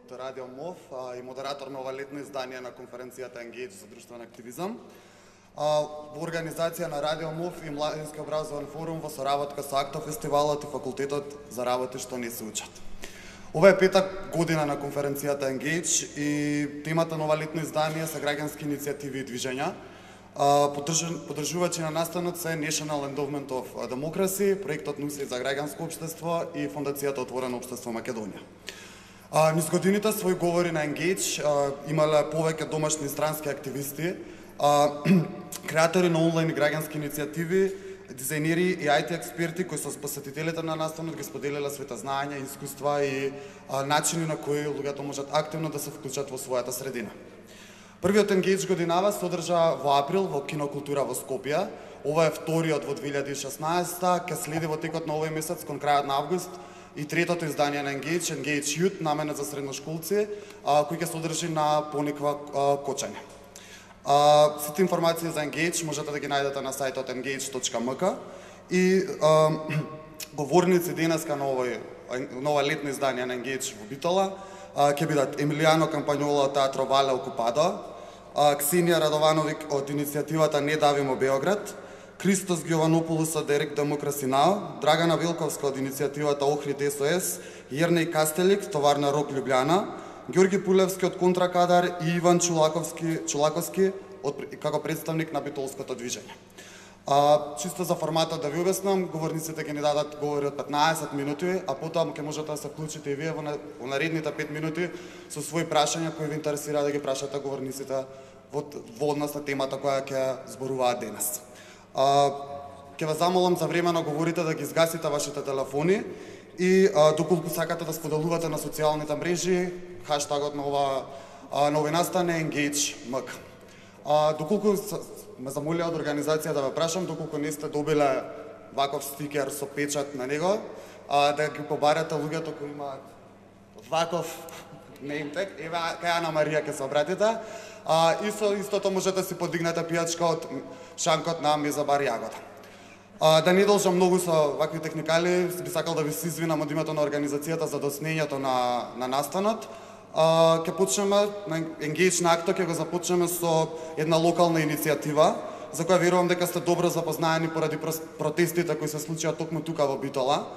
од Радио МОВ и модератор на ова летно издание на конференцијата Engage за друштвен активизам. Во организација на Радио МОВ и Младински образован форум во соработка со АКТО фестивалот и факултетот за работи што не се учат. Ова е пета година на конференцијата Engage и темата на ова летно издание се граѓански иницијативи и движења. Поддржувачи на настанот се National Endowment of Democracy, проектот НУСИ за граѓанско општество и Фондацијата Отворено општество Македонија. Низ годините своји говори на Engage имале повеќе домашни и странски активисти, креатори на онлайн граѓански иницијативи, дизајнери и IT експерти кои со посетителите на настанот ги споделиле своите знаења, искуства и начини на кои луѓето можат активно да се вклучат во својата средина. Првиот Engage годинава се одржа во април во Кинокултура во Скопје. Ова е вториот во 2016, ке следи во текот на овој месец кон крајот на август и третото издание на Engage Youth, наменет за средношколци, кој ќе се одржи на Пониква Кочање. Сите информации за Engage можете да ги најдете на сајтот engage.mk и говорници денеска на ова летно издание на Engage во Битола ќе бидат Емилијано Кампањола од Театро Вале Окупадо, Ксенија Радовановик од иницијативата Не давимо Београд, Христос Гјованополус од Дерек Демокраси Нао, Драгана Вилковска од иницијативата Охрид СОС, Јернеј Кастелик, Товарна Рок Љубљана, Ѓорги Пулевски од Контракадар и Иван Чулаковски како представник на битолското движење. Чисто за форматот да ви обяснам, говорниците ќе ни дадат говори од 15 минути, а потоа ќе можете да се вклучите и вие во наредните 5 минути со своји прашања кои ви интересира да ги прашате говорниците во однос на темата која ќе зборуваат денес. Ќе ве замолам за време на говорите да ги изгасите вашите телефони и доколку сакате да споделувате на социјалните мрежи, хаштагот на овој настан е Engage.mk. Доколку ме замолија од организација да ве прашам, доколку не сте добиле ваков стикер со печат на него, да ги побарате луѓето кои имаат ваков неймтег, ева кај Ана Марија ќе се обратите, и со истото можете си подигнете пијачка од шанкот на Меза бар Јагода. Да не должам многу со вакви техникали, би сакал да ви се извинам од името на организацијата за доснењето на настанот. Ќе почнеме на Engage на АКТО, ќе го започнеме со една локална иницијатива, за која верувам дека сте добро запознаени поради протестите кои се случија токму тука во Битола.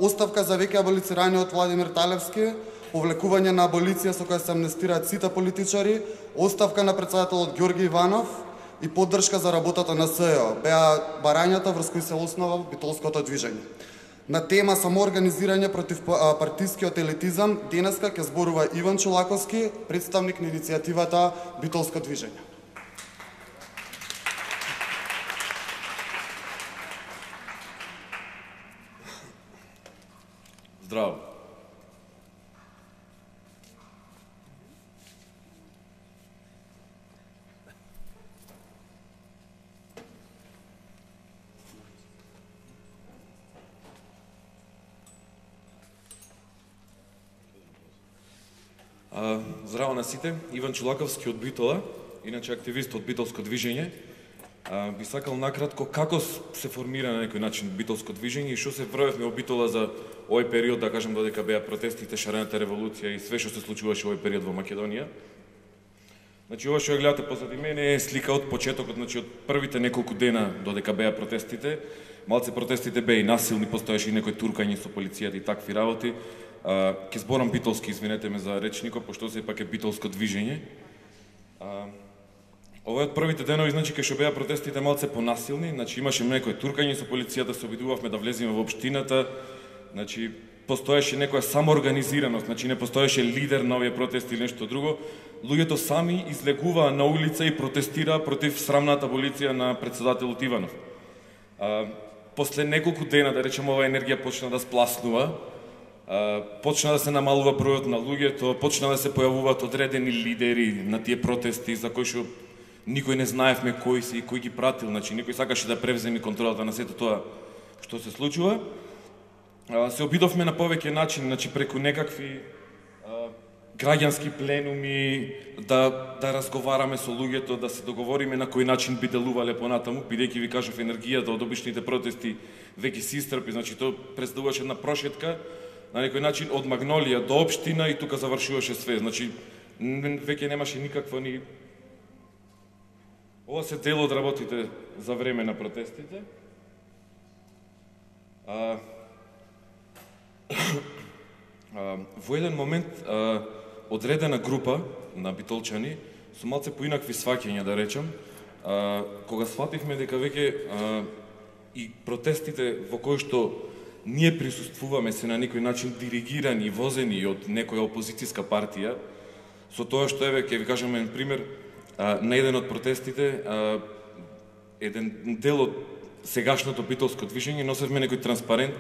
Оставка за веќе аболицираниот Владимир Талевски, повлекување на аболиција со која се амнестираат сите политичари, оставка на претседателот Ѓорги Иванов и поддршка за работата на СЕО, беа барањата врз кои се основа битолското движење. На тема самоорганизирање против партискиот елитизам, денеска ќе зборува Иван Чулаковски, представник на иницијативата Битолско движење. Здраво. Здраво на сите, Иван Чулаковски од Битола, иначе активист од Битолско движење. Би сакал накратко како се формира на некој начин Битолско движење и што се вроевме во Битола за овој период, да кажем додека беа протестите, шарената револуција и све што се случуваше овој период во Македонија. Значи, ова што ја гледате позади мене е слика од почетокот, значи од првите неколку дена додека беа протестите. Малце протестите беа и насилни, постоеше и некој туркање со полицијата и такви работи. Ке зборам битолски, извинете ме за речникот, пошто сепак е битолско движење. Ова од првите денови, значи, кај што беа протестите малце понасилни, значи имаше некој туркање со полицијата, се обидувавме да влеземе во општината, значи постоеше некоја самоорганизираност, значи не постоеше лидер на овие протести или нешто друго. Луѓето сами излегуваа на улица и протестираа против срамната аболиција на претседателот Иванов. После неколку дена, да речем, оваа енергија почна да спласнува, почна да се намалува бројот на луѓето, почна да се појавуваат одредени лидери на тие протести за кои што никој не знаевме кои се и кој ги пратил, значи никој сакаше да превземе контролата на сето тоа што се случува. Се обидовме на повеќе начини, значи преку некакви граѓански пленуми, да разговараме со луѓето, да се договориме на кој начин би делувале понатаму, бидејќи ви кажав енергијата од обичните протести веќе се истрпи, значи тоа представуваше една прошетка на некој начин од Магнолија до општина и тука завршуваше све. Значи, веќе немаше никаква ни... Ова се дел од работите за време на протестите. Во еден момент одредена група на битолчани со малце поинакви сваќања, да речам, кога свативме дека веќе и протестите во кои што ние присуствуваме се на некој начин диригирани и возени од некоја опозицијска партија, со тоа што еве ќе ви кажам еден пример, на еден од протестите еден дел од сегашното битолско движење носевме некој транспарент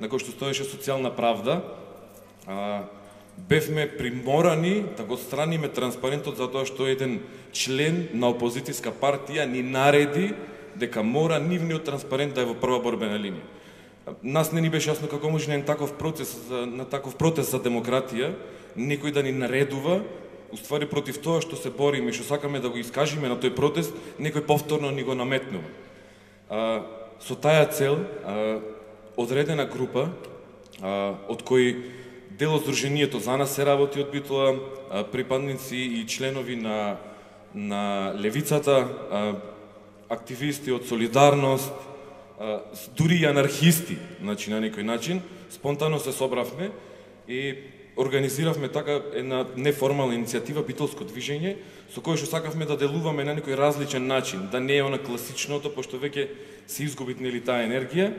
на кој што стоеше социјална правда. Бевме приморани да го страниме транспарентот затоа што еден член на опозицијска партија ни нареди дека мора нивниот транспарент да е во прва борбена линија. Нас не ни беше јасно како може на таков протест за демократија некој да ни наредува, уствари против тоа што се бориме и што сакаме да го искажиме на тој протест, некој повторно ни го наметнува. Со таа цел одредена група од кои дел од Сдруженијето за нас се работи од Битола, припадници и членови на левицата, активисти од Солидарност, дури и анархисти, значи на некој начин, спонтано се собравме и организиравме така една неформална иницијатива Битолско движење, со кој што сакавме да делуваме на некој различен начин, да не е она класичното, пошто веќе се изгуби нели таа енергија.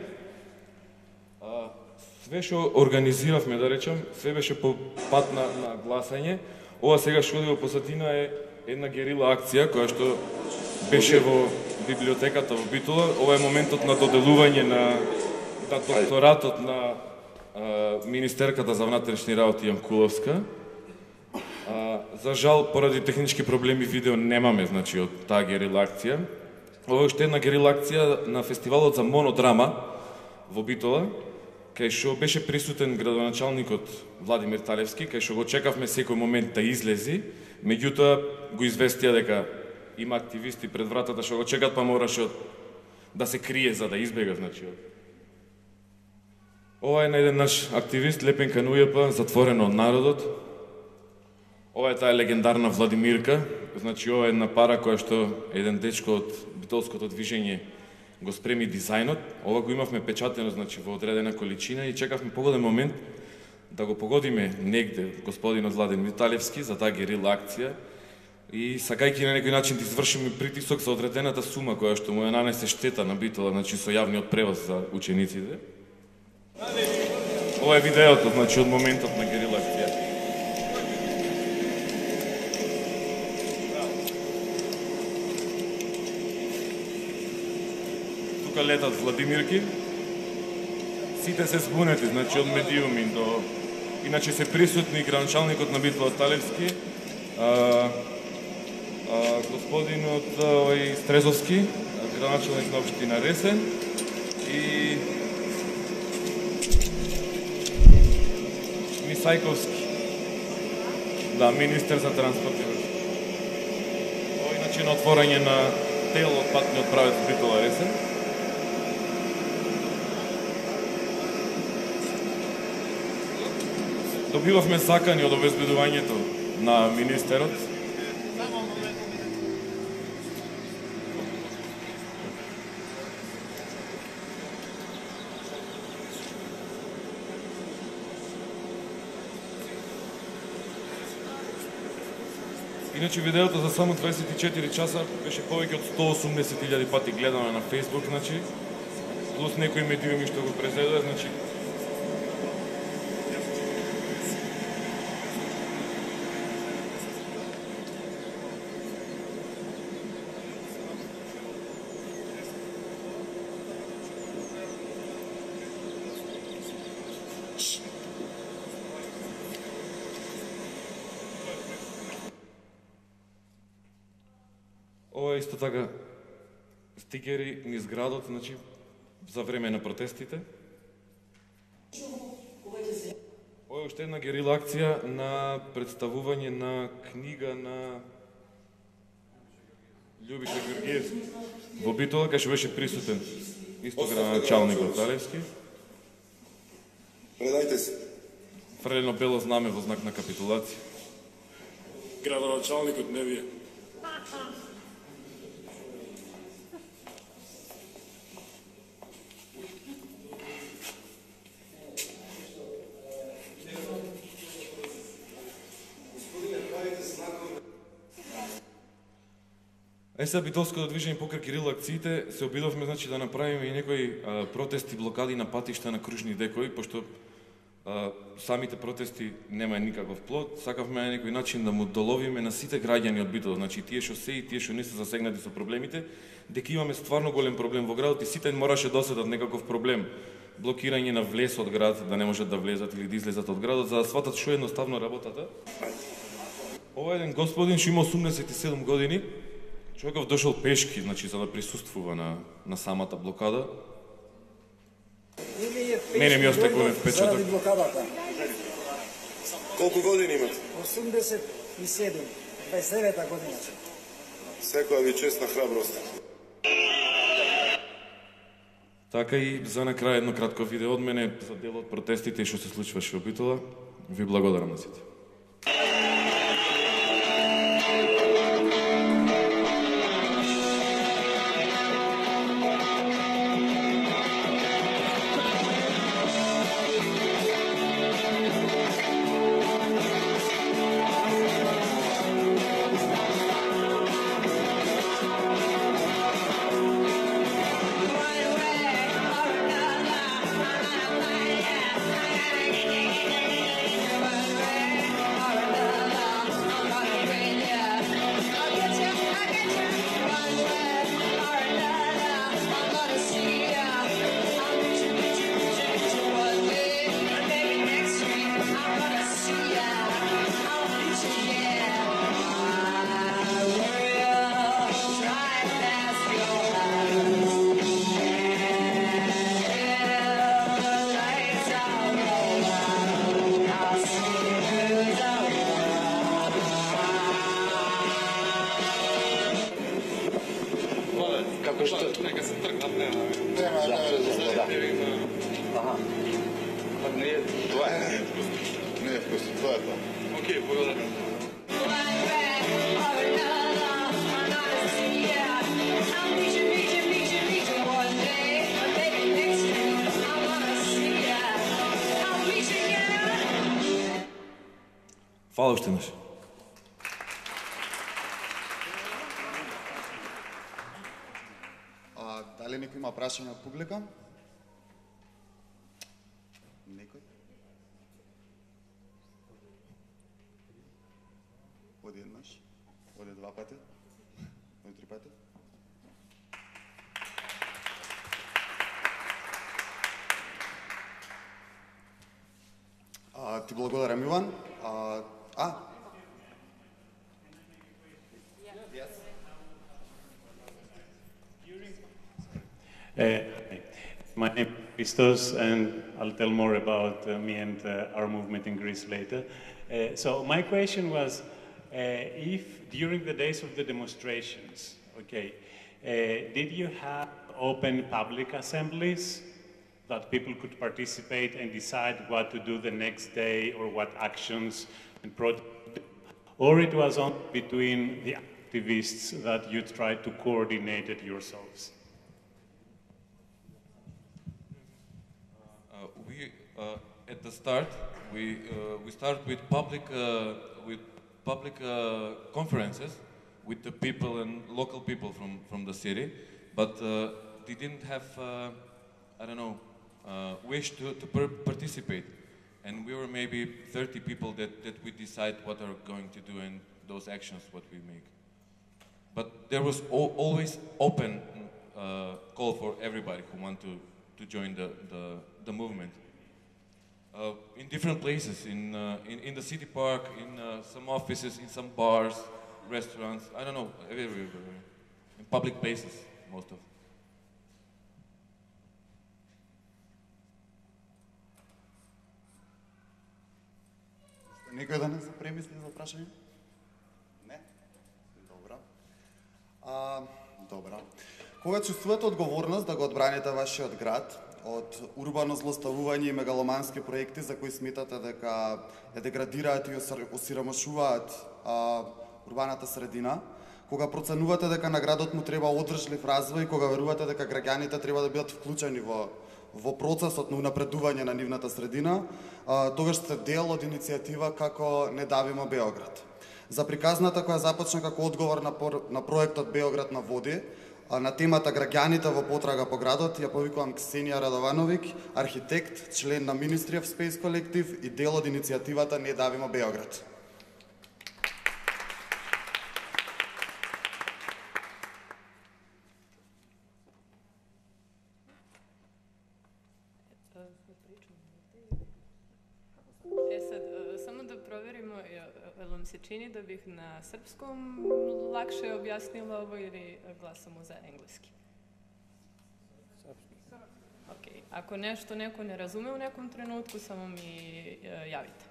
Све што организиравме, да речам, све беше по пат на гласање. Ова сега што оди во позадина е една герила акција која што беше во библиотеката во Битола. Ова е моментот на доделување на докторатот на министерката за внатрешни работи Јанкуловска. За жал, поради технички проблеми видео немаме, значи, од таа герила акција. Ова е уште една герила акција на фестивалот за монодрама во Битола, кај што беше присутен градоначалникот Владимир Талевски, кај што го чекавме секој момент да излези, меѓутоа го известија дека има активисти пред вратата што го чекат, па мораше да се крие за да избега, значи. Ова е на еден наш активист, Лепен Канујапа, затворено од народот. Ова е таа легендарна Владимирка, значи ова е една пара која што еден дечко од битолското движење го спреми дизајнот. Ова го имавме печатено, значи, во одредена количина и чекавме погоден момент да го погодиме негде господинот Владимир Талевски за таа герила акција и сакајќи на некој начин да извршиме притисок за одредената сума која што му ја нанесе штета на Битола, значи со јавниот превоз за учениците. Ова е видеото, значи, од моментот на герила акција. Тука летат Владимирки. Сите се збунети, значи, од медиуми до... Иначе се присутни градоначалникот на Битола Талевски, господинот Стрезовски, градоначалник на општина Ресен и Мисајковски, да, министер за транспорт. Ова иначе на отворање на дел од патниот правец Битола Ресен. Добивавме сакани од обезбедувањето на министерот. Иначе видеото за само 24 часа беше повеќе од 180.000 пати гледано на Facebook, значи, плюс некои медиуми што го презедува, значи, ова е исто така стикери низ градот, значи, за време на протестите. Ова е уште една герила акција на представување на книга на Љубиша Георгиевски во Битола, кај што беше присутен исто градоначалникот Талевски. Предайте се. фрлено бело знаме во знак на капитулација. Градоначалникот не вие. Сега битолското движење покрај Кирил акциите се обидовме значи да направиме и некои протести, блокади на патишта на кружни декои, пошто самите протести нема никаков плод. Сакавме на некој начин да му доловиме на сите граѓани од Битол, значи тие што се и тие што не се засегнати со проблемите, дека имаме стварно голем проблем во градот и сите мораше да оседат некаков проблем. Блокирање на влез од град, да не можат да влезат или да излезат од градот, за да сватат што едноставно работата. Ова еден господин што има 87 години, човеков дошол пешки, значи за да присуствува на самата блокада. Мене ми остај голем впечаток. Заради блокадата. Колку години имате? 87, 29-та година. Секоја ви чест на храброст. Така и за на крај едно кратко видео од мене за дел од протестите што се случваше во Битола. Ви благодарам на сите. Фала уште еднаш. Дали некој има прашање од публика? Некој? Оди еднаш? Оди два пати? Оди три пати? Ти благодарам, Иван. My name is Christos, and I'll tell more about me and our movement in Greece later. So my question was, if during the days of the demonstrations, did you have open public assemblies that people could participate and decide what to do the next day or what actions and projects, or it was only between the activists that you tried to coordinate it yourselves? At the start, we start with public conferences with the people and local people from the city, but they didn't have wish to participate, and we were maybe 30 people that we decide what are going to do and those actions what we make. But there was always open call for everybody who want to join the movement. In different places, in the city park, in some offices, in some bars, restaurants, I don't know, everywhere, in public places, most of. Некој да не се премисли за прашање? Не? Добра. Добра. Кога чувствувате одговорност да го одбраните вашиот град од урбано злоставување и мегаломански проекти за кои сметате дека ја деградираат и осиромашуваат урбаната средина, кога проценувате дека на градот му треба одржлив развој, кога верувате дека граѓаните треба да бидат вклучени во процесот на унапредување на нивната средина, тогаш сте дел од иницијатива како Не давимо Београд. За приказната која започна како одговор на проектот Београд на води, на темата граѓаните во потрага по градот, ја повикувам Ксенија Радовановиќ, архитект, член на Ministry of Space колектив и дел од иницијативата Не давимо Београд. Само да проверимо, jel vam se čini da bih na srpskom lakše objasnila ovo ili glasamo za engleski? Ok, ako nešto neko ne razume u nekom trenutku, samo mi javite.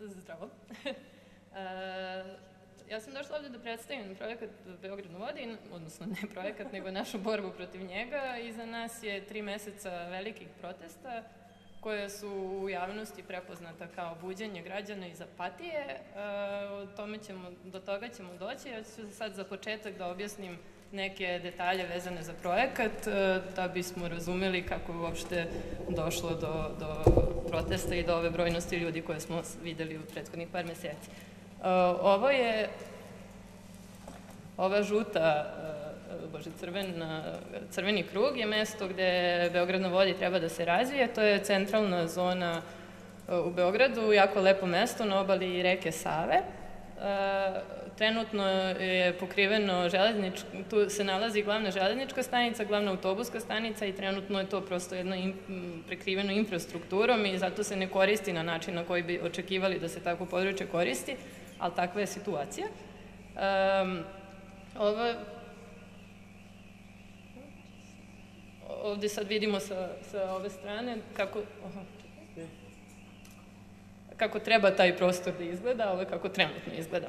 Zdravo. Ja sam došla ovdje da predstavim projekat Beograd na vodi, odnosno ne projekat, nego našu borbu protiv njega. Iza nas je 3 meseca velikih protesta koje su u javnosti prepoznata kao buđenje građana iz apatije. Do toga ćemo doći. Ja ću sad za početak da objasnim neke detalje vezane za projekat, da bismo razumeli kako je uopšte došlo do protesta i do ove brojnosti ljudi koje smo videli u prethodnih par meseci. Ova žuta, crveni krug je mesto gde Beograd na vodi treba da se razvije. To je centralna zona u Beogradu, jako lepo mesto na obali reke Save. Trenutno je pokriveno tu se nalazi glavna železnička stanica, glavna autobuska stanica i trenutno je to prosto jedno prekriveno infrastrukturom i zato se ne koristi na način na koji bi očekivali da se takvo područje koristi, ali takva je situacija. Ovdje sad vidimo sa ove strane kako treba taj prostor da izgleda, ovo je kako trenutno izgleda.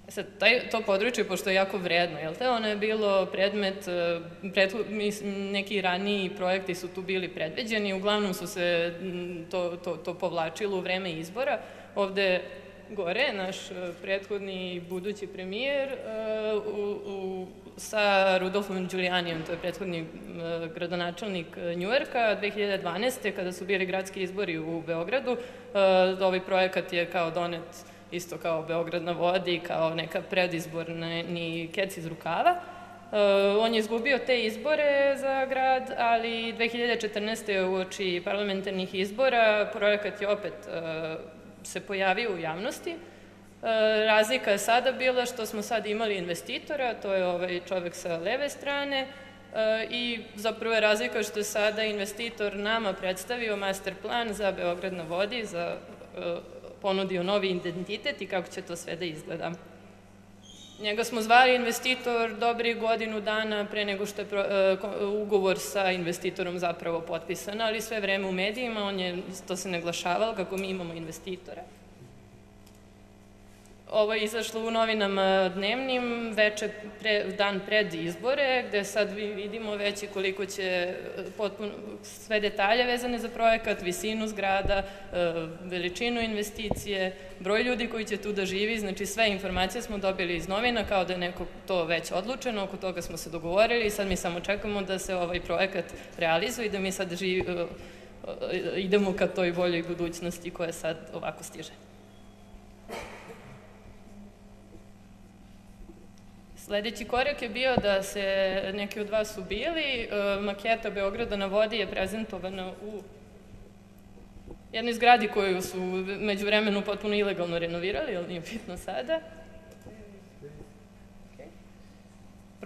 Sad, to područje, pošto je jako vredno, jel te, ono je bilo predmet, neki raniji projekti su tu bili predviđeni, uglavnom su se to povlačilo u vreme izbora. Ovde gore, naš prethodni budući premijer sa Rudolfom Đulijanijem, to je prethodni gradonačelnik Njujorka, 2012. kada su bili gradski izbori u Beogradu, ovaj projekat je kao donet isto kao Beograd na vodi, kao neka predizborni kec iz rukava. On je izgubio te izbore za grad, ali 2014. uoči parlamentarnih izbora projekat je opet se pojavio u javnosti. Razlika je sada bila što smo sad imali investitora, to je ovaj čovek sa leve strane, i zapravo je razlika što je sada investitor nama predstavio master plan za Beograd na vodi, ponudio novi identitet i kako će to sve da izgleda. Njega smo zvali investitor dobri godinu dana pre nego što je ugovor sa investitorom zapravo potpisan, ali sve vreme u medijima to se naglašavalo kako mi imamo investitora. Ovo je izašlo u novinama dnevnim, dan pred izbore, gde sad vidimo već i koliko će sve detalje vezane za projekat, visinu zgrada, veličinu investicije, broj ljudi koji će tu da živi, znači sve informacije smo dobili iz novina kao da je neko to već odlučeno, oko toga smo se dogovorili i sad mi samo čekamo da se ovaj projekat realizuje i da mi sad idemo ka toj boljoj budućnosti koja sad ovako stiže. Sledeći korak je bio da se, neki od vas su bili, maketa Beograda na vodi je prezentovana u jednoj zgradi koju su među vremenu potpuno ilegalno renovirali, ali nije bitno sada.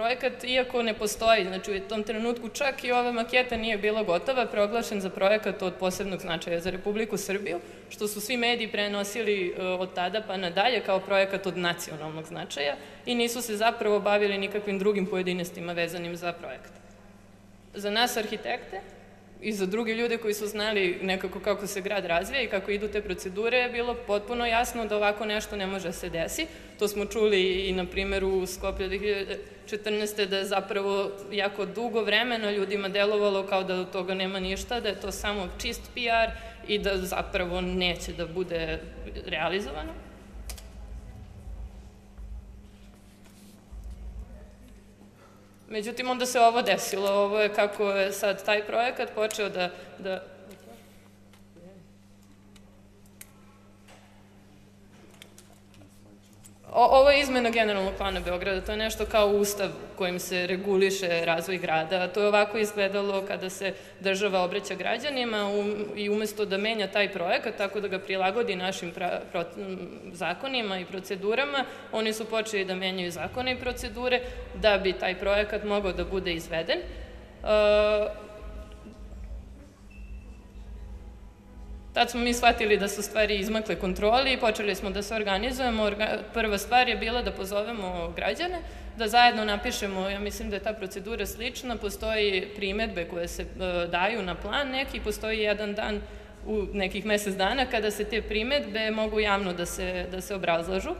Projekat, iako ne postoji, znači u tom trenutku čak i ova maketa nije bila gotova, proglašen za projekat od posebnog značaja za Republiku Srbiju, što su svi mediji prenosili od tada pa nadalje kao projekat od nacionalnog značaja i nisu se zapravo bavili nikakvim drugim pojedinostima vezanim za projekat. Za nas arhitekte i za druge ljude koji su znali nekako kako se grad razvija i kako idu te procedure je bilo potpuno jasno da ovako nešto ne može se desi. To smo čuli i na primjeru u Skoplju 2014. da je zapravo jako dugo vremena ljudima delovalo kao da od toga nema ništa, da je to samo čist PR i da zapravo neće da bude realizovano. Međutim, onda se ovo desilo. Ovo je kako je sad taj projekat počeo da... Ovo je izmena generalnog plana Beograda, to je nešto kao ustav kojim se reguliše razvoj grada. To je ovako izgledalo kada se država obraća građanima i umesto da menja taj projekat, tako da ga prilagodi našim zakonima i procedurama, oni su počeli da menjaju zakone i procedure da bi taj projekat mogao da bude izveden. Tad smo mi shvatili da su stvari izmakle kontroli i počeli smo da se organizujemo. Prva stvar je bila da pozovemo građane, da zajedno napišemo, ja mislim da je ta procedura slična, postoji primetbe koje se daju na plan neki, postoji jedan dan u nekih mesec dana kada se te primetbe mogu javno da se obrazlažu.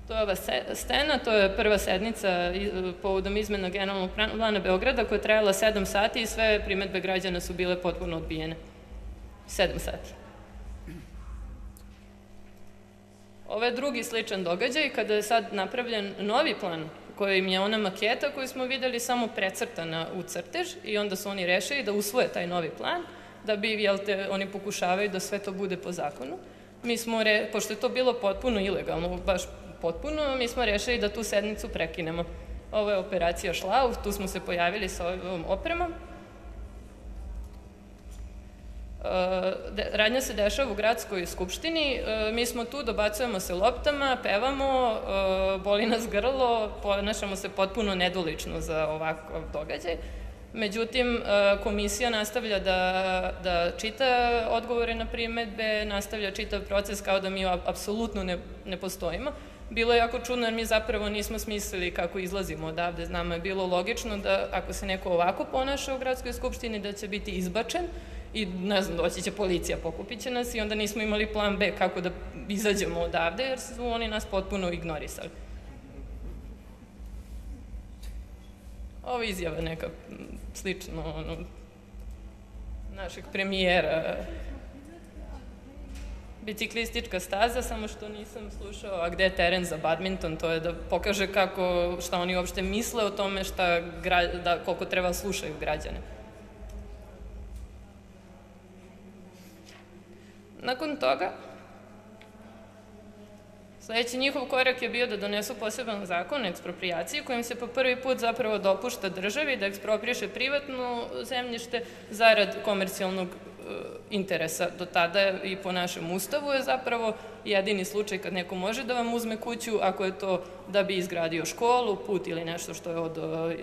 To je ova scena, to je prva sednica povodom izmena generalnog plana Beograda koja je trajala 7 sati i sve primetbe građana su bile potpuno odbijene. 7 sati. Ovo je drugi sličan događaj kada je sad napravljen novi plan kojim je ona maketa koju smo videli samo precrtana u crtež i onda su oni rešili da usvoje taj novi plan, da bi, oni pokušavaju da sve to bude po zakonu. Mi smo, pošto je to bilo potpuno ilegalno, baš potpuno, mi smo rešili da tu sednicu prekinemo. Ovo je operacija Šlauf, tu smo se pojavili sa ovom opremom. Radnja se dešava u gradskoj skupštini, mi smo tu, dobacujemo se loptama, pevamo, boli nas grlo, ponašamo se potpuno nedolično za ovakav događaj. Međutim, komisija nastavlja da čita odgovore na primetbe, nastavlja čitav proces kao da mi apsolutno ne postojimo. Bilo je jako čudno jer mi zapravo nismo smislili kako izlazimo odavde. Nama je bilo logično da ako se neko ovako ponaša u gradskoj skupštini da će biti izbačen i ne znam, doći će policija, pokupit će nas i onda nismo imali plan B kako da izađemo odavde jer su oni nas potpuno ignorisali. Ovo je izjava neka slično našeg premijera. Biciklistička staza, samo što nisam slušao, a gde je teren za badminton, to je da pokaže šta oni uopšte misle o tome koliko treba slušaju građane. Nakon toga, sledeći njihov korak je bio da donesu poseban zakon o eksproprijaciji kojim se po prvi put zapravo dopušta državi da ekspropriše privatno zemljište zarad komercijalnog interesa. Do tada i po našem ustavu je zapravo jedini slučaj kad neko može da vam uzme kuću ako je to da bi izgradio školu, put ili nešto što je od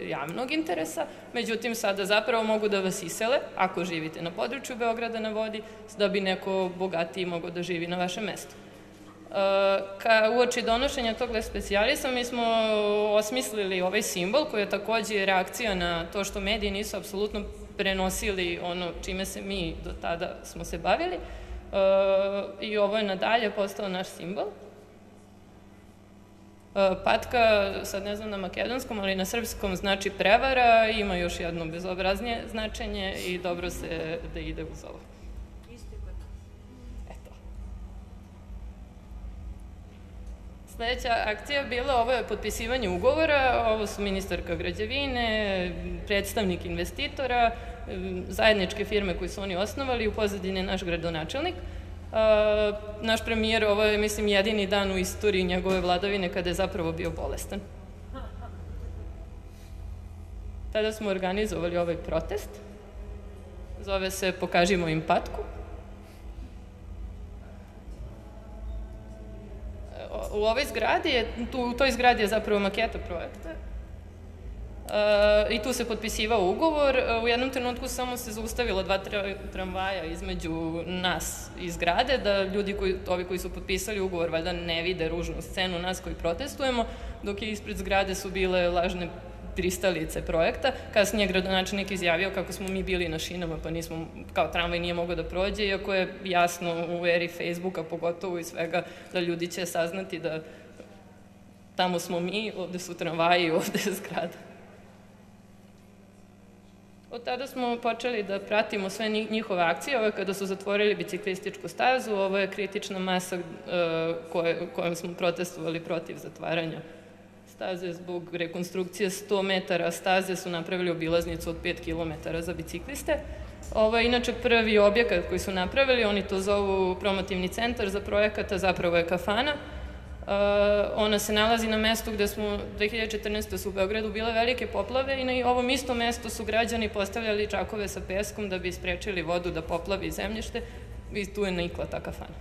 javnog interesa. Međutim, sada zapravo mogu da vas isele ako živite na području Beograda na vodi, da bi neko bogatiji mogao da živi na vašem mestu. Uoči donošenja tog lex specialisa mi smo osmislili ovaj simbol koji je takođe reakcija na to što mediji nisu apsolutno prenosili ono čime se mi do tada smo se bavili i ovo je nadalje postao naš simbol. Patka, sad ne znam na makedonskom, ali na srpskom znači prevara, ima još jedno bezobraznije značenje i dobro se da ide uz ovo. Sledeća akcija bila, ovo je potpisivanje ugovora, ovo su ministarka građevine, predstavnik investitora, zajedničke firme koje su oni osnovali, u pozadini naš gradonačelnik. Naš premijer, ovo je, mislim, jedini dan u istoriji njegove vladavine kada je zapravo bio bolestan. Tada smo organizovali ovaj protest, zove se Pokažimo im patku. U ovoj zgradi u toj zgradi je zapravo maketa projekta. I tu se potpisivao ugovor. U jednom trenutku samo se zaustavilo 2 tramvaja između nas i zgrade, da ljudi ovi koji su potpisali ugovor valjda ne vide ružnu scenu nas koji protestujemo, dok je ispred zgrade su bile lažne pristalice projekta. Kasnije gradonačelnik izjavio kako smo mi bili na šinama, pa nismo, kao tramvaj nije mogao da prođe, iako je jasno u eri Facebooka, pogotovo i svega, da ljudi će saznati da tamo smo mi, ovde su tramvaji, ovde je zgrada. Od tada smo počeli da pratimo sve njihove akcije. Ovo je kada su zatvorili biciklističku stazu, ovo je kritična masa kojom smo protestovali protiv zatvaranja staze. Zbog rekonstrukcije 100 metara staze su napravili obilaznicu od 5 km za bicikliste. Ovo je inače prvi objekat koji su napravili, oni to zovu promotivni centar za projekata, zapravo je kafana. Ona se nalazi na mestu gde smo 2014. su u Beogradu bile velike poplave i na ovom istom mestu su građani postavljali čakove sa peskom da bi sprečili vodu da poplavi zemljište i tu je nikla ta kafana.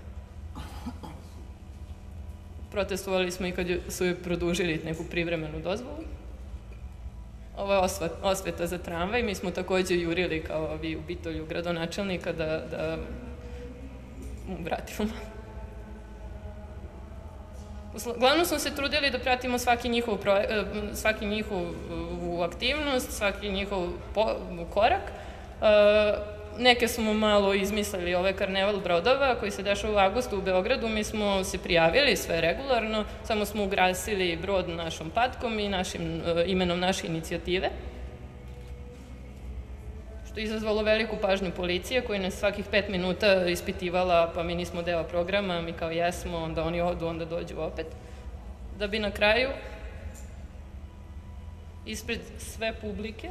Protestovali smo i kad su joj produžili neku privremenu dozvolu. Ovo je osveta za tramvaj, mi smo takođe jurili kao vi u Bitolju gradonačelnika da mu vratimo. Uglavnom smo se trudili da pratimo svaki njihovu aktivnost, svaki njihov korak. Neke smo malo izmislili, ovaj karneval brodova koji se dešava u avgustu u Beogradu, mi smo se prijavili sve regularno, samo smo ugrasili brod našom patkom i imenom naše inicijative, što je izazvalo veliku pažnju policije koja nas svakih 5 minuta ispitivala, pa mi nismo deo programa, mi kao jesmo, onda oni odu, onda dođu opet. Da bi na kraju, ispred sve publike,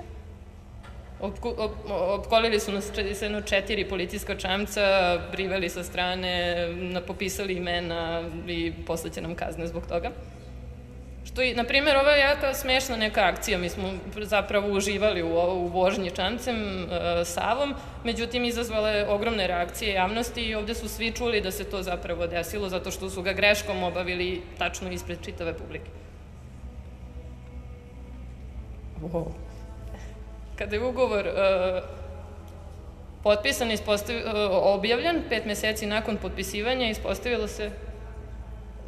opkolili su nas 4 policijska čamca, priveli sa strane, popisali imena i posle će nam kazne zbog toga. Na primjer, ovo je jaka smešna neka akcija, mi smo zapravo uživali u vožnji čamcem, Savom, međutim izazvala je ogromne reakcije javnosti i ovde su svi čuli da se to zapravo desilo zato što su ga greškom obavili tačno ispred čitave publike. Kada je ugovor potpisan, objavljen, 5 meseci nakon potpisivanja, ispostavilo se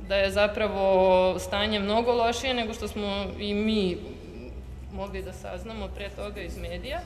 da je zapravo stanje mnogo lošije nego što smo i mi mogli da saznamo pre toga iz medija.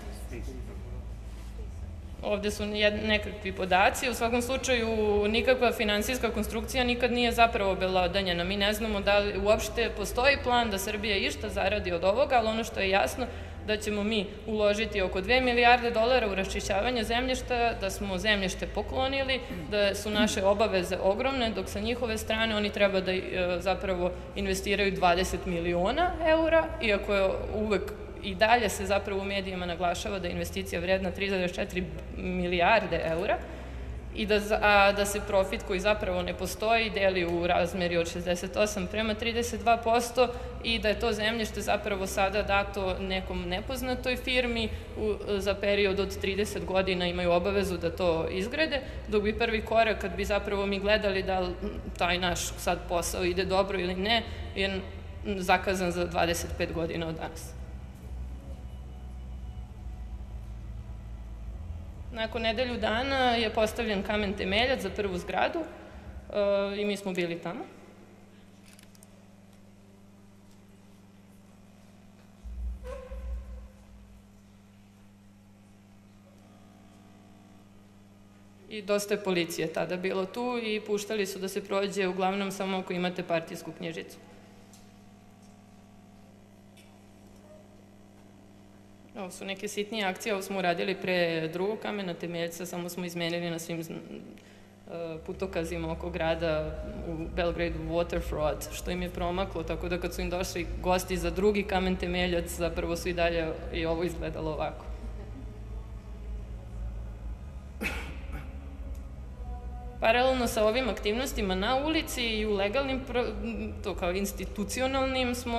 Ovde su nekakvi podaci. U svakom slučaju, nikakva finansijska konstrukcija nikad nije zapravo obelodanjena. Mi ne znamo da li uopšte postoji plan da Srbija išta zaradi od ovoga, ali ono što je jasno da ćemo mi uložiti oko 2 milijarde dolara u raščišćavanje zemljišta, da smo zemljište poklonili, da su naše obaveze ogromne, dok sa njihove strane oni treba da zapravo investiraju 20 miliona eura, iako je uvek i dalje se zapravo u medijima naglašava da je investicija vredna 3,4 milijarde eura i da se profit koji zapravo ne postoji deli u razmeri od 68:32% i da je to zemljište zapravo sada dato nekom nepoznatoj firmi za period od 30 godina imaju obavezu da to izgrade, dok bi prvi korak kad bi zapravo mi gledali da taj naš sad posao ide dobro ili ne, je zakazan za 25 godina od danas. Nakon nedelju dana je postavljen kamen temeljac za prvu zgradu i mi smo bili tamo. I dosta je policije tada bilo tu i puštali su da se prođe uglavnom samo ako imate partijsku knjižicu. Ovo su neke sitnije akcije, ovo smo uradili pre drugog kamena temeljca, samo smo izmenili na svim putokazima oko grada u Belgradu Waterfront, što im je promaklo, tako da kad su im došli gosti za drugi kamen temeljac, zapravo su i dalje i ovo izgledalo ovako. Paralelno sa ovim aktivnostima na ulici i u legalnim, to kao institucionalnim, smo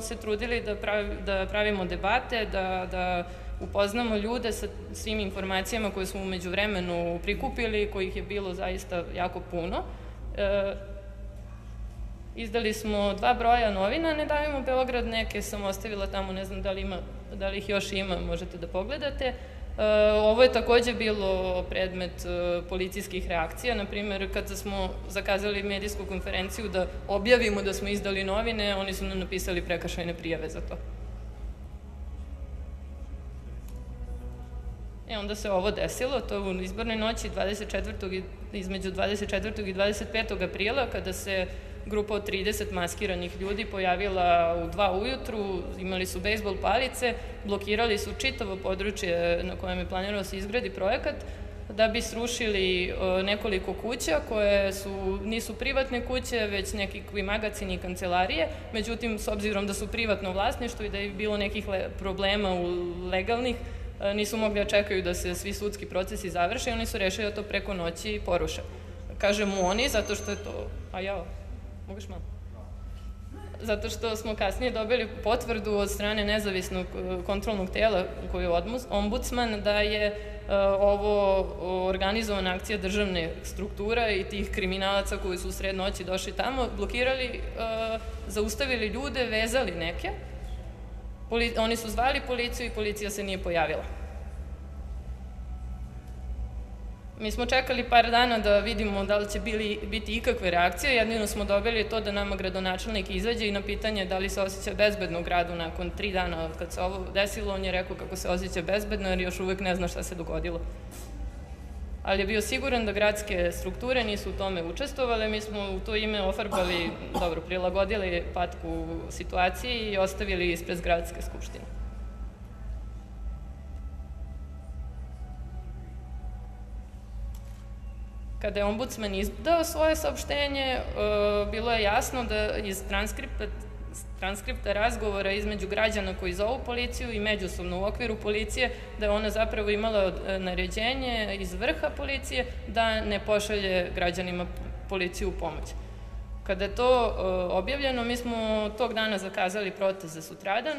se trudili da pravimo debate, da upoznamo ljude sa svim informacijama koje smo umeđu vremenu prikupili, kojih je bilo zaista jako puno. Izdali smo 2 broja novina, Ne davimo Beograd, neke sam ostavila tamo, ne znam da li ih još ima, možete da pogledate. Ovo je takođe bilo predmet policijskih reakcija, na primjer kad smo zakazali medijsku konferenciju da objavimo da smo izdali novine, oni su nam napisali prekršajne prijave za to. Onda se ovo desilo, to u izbornoj noći između 24. i 25. aprila, kada se grupa od 30 maskiranih ljudi pojavila u 2 ujutru, imali su bejsbol palice, blokirali su čitavo područje na kojem je planirao se izgradi projekat, da bi srušili nekoliko kuća koje nisu privatne kuće, već nekakvi magacini i kancelarije. Međutim, s obzirom da su privatno vlasništvo i da je bilo nekih problema legalnih, nisu mogli da čekaju da se svi sudski procesi završe i oni su rešili da to preko noći poruše. Kažemo oni, zato što je to... Moguš malo? Zato što smo kasnije dobili potvrdu od strane nezavisnog kontrolnog tela koji je ombudsman da je ovo organizovana akcija državne struktura i tih kriminalaca koji su u sred noći došli tamo, blokirali, zaustavili ljude, vezali neke. Oni su zvali policiju i policija se nije pojavila. Mi smo čekali par dana da vidimo da li će biti ikakve reakcije, jedino smo dobili to da nama gradonačelnik izađe i na pitanje da li se osjeća bezbedno u gradu nakon 3 dana od kad se ovo desilo, on je rekao kako se osjeća bezbedno jer još uvek ne zna šta se dogodilo. Ali je bio siguran da gradske strukture nisu u tome učestvovale, mi smo u to ime ofarbali, prilagodili patku situaciji i ostavili ispred gradske skupštine. Kada je ombudsman izdao svoje saopštenje, bilo je jasno da iz transkripta razgovora između građana koji zovu policiju i međusobno u okviru policije, da je ona zapravo imala naređenje iz vrha policije da ne pošalje građanima policiju u pomoć. Kada je to objavljeno, mi smo tog dana zakazali protest za sutradan,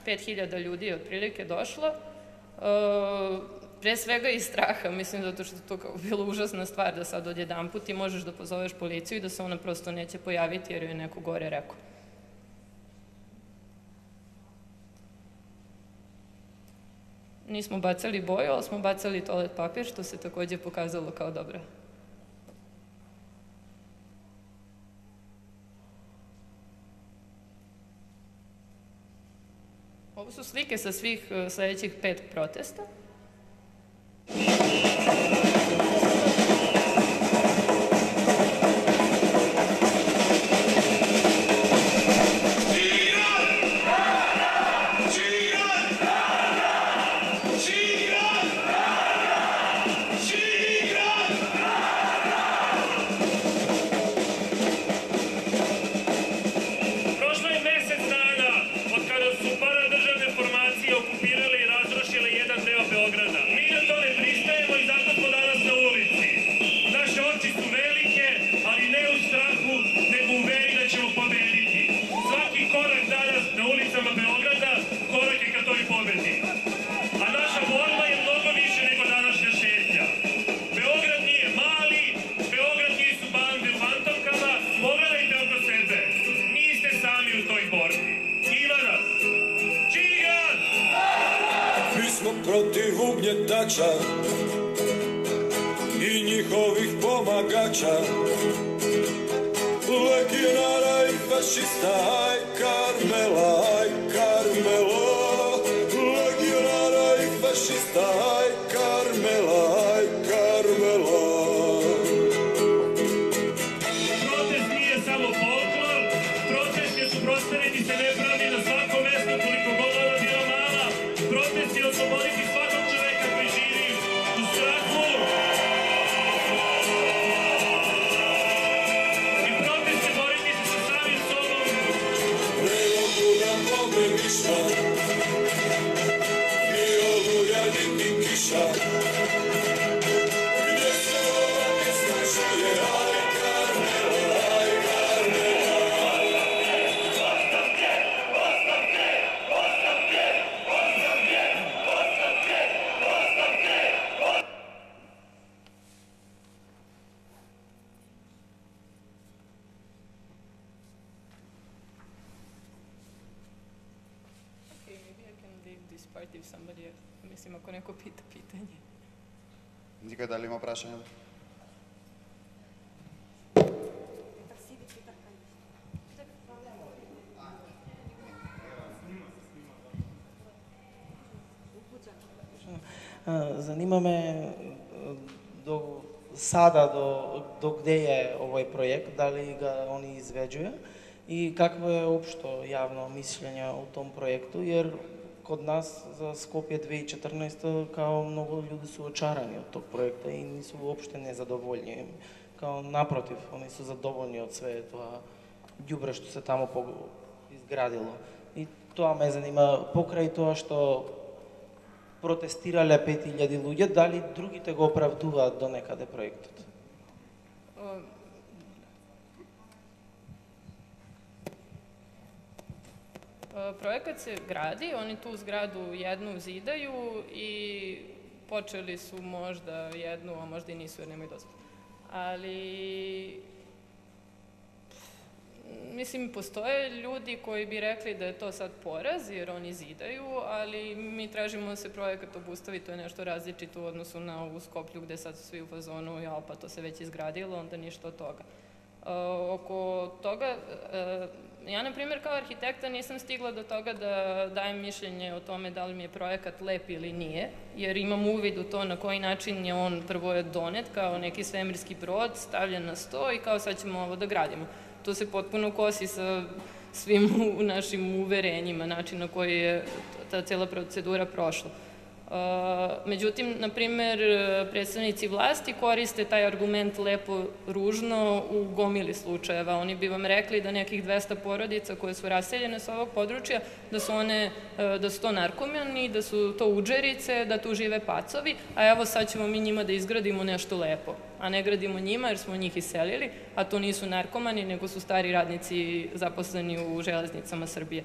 5000 ljudi je otprilike došlo, pre svega iz straha, mislim, zato što je to bilo užasna stvar da sad odjedanput ti možeš da pozoveš policiju i da se ona prosto neće pojaviti jer joj je neko gore rekao. Nismo bacali boju, ali smo bacali toalet papir, što se takođe pokazalo kao dobro. Ovo su slike sa svih sledećih 5 protesta. Protiv ugnjetača i njihovih pomagača, legionara i fašista, aj Karmela, aj Karmelo, legionara i fašista, aj Karmela, aj Karmelo. Protest nije samo folklor, protest je suprotstaviti se nepravdi na svakom mestu koliko god ona bila mala, protest je osloboditi svakog čoveka koji živi u strahu. I protest je boriti se sa samim sobom. Ne mogu da pomeniša, ni oluja, niti kiša, gdje se ovake snašuje, aj Karmela, aj Karmela. Ostavke, ostavke, ostavke, ostavke, ostavke, ostavke. part if somebody else. Mislim, ako neko pita pitanje. Никој дали има прашање? Занимаме до сада до кде е овој проект, дали ga они изведува и какво е општо јавно мислење о том проекту, jer kod нас за Скопје 2014 као многу луѓе се очарани од тог проекта и не се уопште незадоволни. Као напротив, они се задоволни од све тоа ѓубре што се таму изградило. И тоа ме занима, покрај тоа што протестирале 5000 луѓе, дали другите го оправдуваат до некаде проектот? Projekat se gradi, oni tu zgradu jednu zidaju i počeli su možda jednu, a možda i nisu jer nemaju dozvolu. Ali, mislim, postoje ljudi koji bi rekli da je to sad poraz jer oni zidaju, ali mi tražimo da se projekat obustavi, to je nešto različito u odnosu na ovu Skoplju gde sad su svi u fazonu, ja, pa to se već izgradilo, onda ništa od toga. Oko toga, ja, na primjer, kao arhitekta nisam stigla do toga da dajem mišljenje o tome da li mi je projekat lep ili nije, jer imam uvid u to na koji način je on prvo je donet kao neki svemirski brod, stavljen na sto i kao sad ćemo ovo da gradimo. To se potpuno kosi sa svim našim uverenjima, način na koji je ta cela procedura prošla. Međutim, na primer, predstavnici vlasti koriste taj argument lepo ružno u gomili slučajeva. Oni bi vam rekli da nekih 200 porodica koje su raseljene s ovog područja, da su to narkomani, da su to udžerice, da tu žive pacovi, a evo sad ćemo mi njima da izgradimo nešto lepo. A ne gradimo njima jer smo njih iselili, a to nisu narkomani, nego su stari radnici zaposleni u železnicama Srbije.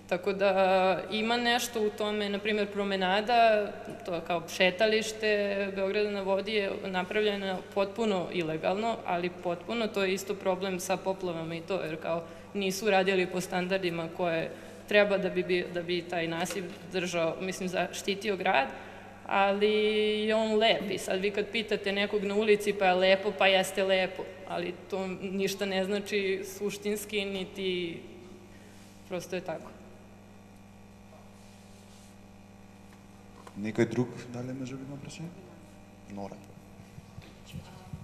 Tako da ima nešto u tome, na primjer promenada, to kao šetalište Beograda na vodi je napravljena potpuno ilegalno, ali potpuno, to je isto problem sa poplavama i to, jer kao nisu radili po standardima koje treba da bi taj nasip držao, mislim, zaštitio grad, ali je on lep i sad vi kad pitate nekog na ulici pa je lepo, pa jeste lepo, ali to ništa ne znači suštinski, niti prosto je tako. Некој друг, дали може би има прашање? Нора.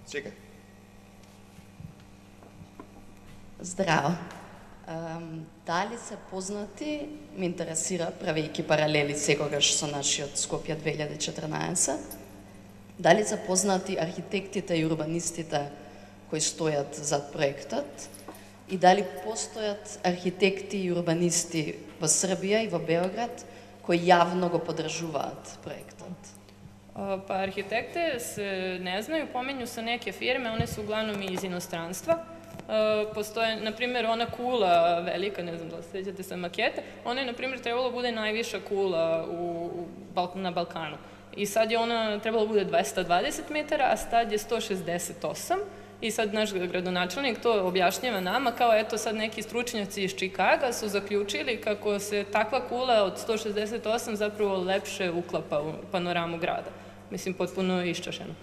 Чекај. Здраво. Дали се познати, ме интересира, правејќи паралели секогаш со нашиот Скопје 2014, дали се познати архитектите и урбанистите кои стојат зад проектот и дали постојат архитекти и урбанисти во Србија и во Београд кои јавно го подржуваат проектот? Pa arhitekte se ne znaju, pominju se neke firme, one su uglavnom iz inostranstva. Postoje, na primjer, ona kula velika, ne znam da se sjećate sa makete, ona je, na primjer, trebalo bude najviša kula na Balkanu. I sad je ona trebalo bude 220 metara, a sad je 168. I sad naš gradonačelnik to objašnjava nama kao eto sad neki stručnjaci iz Čikaga su zaključili kako se takva kula od 168 zapravo lepše uklapa u panoramu grada. Mislim, potpuno iščašeno.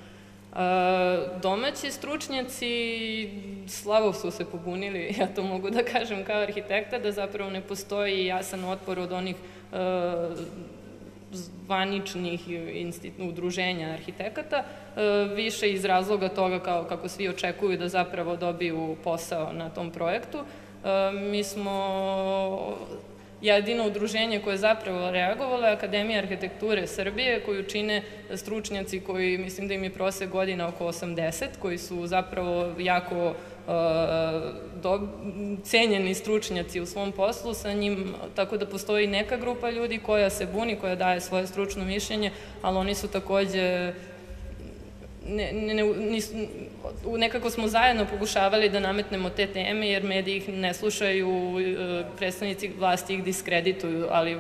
Domaći stručnjaci slabo su se pobunili, ja to mogu da kažem kao arhitekta, da zapravo ne postoji jasan otpor od onih zvaničnih udruženja arhitekata, više iz razloga toga kako svi očekuju da zapravo dobiju posao na tom projektu. Mi smo jedino udruženje koje je zapravo reagovalo je Akademija arhitekture Srbije, koju čine stručnjaci koji, mislim da im je prosek godina oko 80, koji su zapravo jako cenjeni stručnjaci u svom poslu sa njim, tako da postoji neka grupa ljudi koja se buni, koja daje svoje stručno mišljenje, ali oni su takođe nekako smo zajedno pokušavali da nametnemo te teme, jer mediji ih ne slušaju, predstavnici vlasti ih diskredituju, ali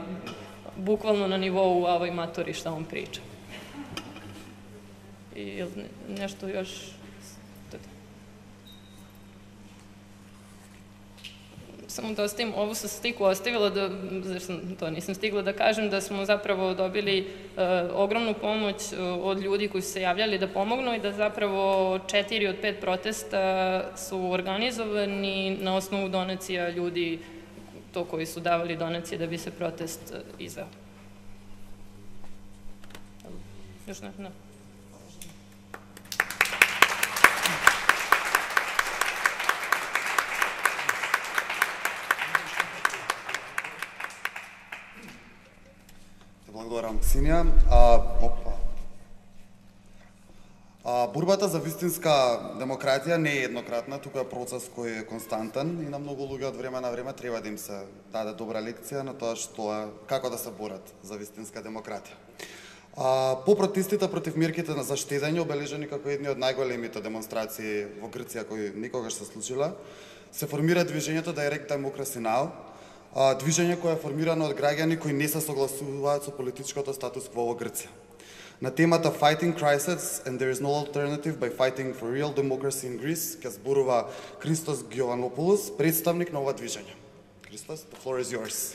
bukvalno na nivou ovoj matori šta on priča. I nešto još... Само da ostavim ovu sa sliku, ostavila da, to nisam stigla da kažem, da smo zapravo dobili ogromnu pomoć od ljudi koji su se javljali da pomognu i da zapravo 4 od 5 protesta su organizovani na osnovu donacija ljudi, to koji su davali donacije da bi se protest izveo. Još ne? Ne. Благодарам, Ксенија. Борбата за вистинска демократија не е еднократна, тука е процес кој е константен и на многу луѓе од време на време треба да им се даде добра лекција на тоа како да се борат за вистинска демократија. По протестите против мерките за штедење, обележани како едни од најголемите демонстрации во Грција кои никогаш се случила, се формира движењето Direct Democracy Now!, движење кое е формирано од граѓани кои не се согласуваат со политичкото статус кво во Грција. На темата Fighting Crisis and There is no alternative by fighting for real democracy in Greece ќе зборува Христос Гјованопулос, представник на ова движење. Христос, the floor is yours.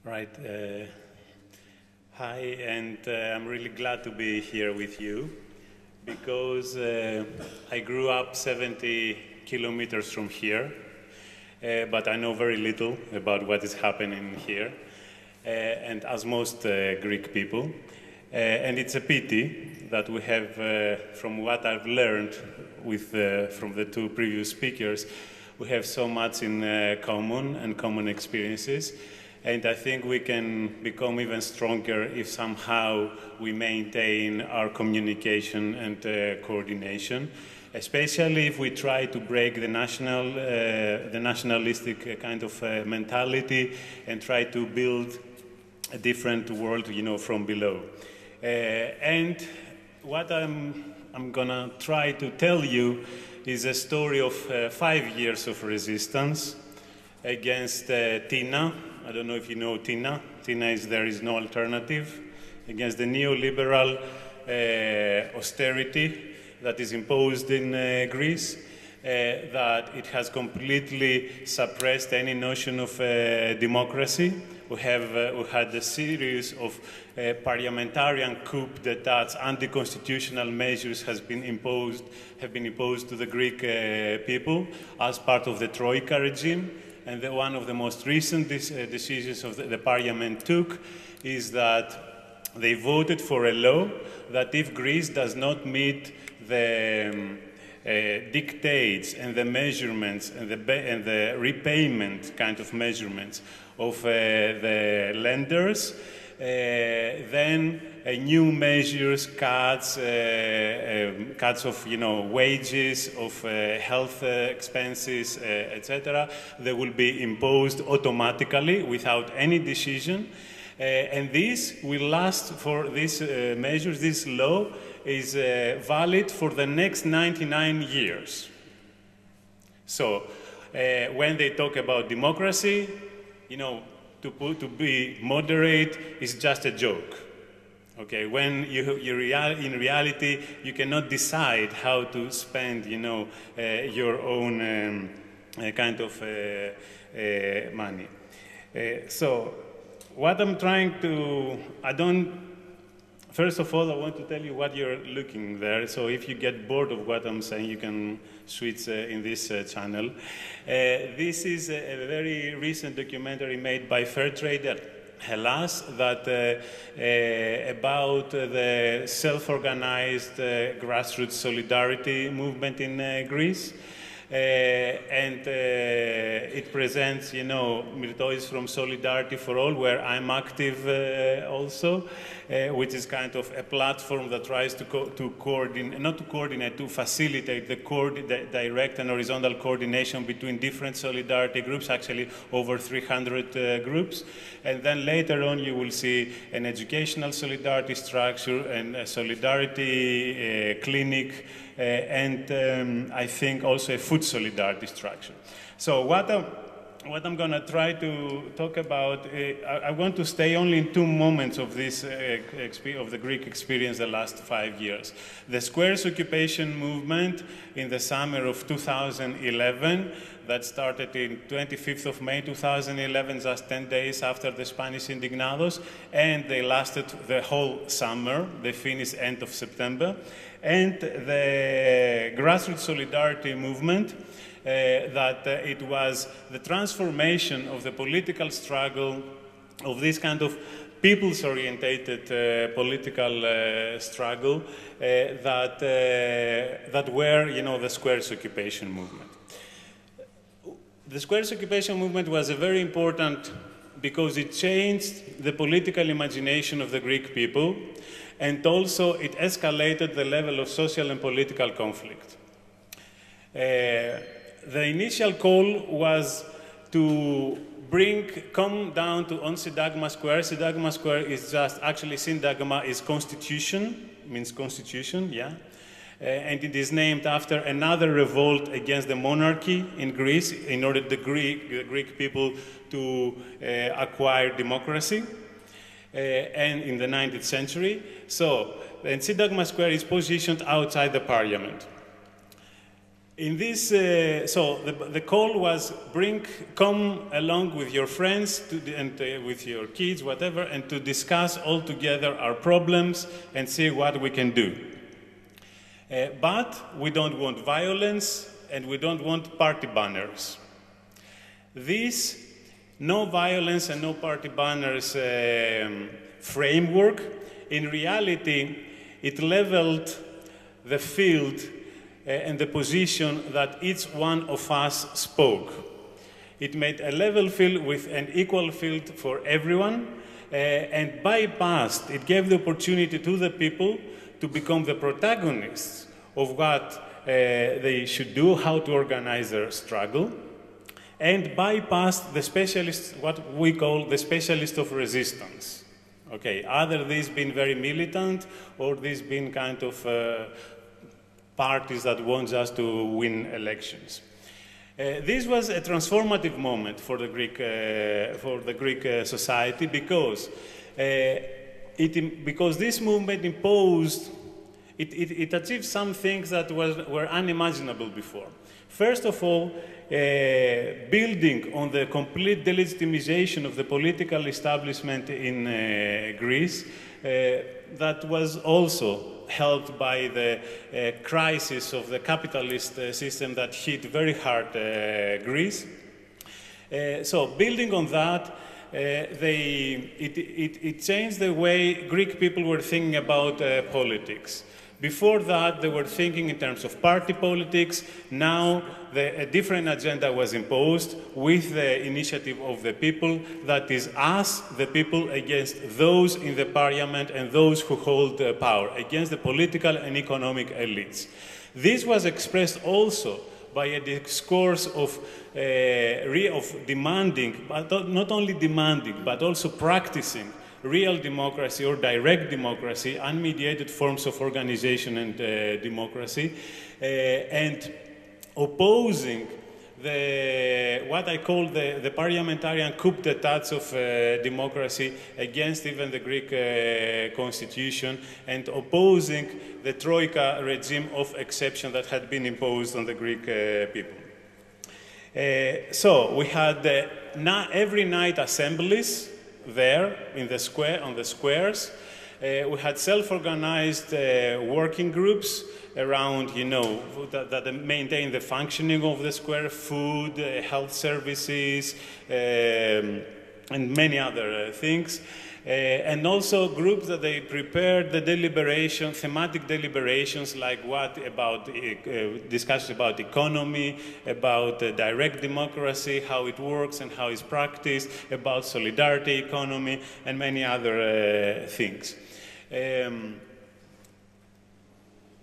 Right. Hi, and I'm really glad to be here with you because I grew up 70 kilometers from here, but I know very little about what is happening here, and as most Greek people. And it's a pity that we have, from what I've learned from the two previous speakers, we have so much in common and common experiences. And I think we can become even stronger if somehow we maintain our communication and coordination, especially if we try to break the nationalistic kind of mentality and try to build a different world, from below. And what I'm gonna try to tell you is a story of 5 years of resistance against TINA. I don't know if you know TINA. TINA is There is no alternative, against the neoliberal austerity that is imposed in Greece, that it has completely suppressed any notion of democracy. We had a series of parliamentarian coup d'etats, anti-constitutional measures have been imposed to the Greek people as part of the Troika regime. And one of the most recent decisions of the parliament took is that they voted for a law that if Greece does not meet the dictates and the measurements and the repayment kind of measurements of the lenders, then new measures, cuts of wages, of health expenses, etc. They will be imposed automatically without any decision, and this will last for these measures. This law is valid for the next 99 years. So when they talk about democracy, to be moderate is just a joke. Okay, when in reality you cannot decide how to spend, your own kind of money. So what I'm trying to, first of all, I want to tell you what you're looking there. So if you get bored of what I'm saying, you can switch in this channel. This is a very recent documentary made by Fairtrade Hellas that about the self-organized grassroots solidarity movement in Greece. and it presents, you know, Mirtois from Solidarity for All, where I'm active also, which is kind of a platform that tries to coordinate, not to coordinate, to facilitate the direct and horizontal coordination between different solidarity groups, actually over 300 groups. And then later on you will see an educational solidarity structure and a solidarity clinic, and I think also a food solidarity structure. So what I'm going to try to talk about, I want to stay only in two moments of this of the Greek experience the last 5 years. The Squares occupation movement in the summer of 2011, that started in 25th of May 2011, just 10 days after the Spanish Indignados, and they lasted the whole summer. They finished end of September. And the grassroots solidarity movement, that it was the transformation of the political struggle, of this kind of peoples-orientated political struggle that were, you know, the Squares occupation movement. The Squares occupation movement was a very important because it changed the political imagination of the Greek people, and also it escalated the level of social and political conflict. The initial call was to come down to on Syntagma Square. Syntagma Square is just, actually Syntagma is constitution, means constitution, yeah. And it is named after another revolt against the monarchy in Greece in order the Greek people to acquire democracy. And in the 19th century. So, and Syntagma Square is positioned outside the parliament. In this, so the call was come along with your friends and with your kids, whatever, and to discuss all together our problems and see what we can do. But we don't want violence and we don't want party banners. This no violence and no party banners framework, in reality, it leveled the field and the position that each one of us spoke. It made a level field with an equal field for everyone, and bypassed, it gave the opportunity to the people to become the protagonists of what they should do, how to organize their struggle, and bypassed the specialists, what we call the specialists of resistance. Okay, either these been very militant or these been kind of parties that want just to win elections. This was a transformative moment for the Greek society because this movement imposed, it achieved some things that were unimaginable before. First of all, building on the complete delegitimization of the political establishment in Greece, that was also helped by the crisis of the capitalist system that hit very hard Greece. So building on that, it changed the way Greek people were thinking about politics. Before that, they were thinking in terms of party politics. Now, a different agenda was imposed with the initiative of the people, that is us, the people, against those in the parliament and those who hold power, against the political and economic elites. This was expressed also by a discourse of demanding, but not only demanding, but also practicing real democracy or direct democracy, unmediated forms of organization and democracy, and opposing what I call the parliamentarian coup d'etat of democracy against even the Greek constitution, and opposing the Troika regime of exception that had been imposed on the Greek people. So we had every night assemblies there in the square, on the squares. We had self-organized working groups around, you know, that maintain the functioning of the square, food, health services, and many other things. and also groups that they prepared the deliberation, thematic deliberations like discussions about economy, about direct democracy, how it works and how it's practiced, about solidarity economy, and many other things.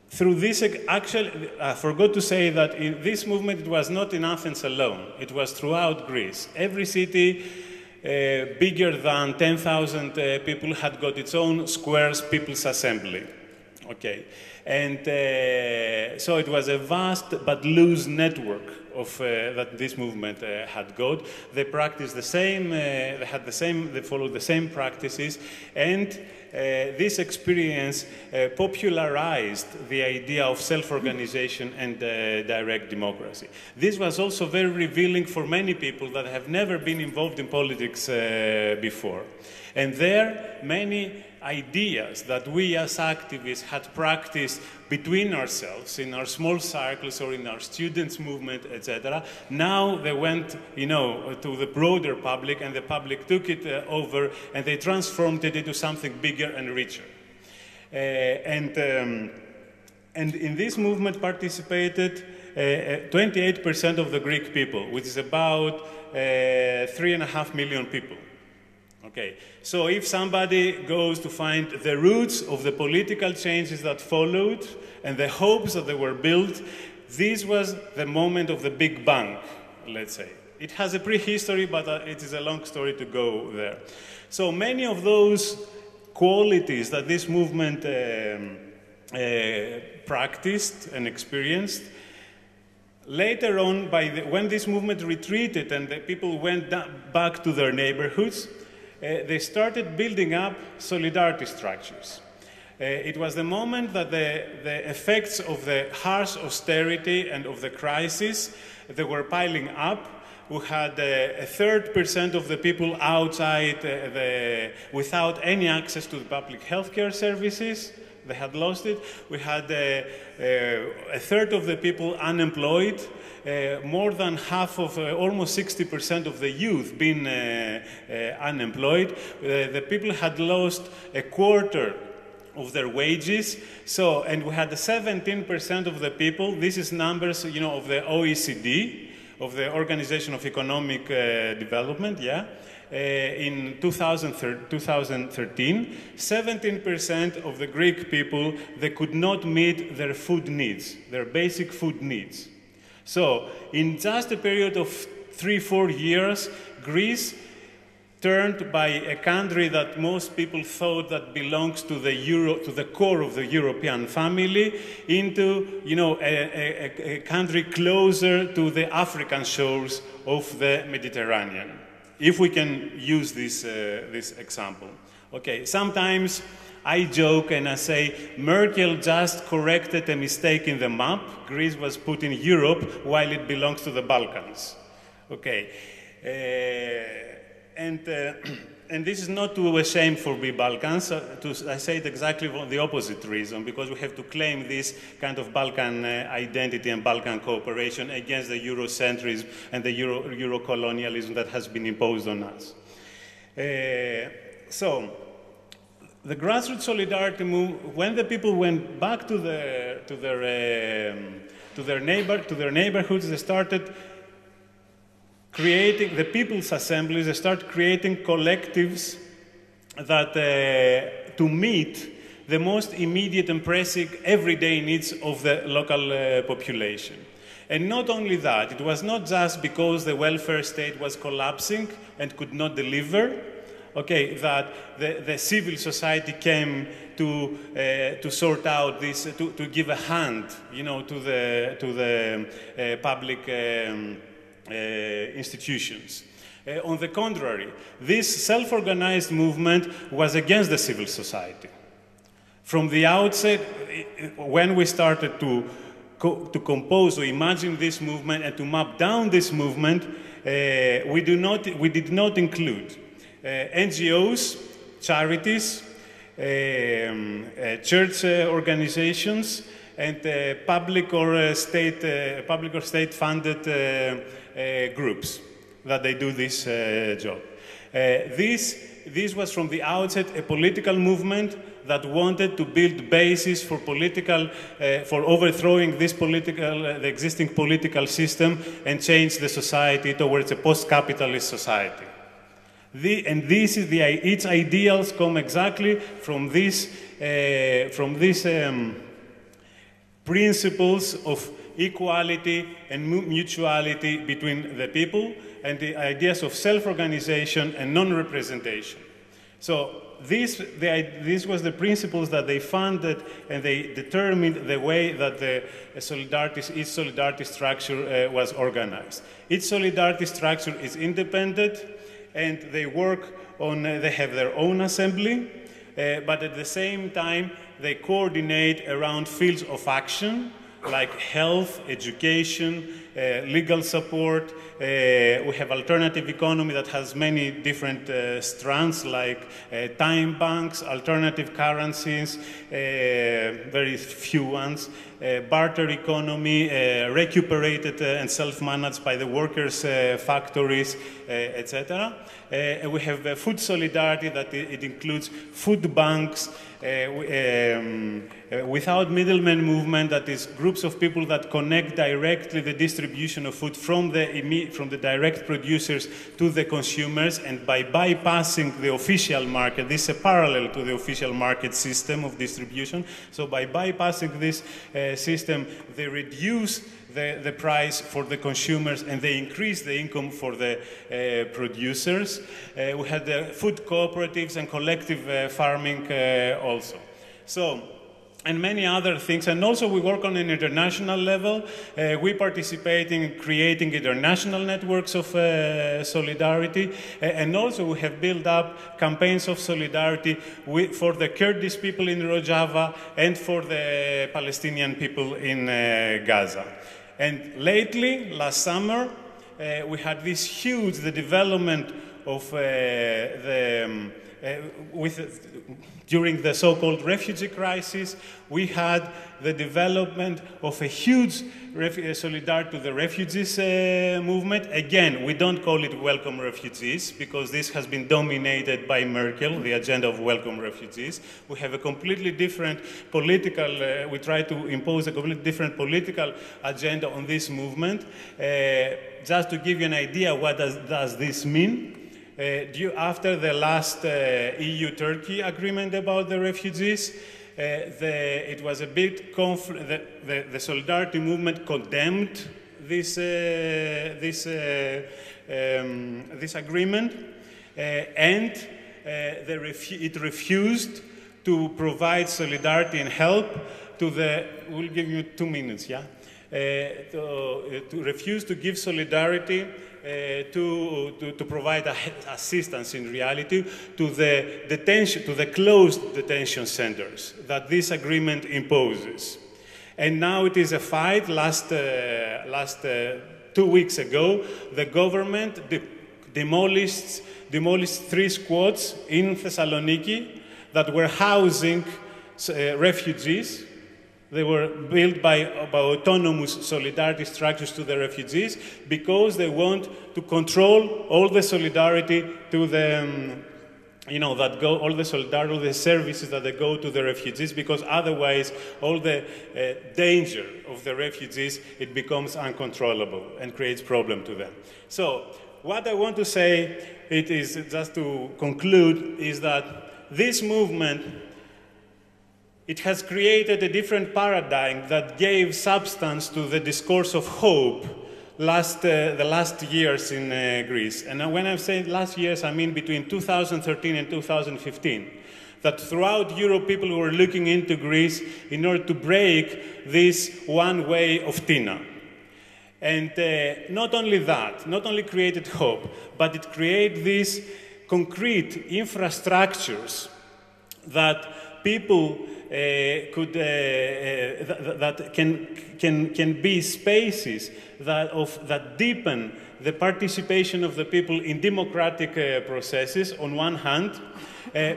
Through this, actually, I forgot to say that in this movement, it was not in Athens alone. It was throughout Greece. Every city bigger than 10,000 people had got its own squares people's assembly. Okay, and so it was a vast but loose network of that this movement had got. They practiced the same. They followed the same practices, and this experience popularized the idea of self-organization and direct democracy. This was also very revealing for many people that have never been involved in politics before. And there, many ideas that we as activists had practiced between ourselves, in our small circles or in our students' movement, etc., now they went, to the broader public, and the public took it over, and they transformed it into something bigger and richer. And in this movement participated 28% of the Greek people, which is about 3.5 million people. Okay, so if somebody goes to find the roots of the political changes that followed and the hopes that they were built, this was the moment of the Big Bang, let's say. It has a prehistory, but it is a long story to go there. So many of those qualities that this movement practiced and experienced, later on, when this movement retreated and the people went back to their neighborhoods, they started building up solidarity structures. It was the moment that the effects of the harsh austerity and of the crisis, they were piling up. We had 30% of the people outside without any access to the public healthcare services. They had lost it. We had a third of the people unemployed. More than half of, almost 60% of the youth being unemployed. The people had lost a quarter of their wages. So, and we had 17% of the people, this is numbers, of the OECD, of the Organization of Economic Development, yeah. In 2013, 17% of the Greek people, they could not meet their food needs, their basic food needs. So, in just a period of 3-4 years, Greece turned by a country that most people thought that belongs to the core of the European family, into, a country closer to the African shores of the Mediterranean. If we can use this example. Okay, sometimes I joke and I say, Merkel just corrected a mistake in the map. Greece was put in Europe while it belongs to the Balkans. Okay, and this is not to a shame for the Balkans. I say it exactly for the opposite reason, because we have to claim this kind of Balkan identity and Balkan cooperation against the Eurocentrism and the Euro-colonialism that has been imposed on us. So, the grassroots solidarity movement, when the people went back to their neighborhoods, they started creating the people's assemblies. They started creating collectives that to meet the most immediate and pressing everyday needs of the local population. And not only that, it was not just because the welfare state was collapsing and could not deliver. Okay, that the civil society came to sort out this, to give a hand, to the public institutions. On the contrary, this self-organized movement was against the civil society. From the outset, when we started to compose, to imagine this movement and to map down this movement, we did not include NGOs, charities, church organizations, and public or state-funded groups that they do this job. This was from the outset a political movement that wanted to build bases for for overthrowing the existing political system and change the society towards a post-capitalist society. Its ideals come exactly from these principles of equality and mutuality between the people, and the ideas of self-organization and non-representation. So this was the principles that they funded, and they determined the way that its solidarity structure was organized. Its solidarity structure is independent, and they have their own assembly, but at the same time they coordinate around fields of action like health, education, legal support. We have alternative economy that has many different strands like time banks, alternative currencies, very few ones, barter economy, recuperated and self-managed by the workers' factories, etc. We have food solidarity that it includes food banks, without middlemen movement, that is groups of people that connect directly the distribution of food from the direct producers to the consumers, and by bypassing the official market, this is a parallel to the official market system of distribution, so by bypassing this system, they reduce the price for the consumers and they increase the income for the producers. We had the food cooperatives and collective farming also. So, and many other things. And also we work on an international level. We participate in creating international networks of solidarity. And also we have built up campaigns of solidarity for the Kurdish people in Rojava and for the Palestinian people in Gaza. And lately, last summer, we had this huge development of during the so-called refugee crisis, we had the development of a huge solidarity to the refugees movement. Again, we don't call it welcome refugees because this has been dominated by Merkel, the agenda of welcome refugees. We have a completely different political, we try to impose a completely different political agenda on this movement. Just to give you an idea, what does this mean? After the last EU-Turkey agreement about the refugees, it was a big conflict. The solidarity movement condemned this agreement, and it refused to provide solidarity and help to the. We'll give you 2 minutes, yeah. To refuse to give solidarity. To provide assistance in reality to the closed detention centers that this agreement imposes. And now it is a fight. Last 2 weeks ago, the government demolished 3 squads in Thessaloniki that were housing refugees. They were built by autonomous solidarity structures to the refugees because they want to control all the solidarity to the, all the solidarity, all the services that they go to the refugees, because otherwise all the danger of the refugees, it becomes uncontrollable and creates problem to them. So what I want to say, it is just to conclude, is that this movement, it has created a different paradigm that gave substance to the discourse of hope the last years in Greece. And when I'm saying last years, I mean between 2013 and 2015. That throughout Europe, people were looking into Greece in order to break this one way of Tina. And not only that, not only created hope, but it created these concrete infrastructures that people that can be spaces that deepen the participation of the people in democratic processes on one hand,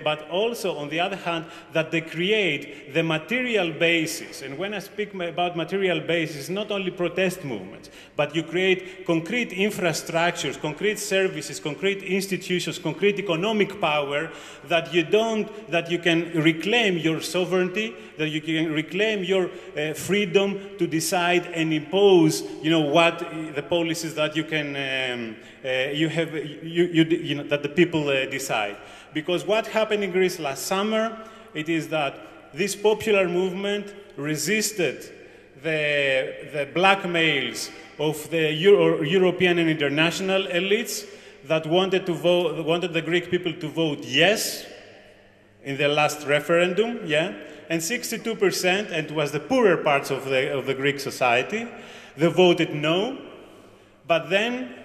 but also, on the other hand, that they create the material basis. And when I speak about material basis, not only protest movements, but you create concrete infrastructures, concrete services, concrete institutions, concrete economic power that you can reclaim your sovereignty, that you can reclaim your freedom to decide and impose, what the policies that you can, that the people decide. Because what happened in Greece last summer, it is that this popular movement resisted the blackmails of the European and international elites that wanted the Greek people to vote yes in the last referendum, and 62%, and it was the poorer parts of the Greek society, they voted no. But then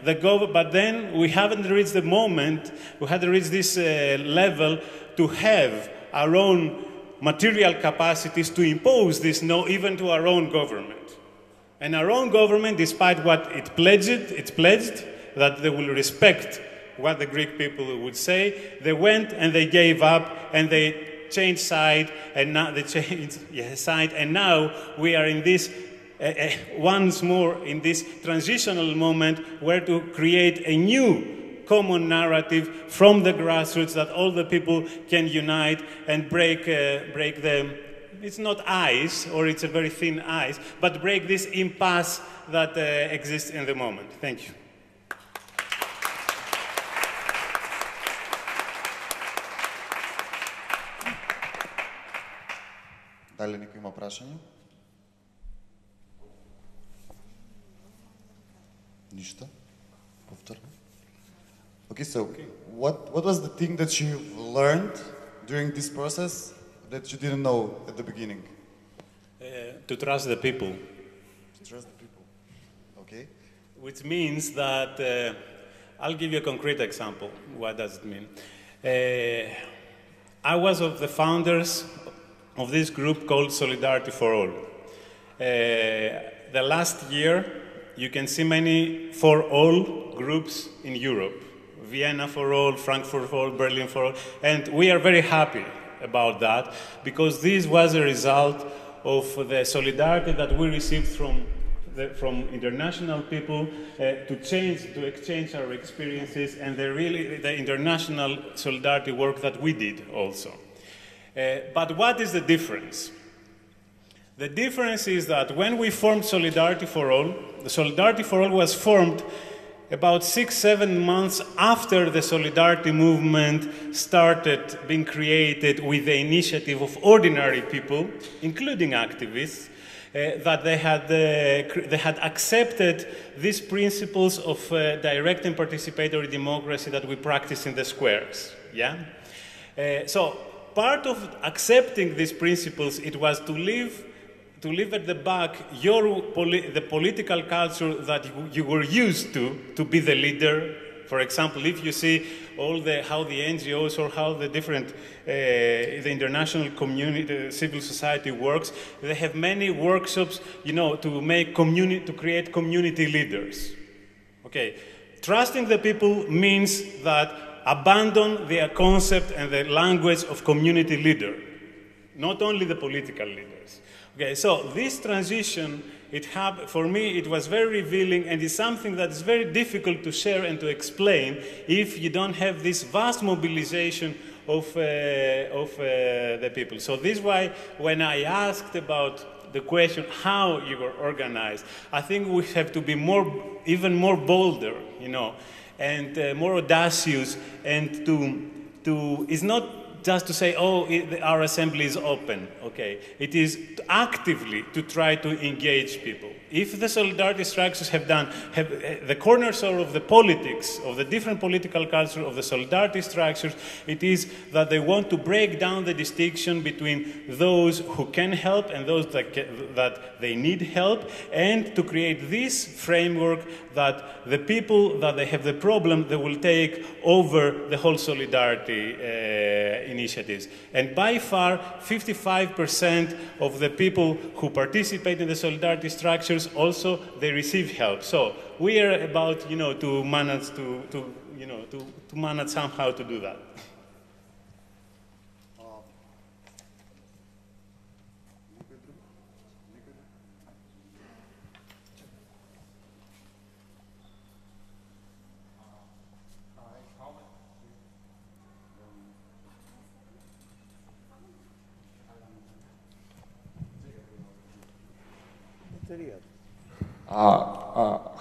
we haven't reached the moment, we hadn't reached this level to have our own material capacities to impose this no even to our own government. And our own government, despite what it pledged that they will respect what the Greek people would say, they went and they gave up and they changed side, and now we are in this once more in this transitional moment where to create a new common narrative from the grassroots that all the people can unite and break the, it's not ice, or it's a very thin ice, but break this impasse that exists in the moment. Thank you. Дали некој има прашање? Ништо? Повторно? Okay, so what was the thing that you learned during this process that you didn't know at the beginning? To trust the people. To trust the people. Okay. Which means that, I'll give you a concrete example. What does it mean? I was of the founders of this group called Solidarity for All. The last year, you can see many for all groups in Europe. Vienna for all, Frankfurt for all, Berlin for all. And we are very happy about that because this was a result of the solidarity that we received from international people to exchange our experiences, and the international solidarity work that we did also. But what is the difference? The difference is that when we formed Solidarity for All, the Solidarity for All was formed about 6-7 months after the Solidarity movement started being created with the initiative of ordinary people, including activists, that they had accepted these principles of direct and participatory democracy that we practice in the squares. So part of accepting these principles, it was to leave at the back the political culture that you were used to be the leader. For example, if you see how the NGOs or how the different the international community, civil society works, they have many workshops, to create community leaders. Okay, trusting the people means that abandon the concept and the language of community leader, not only the political leaders. Okay, so this transition, for me, it was very revealing, and it's something that is very difficult to share and to explain if you don't have this vast mobilization of the people. So this is why when I asked about the question how you were organized, I think we have to be even more bolder, and more audacious, and to it's not just to say, our assembly is open, okay? It is actively to try to engage people. If the solidarity structures have the cornerstone of the politics, of the different political culture of the solidarity structures, it is that they want to break down the distinction between those who can help and those that they need help, and to create this framework that the people that they have the problem, they will take over the whole solidarity initiatives. And by far, 55% of the people who participate in the solidarity structures also, they receive help. So we are about, to manage to manage somehow to do that.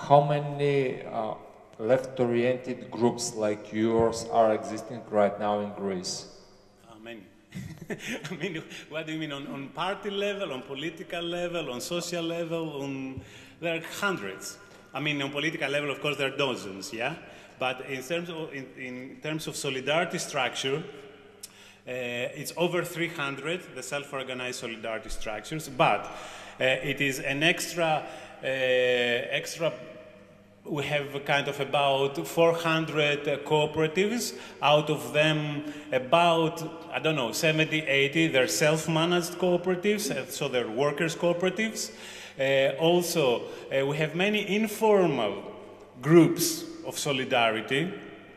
How many left-oriented groups like yours are existing right now in Greece? Many. I mean, what do you mean? On party level, on political level, on social level? There are hundreds. I mean, on political level, of course, there are dozens, yeah? But in terms of solidarity structure, it's over 300, the self-organized solidarity structures, but it is an extra, we have kind of about 400 cooperatives, out of them about, I don't know, 70, 80, they're self-managed cooperatives, so they're workers' cooperatives. Also, we have many informal groups of solidarity,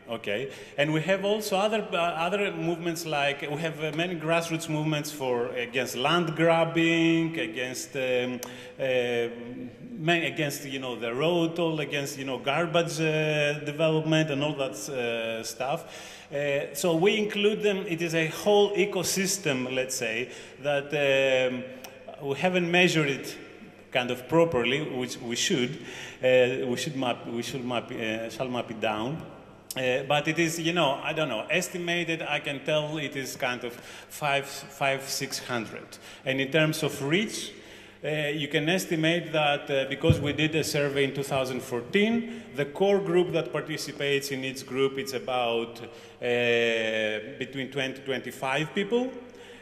okay, and we have also other movements, like we have many grassroots movements against land grabbing, against the road toll, against garbage development and all that stuff. So we include them. It is a whole ecosystem, let's say, that we haven't measured it kind of properly, which we should. We shall map it down. But it is, I don't know, estimated, I can tell it is kind of 500-600. And in terms of reach, you can estimate that because we did a survey in 2014, the core group that participates in each group, it's about between 20 to 25 people.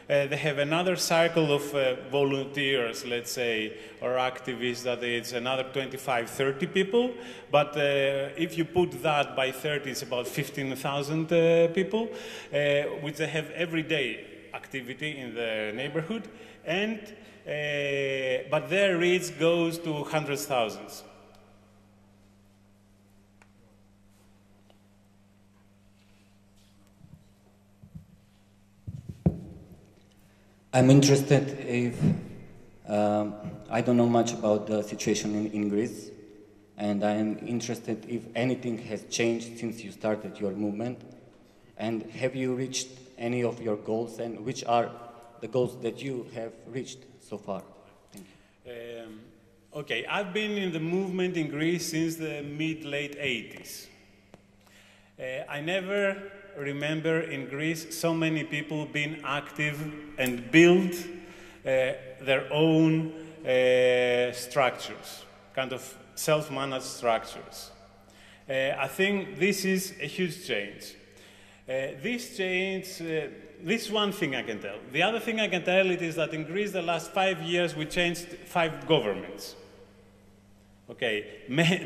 They have another cycle of volunteers, let's say, or activists, that it's another 25, 30 people. But if you put that by 30, it's about 15,000 people, which they have everyday activity in the neighborhood. And, but their reach goes to hundreds of thousands. I'm interested if, I don't know much about the situation in Greece, and I am interested if anything has changed since you started your movement, and have you reached any of your goals, and which are the goals that you have reached so far? Thank you. Okay, I've been in the movement in Greece since the mid-late 80s. I never remember in Greece so many people being active and build their own structures, kind of self-managed structures. I think this is a huge change. This change, this is one thing I can tell. The other thing I can tell is that in Greece the last 5 years we changed 5 governments. Okay,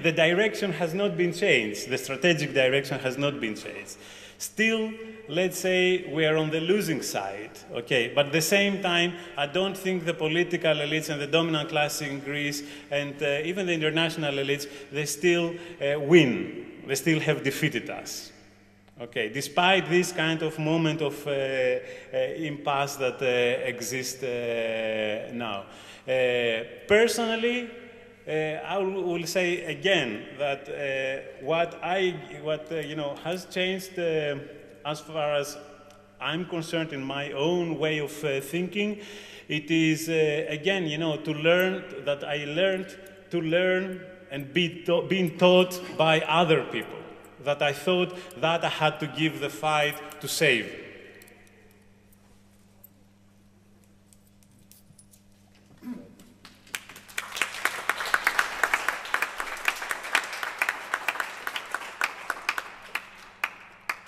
the direction has not been changed. The strategic direction has not been changed. Still, let's say we are on the losing side, okay? But at the same time, I don't think the political elites and the dominant class in Greece and even the international elites, they still win. They still have defeated us, okay? Despite this kind of moment of impasse that exists now. Personally, I will say again that what has changed as far as I'm concerned in my own way of thinking, it is again, to learn that I learned to learn and being taught by other people. That I thought that I had to give the fight to save.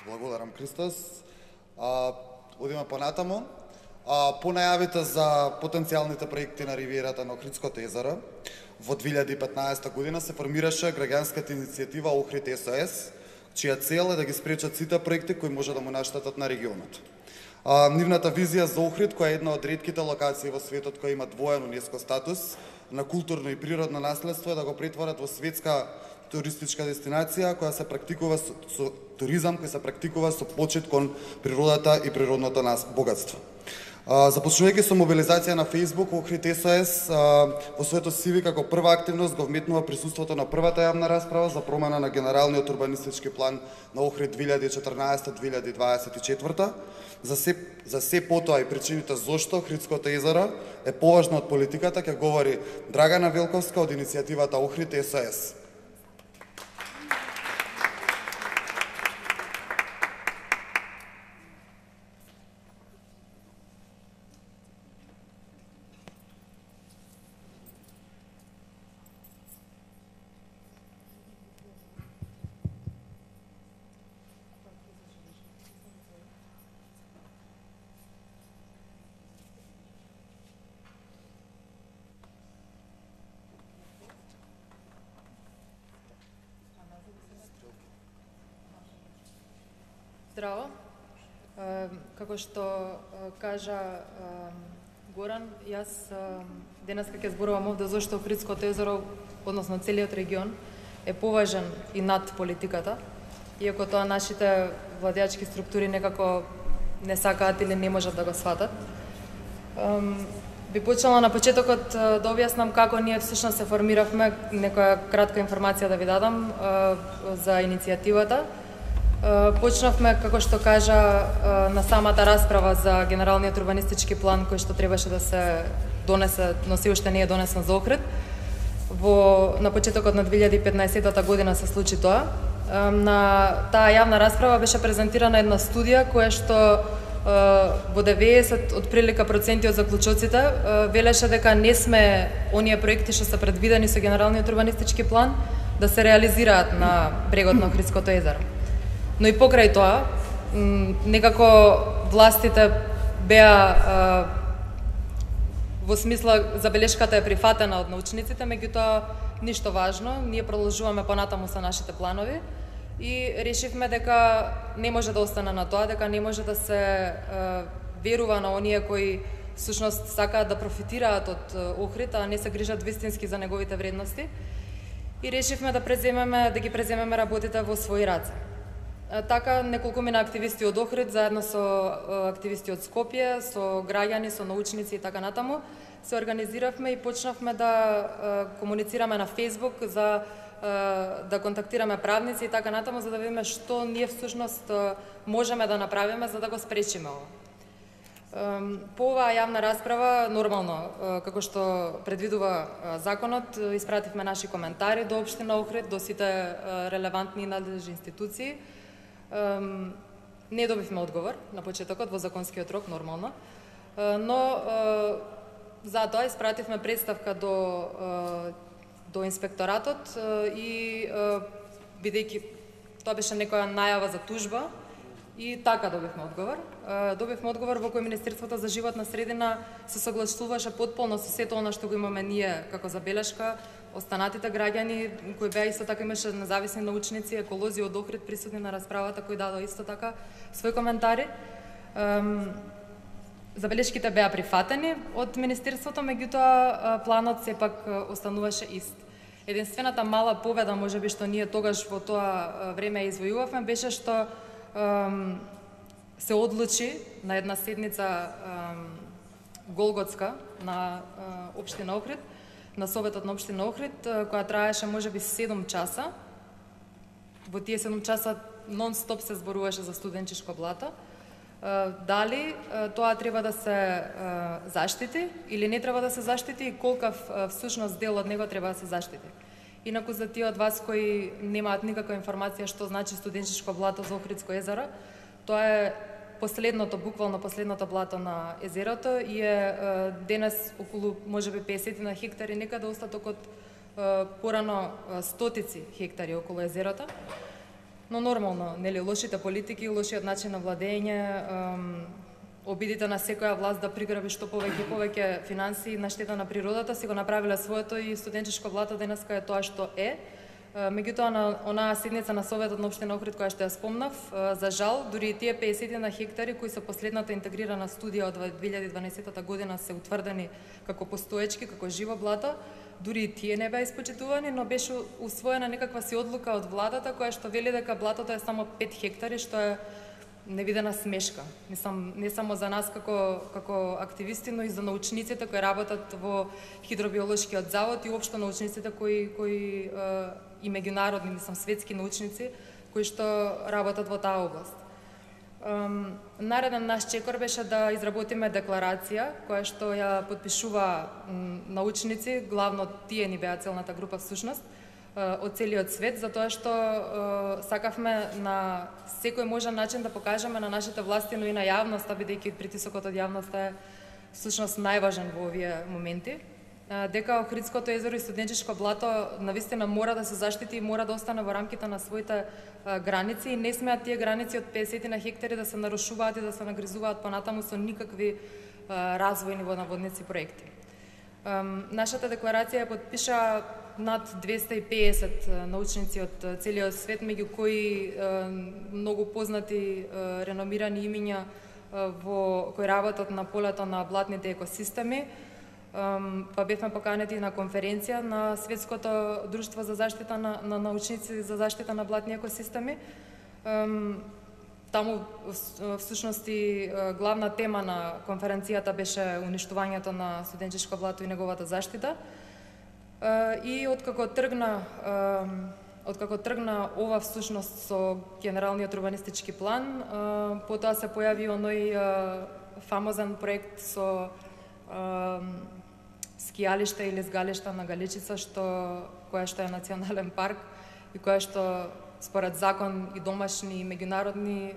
Благодарам, Христос. Одиме понатаму. По најавите за потенцијалните проекти на ривиерата на Охридското езеро, во 2015 година се формираше граѓанската иницијатива Охрид СОС, чија цел е да ги спречат сите проекти кои може да му наштетат на регионот. Нивната визија за Охрид, која е една од ретките локации во светот која има двоен УНЕСКО статус на културно и природно наследство, е да го претворат во светска туристичка дестинација која се практикува со туризам кој се практикува со почит кон природата и природното богатство. Започнувајќи со мобилизација на Facebook, Охрид СОС во своето CV како прва активност го вметнува присуството на првата јавна расправа за промена на генералниот урбанистички план на Охрид 2014-2024. За се потоа и причините зошто Охридското езеро е поважно од политиката ќе говори Драгана Велковска од иницијативата Охрид СОС. Здраво. Како што кажа Горан, јас денеска ќе зборувам овде зашто Охридското езеро, односно целиот регион, е поважен и над политиката, иако тоа нашите владеачки структури некако не сакаат или не можат да го сватат. Би почнала на почетокот да објаснам како ние всушност се формиравме, некоја кратка информација да ви дадам за иницијативата. Почнавме, како што кажа, на самата расправа за генералниот урбанистички план кој што требаше да се донесе, но се уште не е донесен за Охрид. На почетокот на 2015 година се случи тоа. На таа јавна расправа беше презентирана една студија која што во 90 отприлика проценти од заклучоците велеше дека не сме оние проекти што се предвидени со генералниот урбанистички план да се реализираат на брегот на Охридското езеро. Но и покрај тоа, некако властите беа во смисла забелешката е прифатена од научниците, меѓутоа ништо важно, ние продолжуваме понатаму со нашите планови и решивме дека не може да остане на тоа, дека не може да се верува на оние кои всушност сакаат да профитираат од Охрид, а не се грижат вистински за неговите вредности. И решивме да ги преземеме работите во своји раце. Така, неколкумина активисти од Охрид, заедно со активисти од Скопје, со граѓани, со научници и така натаму, се организиравме и почнавме да комуницираме на Facebook, да контактираме правници и така натаму, за да видиме што ние всушност можеме да направиме за да го спречиме ова. По оваа јавна расправа, нормално, како што предвидува законот, испративме наши коментари до Општина Охрид, до сите релевантни и надлежни институции. Не добивме одговор на почетокот во законскиот рок, нормално, но затоа испративме представка до инспекторатот и бидејќи тоа беше некоја најава за тужба и така добивме одговор. Добивме одговор во кој Министерството за животна средина се согласуваше потполно со сето она што го имаме ние како забелешка, останатите граѓани кои беа исто така, имаше независни научници, еколози од Охрид присутни на расправата кои дадоа исто така своји коментари. Забелешките беа прифатени од Министерството, меѓутоа планот сепак остануваше ист. Единствената мала победа, можеби што ние тогаш во тоа време извојувавме, беше што се одлучи на една седница голготска на Општина Охрид, на Советот на Општина Охрид, која траеше можеби 7 часа. Во тие 7 часа нон-стоп се зборуваше за студенчишко блато. Дали тоа треба да се заштити или не треба да се заштити и колкав всушност дел од него треба да се заштити. Инаку за тие од вас кои немаат никаква информација што значи студенчишко блато за Охридско езеро, тоа е последното, буквално последното блато на езерото и е денес околу можеби 50 на хектари, некаде остаток од порано стотици хектари околу езерото. Но нормално, нели, лошите политики, лошиот начин на владење, обидите на секоја власт да приграби што повеќе финансии на штета на природата, си го направиле своето и студенчишко блато денеска е тоа што е. Меѓутоа на онаа седница на Советот на општина Охрид која што ја спомнав, за жал, дури и тие 50 на хектари кои со последната интегрирана студија од 2012 година се утврдени како постоечки, како живо блато, дури и тие не беа испочитувани, но беше усвоена некаква си одлука од владата која што вели дека блатото е само 5 хектари, што е невидена смешка. Не само за нас како активисти, но и за научниците кои работат во Хидробиолошкиот завод и општо научниците кои и меѓународни, светски научници кои што работат во таа област. Нареден наш чекор беше да изработиме декларација која што ја подпишува научници, главно тие ни беа целната група всушност, од целиот свет, затоа што сакавме на секој можен начин да покажеме на нашите власти, но и на јавноста, бидејќи притисокот од јавноста е всушност најважен во овие моменти, дека Охридското езеро и студенческо блато навистина мора да се заштити и мора да остане во рамките на своите граници и не смеат тие граници од 50 на хектари да се нарушуваат и да се нагризуваат понатаму со никакви развојни водонаводници проекти. Нашата декларација ја подпиша над 250 научници од целиот свет, меѓу кои многу познати реномирани имиња кои работат на полето на блатните екосистеми. Па бевме поканети на конференција на Светското друштво за заштита на научници за заштита на блатни екосистеми. Таму всушност и главна тема на конференцијата беше уништувањето на студенческо блато и неговата заштита. И откако тргна ова всушност со генералниот урбанистички план, потоа се појави оној фамозен проект со скијалиште или згалишта на Галичица, која што е национален парк и која што според закон и домашни и меѓународни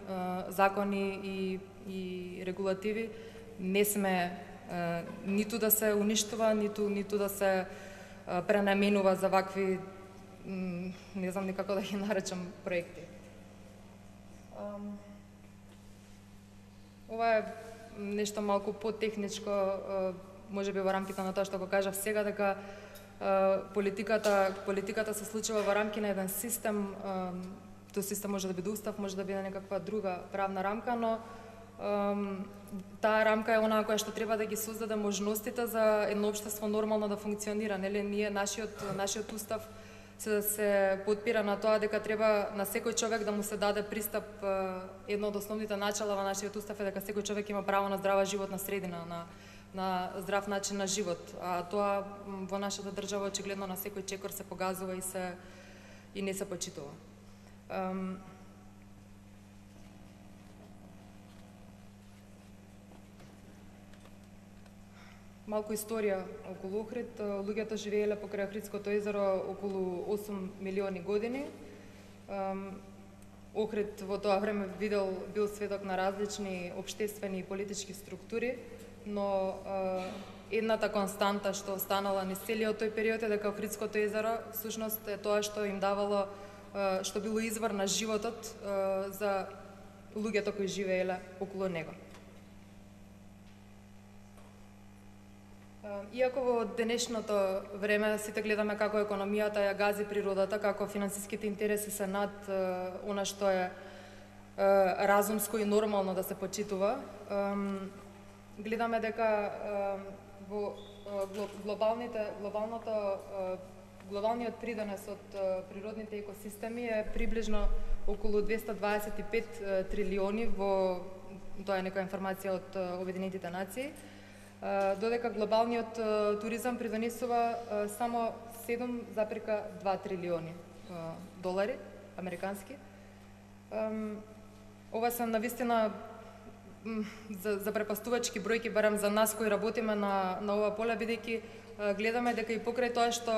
закони и регулативи не сме ниту да се уништува, ниту да се пренаменува за вакви, не знам никако да ги наречам, проекти. Ова е нешто малку потехничко, можеби во рамките на тоа што го кажав сега, дека политиката се случува во рамки на еден систем. Тој систем може да биде устав, може да биде некаква друга правна рамка, но таа рамка е онаа која што треба да ги создаде можностите за едно општество нормално да функционира. Нели, нашиот устав се потпира на тоа дека треба на секој човек да му се даде пристап. Едно од основните начала во нашиот устав е дека секој човек има право на здрава животна средина, на здрав начин на живот. А тоа во нашата држава очигледно на секој чекор се погазува и не се почитува. Малку историја околу Охрид. Луѓето живееле покрај Охридското езеро околу 8 милиони години. Охрид во тоа време бил сведок на различни општествени и политички структури, но едната константа што останала низ целиот тој период е дека Охридското езеро всушност е тоа што им давало, што било извор на животот за луѓето кои живееле околу него. Иако во денешното време сите гледаме како економијата ја гази природата, како финансиските интереси се над она што е разумско и нормално да се почитува, гледаме дека во глобалниот придонес од природните екосистеми е приближно околу 225 трилиони, тоа е некоја информација од Обединетите нации, додека глобалниот туризам придонесува само 7,2 трилиони долари американски. Ова се навистина за препастувачки бројки, барем за нас кои работиме на ова поле, бидејќи гледаме дека и покрај тоа што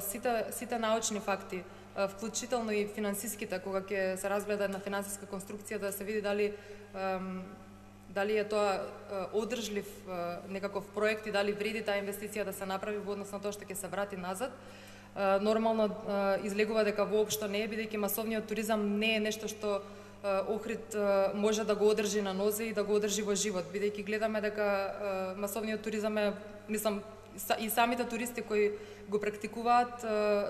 сите научни факти, вклучително и финансиските, кога ќе се разгледа една финансиска конструкција да се види дали е тоа одржлив некаков проект и дали вреди таа инвестиција да се направи во однос на тоа што ќе се врати назад. Нормално излегува дека воопшто не е, бидејќи масовниот туризам не е нешто што Охрид може да го одржи на нозе и да го одржи во живот, бидејќи гледаме дека масовниот туризам е, и самите туристи кои го практикуваат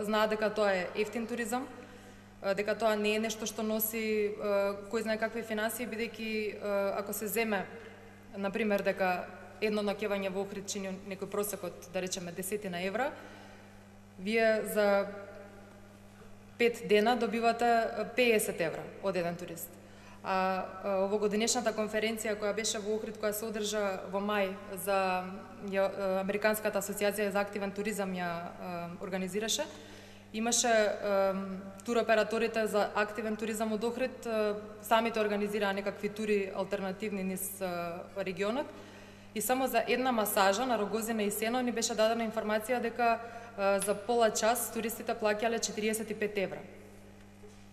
знаат дека тоа е ефтин туризам, дека тоа не е нешто што носи кој знае какви финансии, бидејќи ако се земе на пример дека едно ноќевање во Охрид чини некој просек од, да речеме, 10 евра, вие за 5 дена добивате 50 евра од еден турист. А овогодинешната конференција која беше во Охрид, која се одржа во мај за Американската асоциација за активен туризам ја организираше, имаше туроператорите за активен туризам од Охрид, самите организираа некакви тури алтернативни низ регионот, и само за една масажа на Рогозина и Сено ни беше дадена информација дека за пола час туристите плаќале 45 евра.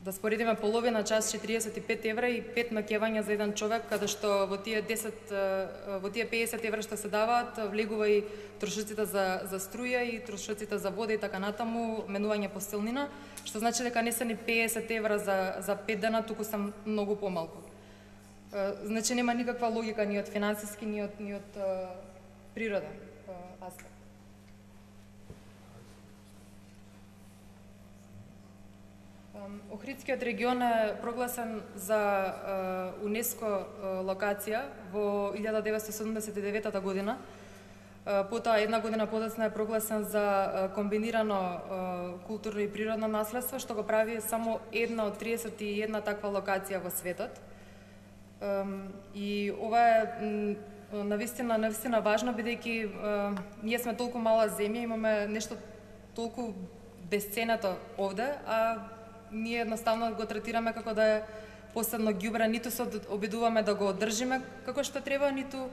Да споредиме половина час 45 евра и 5 ноќевања за еден човек, каде што во тие 50 евра што се даваат влегува и трошоците за струја и трошоците за вода и така натаму, менување постелнина, што значи дека не се ни 50 евра за 5 дена, туку се многу помалку. Значи нема никаква логика ни од финансиски, ни од природен аспект. Охридскиот регион е прогласен за УНЕСКО локација во 1979 година. Потоа една година подоцна е прогласен за комбинирано културно и природно наследство, што го прави само една од 31 таква локација во светот. И ова е навистина важно, бидејќи ние сме толку мала земја, имаме нешто толку бесценето овде, а ние едноставно го третираме како да е посебно ѓубре, ниту се обидуваме да го одржиме како што треба, ниту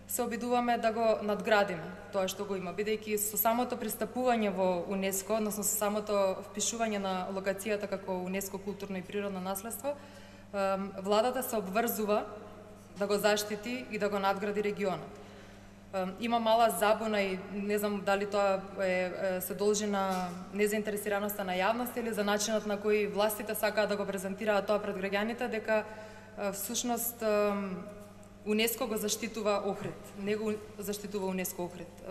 се обидуваме да го надградиме тоа што го има, бидејќи со самото пристапување во УНЕСКО, односно со самото впишување на локацијата како УНЕСКО културно и природно наследство, владата се обврзува да го заштити и да го надгради регионот. Има мала забуна и не знам дали тоа се должи на незаинтересираноста на јавноста или за начинот на кој властите сакаат да го презентираат тоа пред граѓаните, дека всушност УНЕСКО го заштитува Охрид, не го заштитува УНЕСКО Охрид.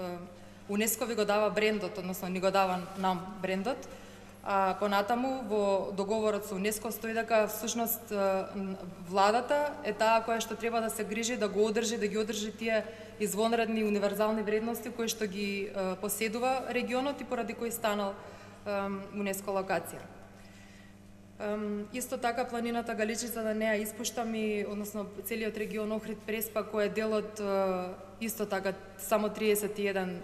УНЕСКО ви го дава брендот, односно ни го дава нам брендот, а понатаму во договорот со УНЕСКО стои дека всушност владата е таа која што треба да се грижи да го одржи, да ги одржи тие извонредни универзални вредности кои што ги поседува регионот и поради кои станал УНЕСКО локација. Исто така планината Галичица, да не ја испуштам, и односно целиот регион Охрид Преспа, кој е дел од исто така само 31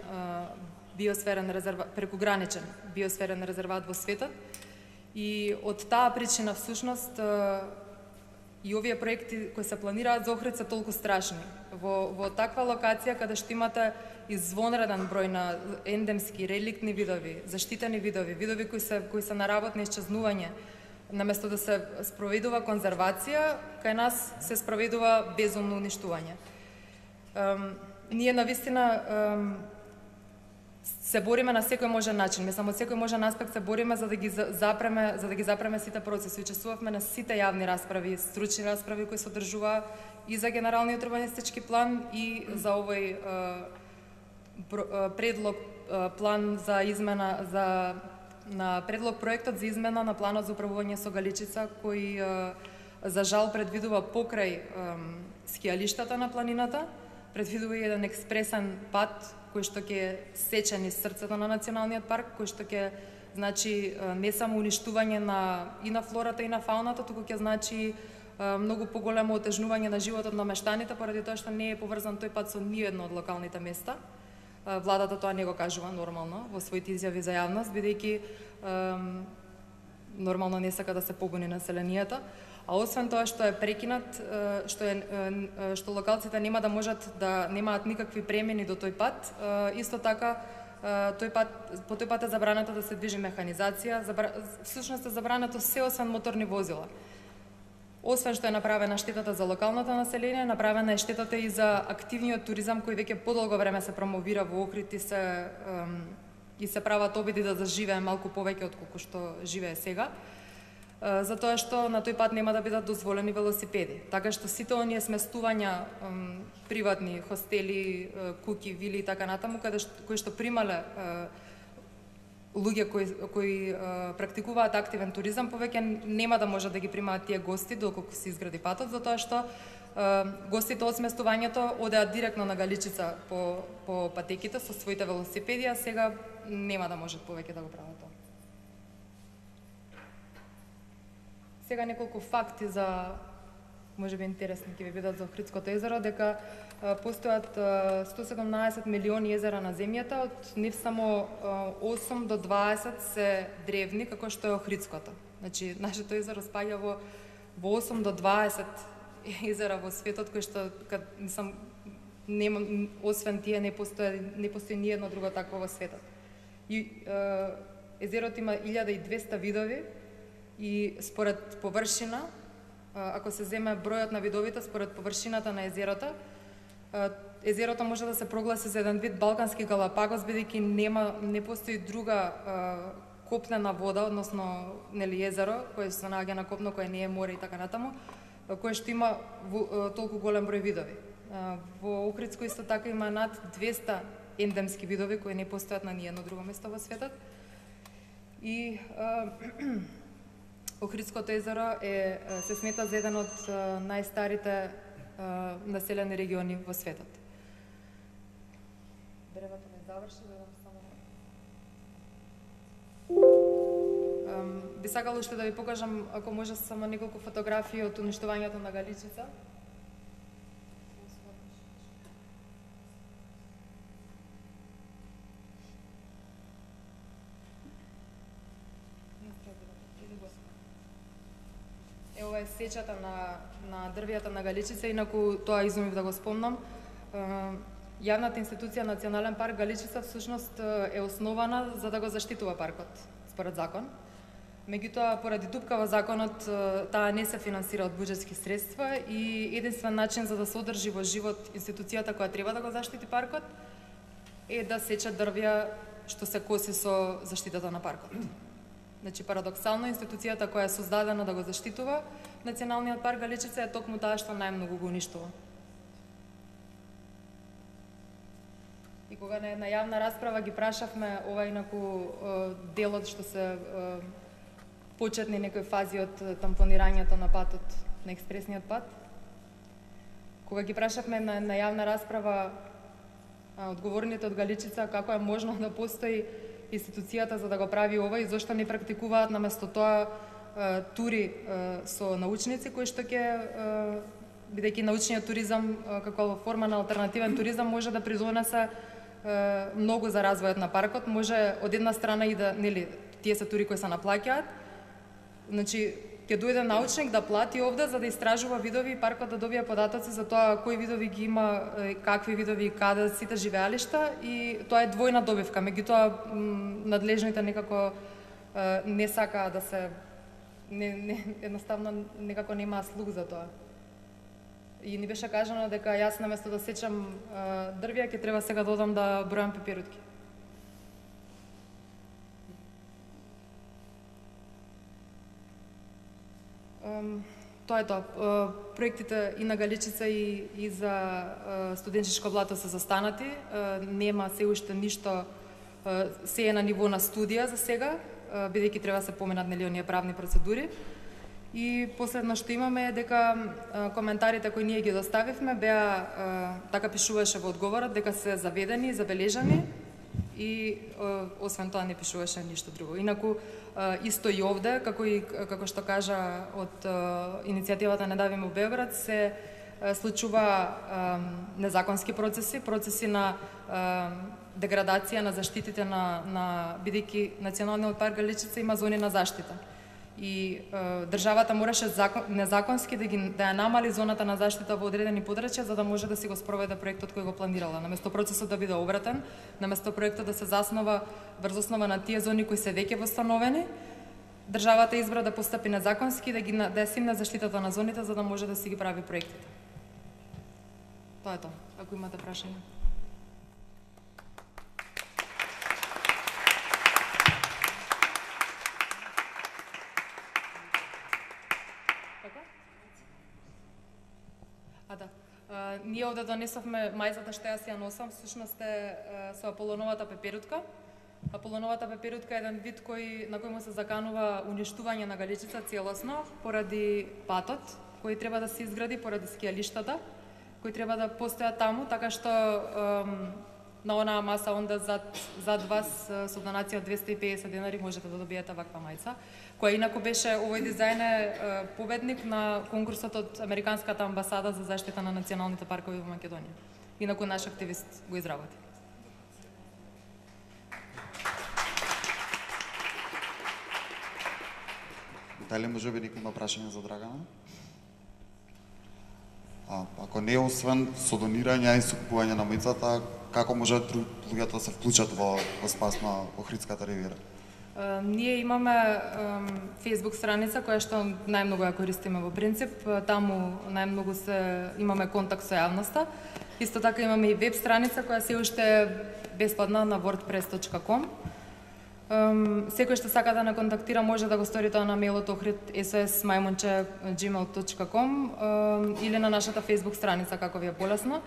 биосферен резерват, прекуграничен биосферен резерват во светот. И од таа причина всушност и овие проекти кои се планираат за Охрид се толку страшни. Во таква локација каде што имате извонреден број на ендемски, реликтни видови, заштитени видови кои се на работ на исчезнување, наместо да се спроведува конзервација, кај нас се спроведува безумно уништување. Ние навистина се бориме на секој можен начин, мислам од секој можен аспект се бориме за да ги запреме сите процеси. Учествувавме на сите јавни расправи, стручни расправи кои се одржуваа и за генералниот урбанистички план и за овој предлог план за измена на предлог проектот за измена на планот за управување со Галичица, кој за жал предвидува покрај скијалиштата на планината, предвидува и еден експресен пат кој што ќе сече низ срцето на националниот парк, кој што ќе значи не само уништување и на флората и на фауната, туку ќе значи многу поголемо отежнување на животот на мештаните, поради тоа што не е поврзан тој пат со ниедно од локалните места. Владата тоа не го кажува нормално во своите изјави за јавност, бидејќи нормално не сака да се побуни населението. А освен тоа што е прекинат, што локалците нема да можат да немаат никакви премини до тој пат, исто така по тој пат е забрането да се движи механизација, всушност е забрането се освен моторни возила. Освен што е направена штетата за локалното население, направена е штетата и за активниот туризам кој веќе подолго време се промовира во Охрид и се прават обиди да заживее малку повеќе од колку што живее сега. затоа што на тој пат нема да бидат дозволени велосипеди. Така што сите оние сместувања, приватни хостели, куќи, вили и така натаму, кои што примале луѓе кои практикуваат активен туризам, повеќе нема да можат да ги примаат тие гости доколку се изгради патот, затоа што гостите од сместувањето одеат директно на Галичица по патеките со своите велосипеди, а сега нема да можат повеќе да го прават тоа. Сега неколку факти за, можеби интересни ќе ви бидат за Охридското езеро, дека постојат 117 милиони езера на земјата, од нив само 8 до 20 се древни, како што е Охридското. Значи, нашето езеро спаѓа во 8 до 20 езера во светот, кои што, освен тие, не постои ни едно друго такво во светот. И езерото има 1200 видови и според површина, ако се земе бројот на видовите според површината на езерото, езерото може да се прогласи за еден вид Балкански Галапагос, бидејќи не постои друга копнена вода, односно езеро, кое се наоѓа на копно, кое не е море и така натаму, кое што има толку голем број видови. Во Охридско исто така има над 200 ендемски видови кои не постојат на ниедно друго место во светот. И Охридското езеро се смета за еден од најстарите населени региони во светот. Древото не заврши, би сакала уште да ви покажам, ако може, само неколку фотографии од уништувањето на Галичица. Ова е сечата на дрвијата на Галичица, инаку тоа изумив да го спомнам. Јавната институција Национален парк Галичица всушност е основана за да го заштитува паркот, според закон. Меѓутоа, поради дупка во законот, таа не се финансира од буџетски средства и единствен начин за да се одржи во живот институцијата која треба да го заштити паркот е да сече дрвја што се коси со заштитата на паркот. Значи, парадоксално, институцијата која е создадена да го заштитува Националниот парк Галичица е токму таа што најмногу го уништува. И кога на една јавна расправа ги прашавме ова инаку делот што се почетни некои фази од тампонирањето на патот, на експресниот пат, кога ги прашавме на јавна расправа одговорните од Галичица како е можно да постои институцијата за да го прави ова и зошто не практикуваат наместо тоа тури со научници кои што ќе, бидејќи научниот туризам како форма на алтернативен туризам може да придонесе многу за развојот на паркот, може од една страна и да, нели, тие се тури кои се наплаќаат, значи ќе дојде научник да плати овде за да истражува видови и паркот да добие податоци за тоа кои видови ги има, какви видови и каде сите живеалишта, и тоа е двојна добивка. Меѓутоа надлежните некако не сакаа да се едноставно некако нема слух за тоа. И ни беше кажано дека јас наместо да сечам дрвја ќе треба сега да одам да бројам пеперутки. Тоа е тоа. Проектите и на Галичица и за студенчешко блато се застанати. Нема се уште ништо, се е на ниво на студија за сега, бидејќи треба се поменат оние правни процедури. И последно што имаме е дека коментарите кои ние ги доставивме беа, така пишуваше во одговорот, дека се заведени, забележани и освен тоа не пишуваше ништо друго. Инаку исто и овде, како што кажа од иницијативата Не давиме Београд, се случува незаконски процеси на деградација на заштитите на бидејќи Националниот парк Галичица има зони на заштита. И државата мораше незаконски да ја намали зоната на заштита во одредени подрачја за да може да си го спроведе проектот кој го планирала. Наместо процесот да биде обратен, наместо проектот да се заснова врз основа на тие зони кои се веќе восстановени, државата избра да постапи незаконски, да ја симне заштитата на зоните за да може да си ги прави проектите. Тоа е тоа. Ако имате прашања. Како? Да. Ние овде донесовме мајзата што јас ја носам, всушност е со Аполоновата пеперутка. Аполоновата пеперутка е еден вид на кој му се заканува уништување на Галичица целосно поради патот кој треба да се изгради, поради скијалиштата кои треба да постојат таму, така што на онаа маса онда зад вас со донација од 250 денари можете да добиете ваква мајца, која инаку беше, овој дизајн е победник на конкурсот од Американската амбасада за заштита на националните паркови во Македонија. Инаку наш активист го изработи. Дали може би некој има прашање за Драгана? Ако не, освен со донирање и со купување на мајцата, како можат луѓето да се вклучат во спас на Охридската ривиера? Ние имаме Facebook страница која што најмногу ја користиме во принцип. Таму најмногу имаме контакт со јавноста. Исто така имаме и веб страница која се уште е бесплатна на wordpress.com. Секој што сака да не контактира може да го стори тоа на мејлот ohrid@gmail.com или на нашата Facebook страница како ви е полесно.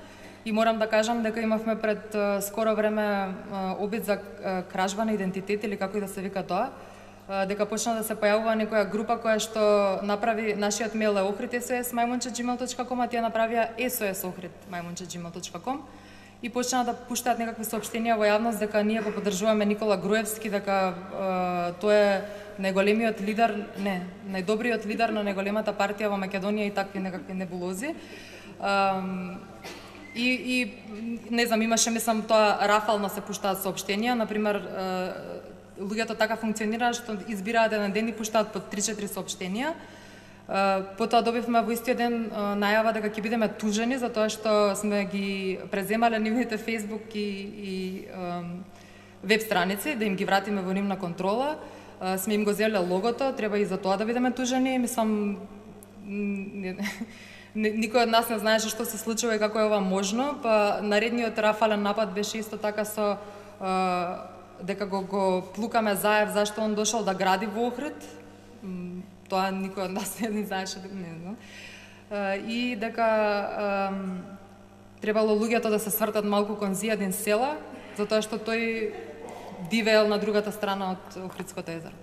И морам да кажам дека имавме пред скоро време обид за кражба на идентитет или како и да се вика тоа, дека почна да се појавува некоја група која што направи нашиот мејл е ohrid@sos@gmail.com, а тие направија sos@ohrid@gmail.com и почна да пуштаат некакви соопштенија во јавност дека ние го поддржуваме Никола Груевски, дека тој е најголемиот лидер, најдобриот лидер на најголемата партија во Македонија и такви некакви небулози. И не знам, имаше, мислам, тоа рафално се пуштаат соопштенија, например, луѓето така функционираат што избираат еден ден и пуштаат по 3-4 соопштенија. Потоа добивме во истиот ден најава дека ќе бидеме тужени за тоа што сме ги преземале нивните Facebook и веб страници, да им ги вратиме во нивна контрола. Сме им го земле логото, треба и за тоа да бидеме тужени. Мислам, никој од нас не знаеше што се случува и како е ова можно, па наредниот рафален напад беше исто така со дека го плукаме Заев зашто он дошол да гради во Охрид. Тоа никој од нас не знаеше, не знам. И дека требало луѓето да се свртат малку кон Зијадин села, затоа што тој дивеел на другата страна од Охридското езеро.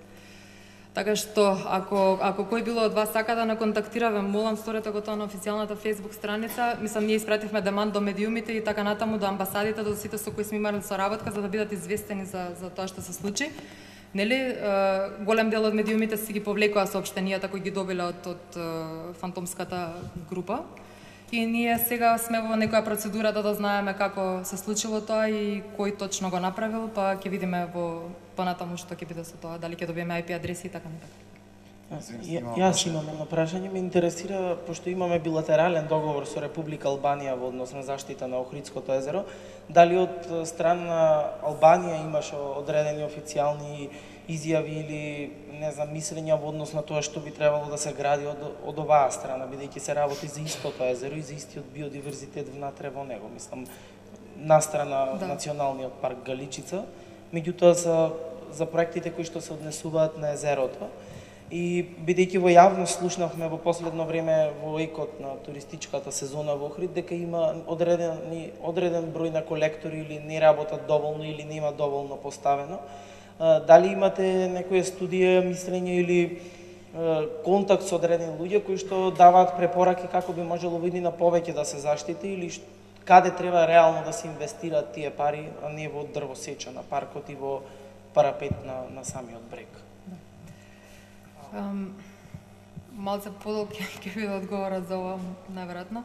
Така што, ако кој било од вас сака да не контактира, ве молам, сторете го тоа на официјалната Facebook страница. Мислам, ние испративме деманд до медиумите и така натаму, до амбасадите, до сите со кои сме имали соработка, за да бидат известени за тоа што се случи. Нели, голем дел од медиумите си ги повлекоа соопштенијата кои ги добиле од фантомската група. И ние сега сме во некоја процедура да знаеме како се случило тоа и кој точно го направил, па ќе видиме во понатаму што ќе биде со тоа, дали ќе добиеме IP адреси и така натака. Јас имам едно прашање, ме интересира, пошто имаме билатерален договор со Република Албанија во однос на заштита на Охридското езеро, дали од страна на Албанија имаше одредени официјални изјави или не знам мислења во однос на тоа што би требало да се гради од оваа страна, бидејќи се работи за истото езеро и за истиот биодиверзитет внатре во него, мислам, настрана Националниот парк Галичица, меѓутоа за проектите кои што се однесуваат на езерото. И бидејќи во јавност слушнавме во последно време во екот на туристичката сезона во Охрид дека има одреден број на колектори или не работат доволно или нема доволно поставено. Дали имате некоја студија, мислење или контакт со одредени луѓе кои што даваат препораки како би можело во иднина повеќе да се заштити или каде треба реално да се инвестираат тие пари, а не во дрвосеча на паркот и во парапет на самиот брег? Малце подолг ќе биде одговорот за ова, најверојатно.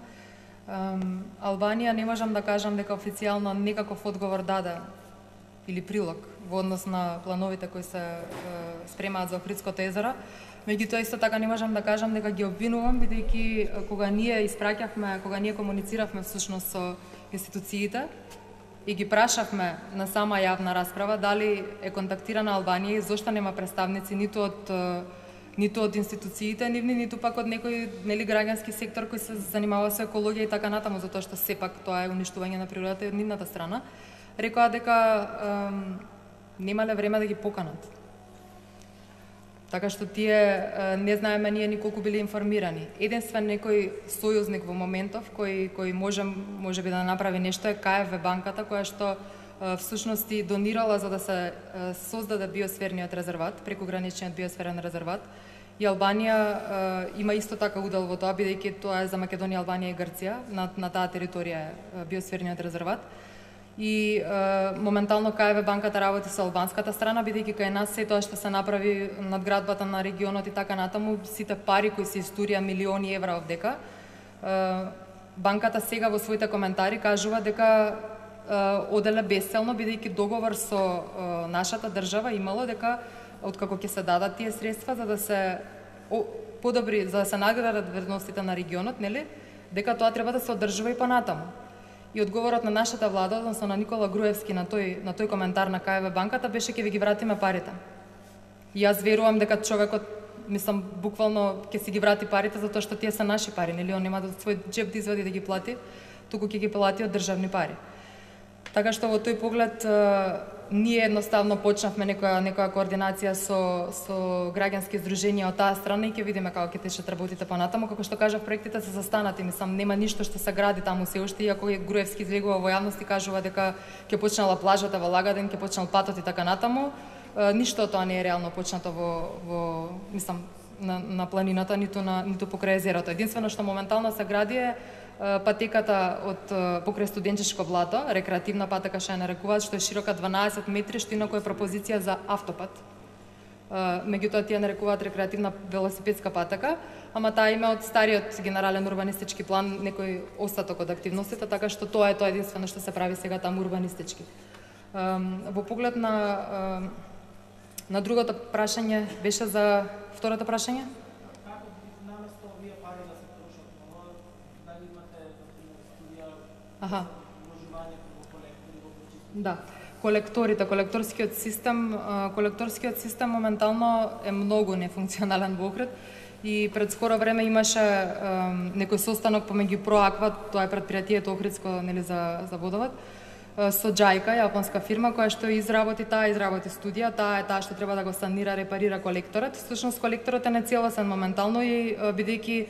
Албанија не можам да кажам дека официјално некаков одговор даде или прилог во однос на плановите кои се спремаат за Охридското езеро. Меѓутоа исто така не можам да кажам дека ги обвинувам, бидејќи кога ние комунициравме всушност со институциите и ги прашавме на сама јавна расправа дали е контактирана Албанија и зошто нема представници ниту од институциите нивни, ниту пак од некој граѓански сектор кој се занимава со екологија и така натаму, затоа што сепак тоа е уништување на природата и од нивната страна. Рекоа дека немале време да ги поканат. Така што тие не знаеме ние николку били информирани. Единствен некој сојузник во моментов кој може би да направи нешто е КФВ банката, која што всушност и донирала за да се создаде биосферниот резерват, прекограничниот биосферен резерват. И Албанија има исто така удел во тоа, бидејќи тоа е за Македонија, Албанија и Грција, на таа територија е биосферниот резерват. И моментално КФВ банката работи со албанската страна, бидејќи кај нас се тоа што се направи надградбата на регионот и така натаму, сите пари кои се истурија милиони евра овдека. Банката сега во своите коментари кажува дека оделе бесцелно, бидејќи договор со нашата држава имало дека откако ќе се дадат тие средства за да се подобри, за да се наградат вредностите на регионот, нели? Дека тоа треба да се одржува и понатаму. И одговорот на нашата влада, односно на Никола Груевски на тој коментар на КФВ банката беше ќе ви ги вратиме парите. И јас верувам дека човекот, мислам, буквално ќе си ги врати парите затоа што тие се наши пари, нели? Он нема да свој џеб да извади да ги плати, туку ќе ги плати од државни пари. Така што во тој поглед ние едноставно почнавме некоја координација со граѓански здруженија од таа страна и ќе видиме како ќе течат работите понатаму. Како што кажав, проектите се застанати, мислам, нема ништо што се гради таму се уште, иако Груевски излегува во јавност и кажува дека ќе почнала плажата во Лагаден, ќе почнал патот и така натаму. Ништо од тоа не е реално почнато во мислам на планината, ниту покрај езерото. Единствено што моментално се гради е патеката од покрај студенческо блато, рекреативна патека што ја нарекуваат, што е широка 12 метри, што инаку е пропозиција за автопат. Меѓутоа тие нарекуваат рекреативна велосипедска патека, ама таа има од стариот генерален урбанистички план некој остаток од активностите, така што тоа е единствено што се прави сега таму урбанистички. Во поглед на другото прашање беше за второто прашање? Аха. Да. Колекторскиот систем моментално е многу нефункционален во Охрид и пред скоро време имаше некој состанок помеѓу Проаква, тоа е претпријатието Охридско, нели, за водовод, со Џајка, јапонска фирма која што изработи студија, таа е таа што треба да го санира, репарира колекторот. Всушност колекторот е нецелосен моментално и бидејќи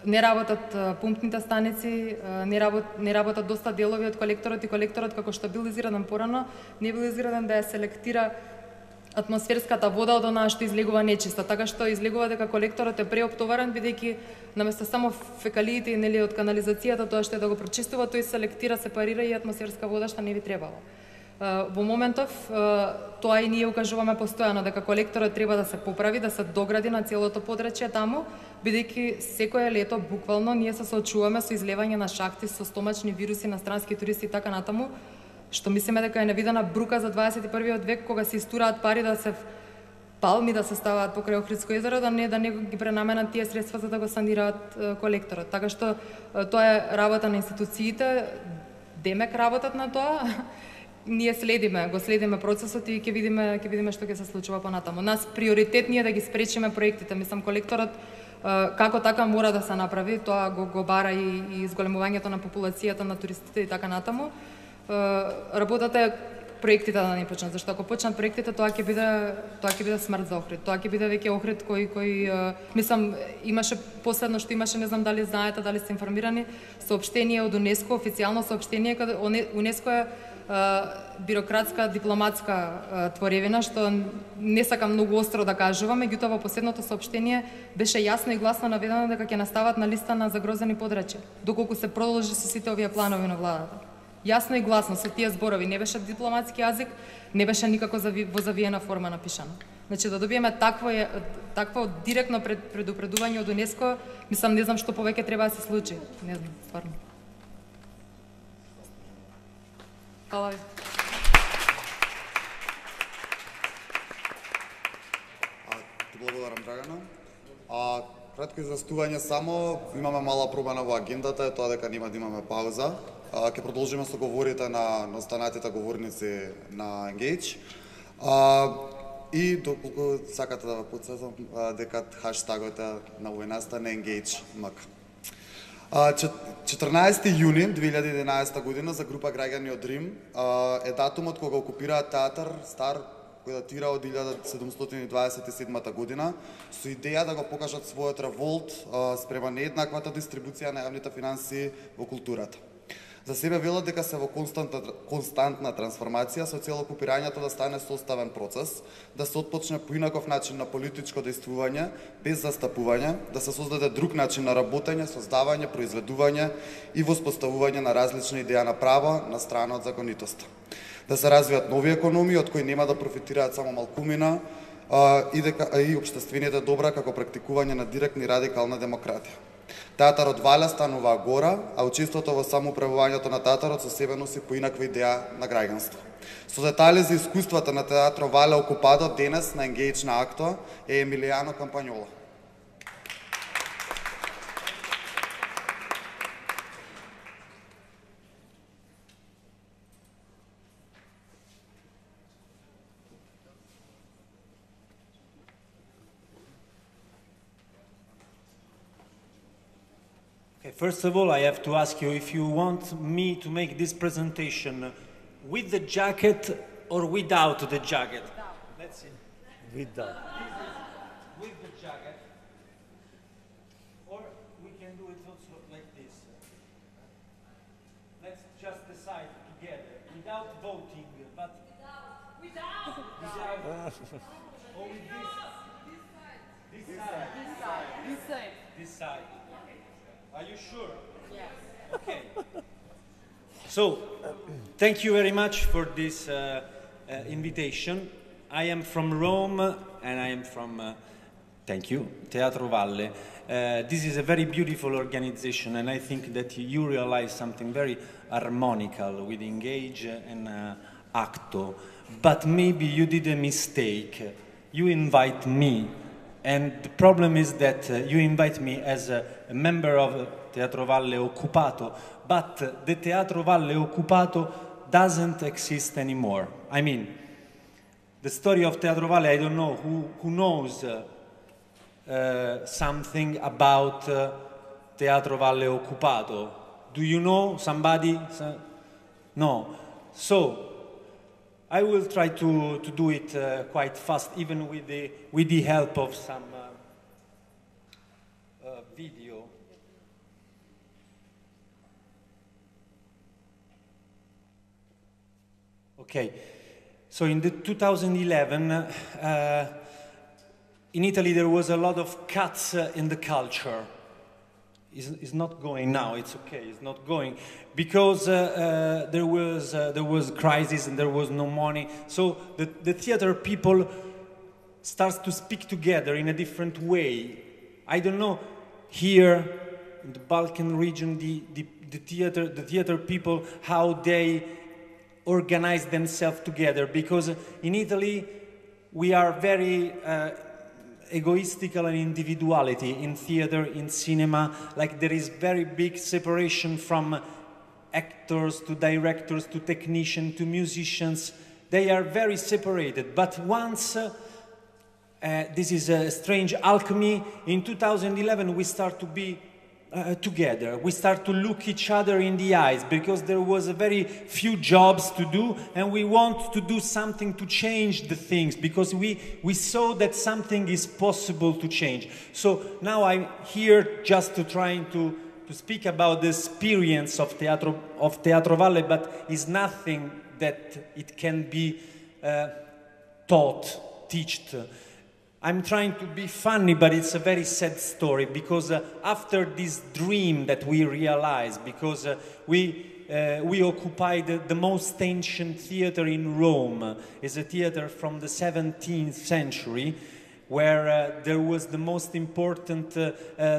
не работат пумпните станици, не работат доста делови од колекторот и колекторот како што бил изграден порано, не бил изграден да ја селектира атмосферската вода од онаа што излегува нечиста, така што излегува дека колекторот е преоптоварен бидејќи наместо само фекалиите, нели, од канализацијата, тоа што е да го прочистува, тој селектира, сепарира и атмосферска вода што не би требало. Во моментов тоа и ние укажуваме постојано дека колекторот треба да се поправи, да се догради на целото подрачје таму, бидејќи секое лето буквално ние се соочуваме со излевање на шахти со стомачни вируси на странски туристи и така натаму, што мислиме дека е невидена брука за 21 век, кога се истураат пари да се палми да се ставаат покрај Охридско езеро, да не ги пренаменат тие средства за да го санираат колекторот. Така што тоа е работа на институциите, демек работат на тоа. Ние го следиме процесот и ќе видиме што ќе се случува понатаму. Нас приоритет е да ги спречиме проектите. Мислам, колекторот како така мора да се направи, тоа го бара и изголемувањето на популацијата на туристите и така натаму. Работата е проектите да не почнат, зашто ако почнат проектите, тоа ќе биде смрт за Охрид. Тоа ќе биде веќе Охрид кој мислам, имаше последно што имаше, не знам дали знаете, дали сте информирани, соопштение од УНЕСКО, официјално соопштение, каде УНЕСКО е бирократска, дипломатска творевина, што не сакам многу остро да кажувам, меѓутоа во последното соопштение беше јасно и гласно наведено дека ќе настават на листа на загрозени подрачја, доколку се продолжи со сите овие планови на владата. Јасно и гласно со тие зборови, не беше дипломатски јазик, не беше никако во завиена форма напишано. Значи да добиеме такво директно предупредување од УНЕСКО, мислам, не знам што повеќе треба да се случи. Не знам, стварно. Хвала ви. Ти благодарам, Драгана. Кратко известување само, имаме мала промена во агендата, е тоа дека нема да имаме пауза. Ќе продолжиме со говорите на останатите говорници на Engage. И доколку сакате да ве потсетам дека хаштагот на војната на Engage МК. 14 јуни 2011 година за група граѓани од Рим е датумот кога окупираат театар Стар кој датира од 1727 година, со идеја да го покажат својот револт спрема нееднаквата дистрибуција на јавните финансии во културата. За себе велат дека се во константна трансформација со цел окупирањето да стане составен процес, да се отпочне поинаков начин на политичко дејствување, без застапување, да се создаде друг начин на работење, создавање, произведување и воспоставување на различни идеја на право на страна од законитоста. Да се развијат нови економии од кои нема да профитираат само малкумина и општествените добра како практикување на директна и радикална демократија. Театарот Вале станува гора, а учеството во самоуправувањето на театарот со себе носи поинаква идеја на граѓанство. Со детали за искуствата на театро Вале Окупато денес на Engage на Акто е Емилијано Кампањола. First of all, I have to ask you if you want me to make this presentation with the jacket or without the jacket. Let's see. Without. With the jacket. Or we can do it also like this. Let's just decide together, without voting, but... Without! Without! Or with this? This side. This side. This side. This side. Are you sure? Yes. Okay. So, thank you very much for this invitation. I am from Rome and I am from, thank you, Teatro Valle. This is a very beautiful organization and I think that you realize something very harmonical with Engage and Acto. But maybe you did a mistake. You invite me. And the problem is that you invite me as a member of Teatro Valle Occupato, but the Teatro Valle Occupato doesn't exist anymore. I mean, the story of Teatro Valle, I don't know who knows something about Teatro Valle Occupato. Do you know somebody? No. So, I will try to do it quite fast, even with the help of some video. Okay, so in the 2011, in Italy there was a lot of cuts in the culture. It's not going now. It's okay. It's not going because there was crisis and there was no money. So the theater people starts to speak together in a different way. I don't know here in the Balkan region the theater people how they organize themselves together, because in Italy we are very egoistical and individuality in theater, in cinema. Like there is very big separation from actors to directors to technicians to musicians. They are very separated. But once, this is a strange alchemy, in 2011 we start to be together. We start to look each other in the eyes because there was a very few jobs to do and we want to do something to change the things because we saw that something is possible to change. So now I'm here just to trying to speak about the experience of Teatro Valle, but it's nothing that it can be taught. I'm trying to be funny, but it's a very sad story because after this dream that we realized, because we occupied the most ancient theater in Rome, is a theater from the 17th century, where there was the most important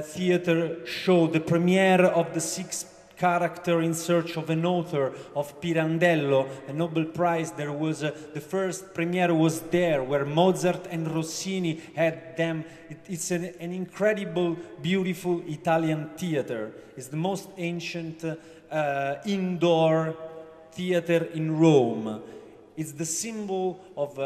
theater show, the premiere of the Sixth Character in Search of an Author of Pirandello, a Nobel Prize. There was the first premiere was there, where Mozart and Rossini had them. It's an incredible, beautiful Italian theater. It's the most ancient indoor theater in Rome. It's the symbol of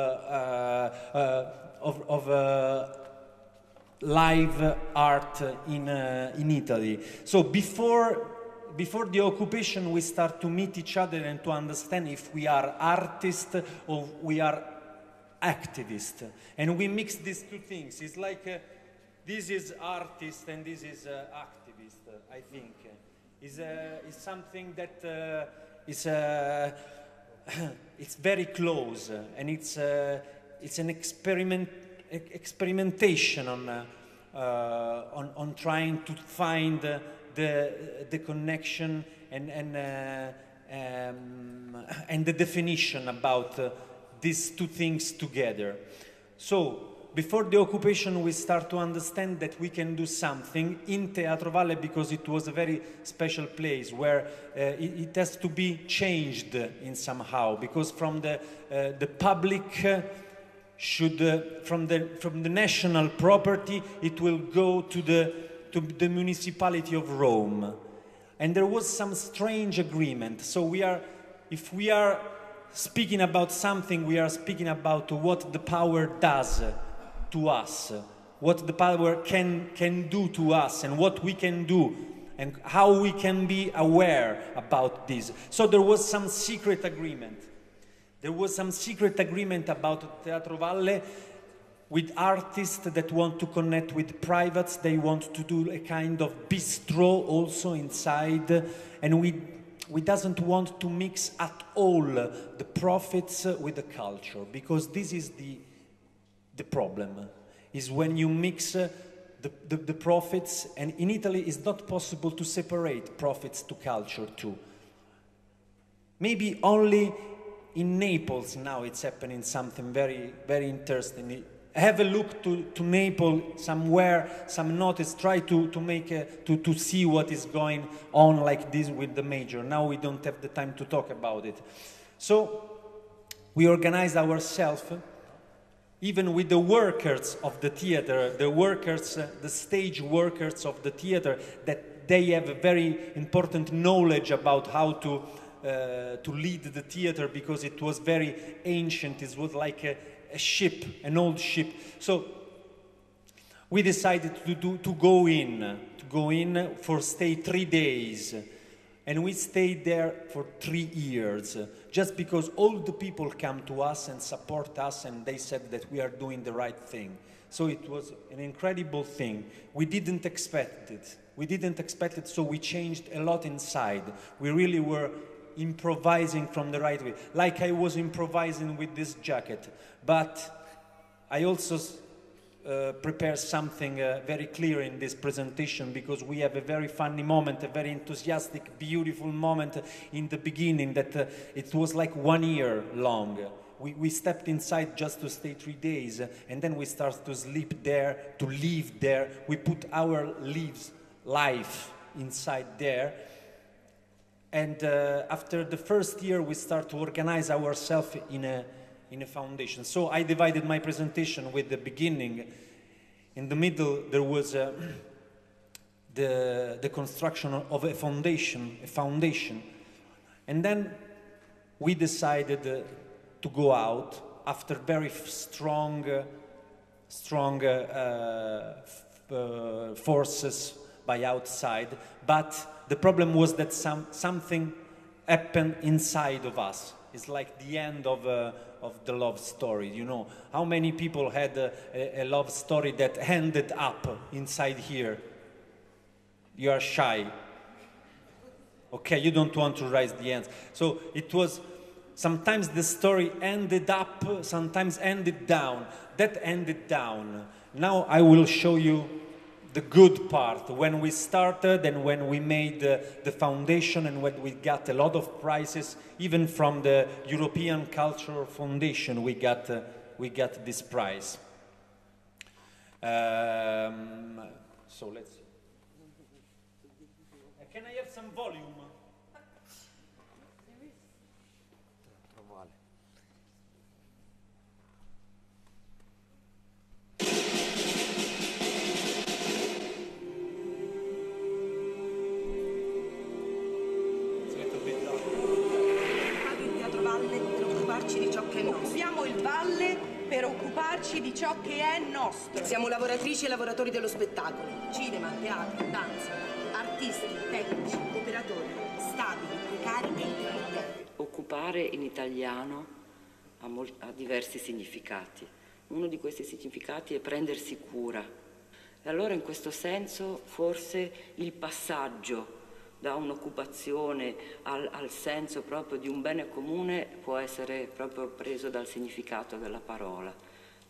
live art in Italy. So before the occupation, we start to meet each other and to understand if we are artists or we are activist, and we mix these two things. It's like this is artist and this is activist. I think is something that is it's very close, and it's an experimentation on trying to find the connection and the definition about these two things together. So before the occupation, we start to understand that we can do something in Teatro Valle, because it was a very special place where it has to be changed in somehow, because from the public from the national property, it will go to the municipality of Rome. And there was some strange agreement. So if we are speaking about something, we are speaking about what the power does to us, what the power can do to us, and what we can do, and how we can be aware about this. So there was some secret agreement. There was some secret agreement about Teatro Valle with artists that want to connect with privates. They want to do a kind of bistro also inside, and we doesn't want to mix at all the profits with the culture, because this is the problem, is when you mix the profits, and in Italy it's not possible to separate profits to culture too. Maybe only in Naples now it's happening something very, very interesting. Have a look to Naples somewhere, some notice, try to see what is going on like this with the major. Now we don't have the time to talk about it. So we organize ourselves, even with the workers of the theater, the stage workers of the theater, that they have a very important knowledge about how to lead the theater, because it was very ancient. It was like a ship, an old ship. So we decided to go in for stay 3 days. And we stayed there for 3 years, just because all the people come to us and support us, and they said that we are doing the right thing. So it was an incredible thing. We didn't expect it. So we changed a lot inside. We really were improvising from the right way, like I was improvising with this jacket. But I also prepare something very clear in this presentation, because we have a very funny moment, a very enthusiastic, beautiful moment in the beginning that it was like 1 year long. We stepped inside just to stay 3 days, and then we started to sleep there, to live there. We put our life inside there. And after the first year, we start to organize ourselves in a foundation. So I divided my presentation with the beginning. In the middle, there was the construction of a foundation. And then we decided to go out after very strong forces by outside. But the problem was that something happened inside of us. It's like the end of the love story, you know. How many people had a love story that ended up inside here? You are shy. Okay, you don't want to raise the hands. So it was, sometimes the story ended up, sometimes ended down. That ended down. Now I will show you the good part, when we started and when we made the foundation, and when we got a lot of prizes, even from the European Cultural Foundation, we got this prize. So let's see. Can I have some volume? Occupiamo il Valle per occuparci di ciò che è nostro. Siamo lavoratrici e lavoratori dello spettacolo. Cinema, teatro, danza, artisti, tecnici, operatori, stabili, precari e intermittenti. Occupare in italiano ha diversi significati. Uno di questi significati è prendersi cura. E allora in questo senso forse il passaggio da un'occupazione al senso proprio di un bene comune può essere proprio preso dal significato della parola,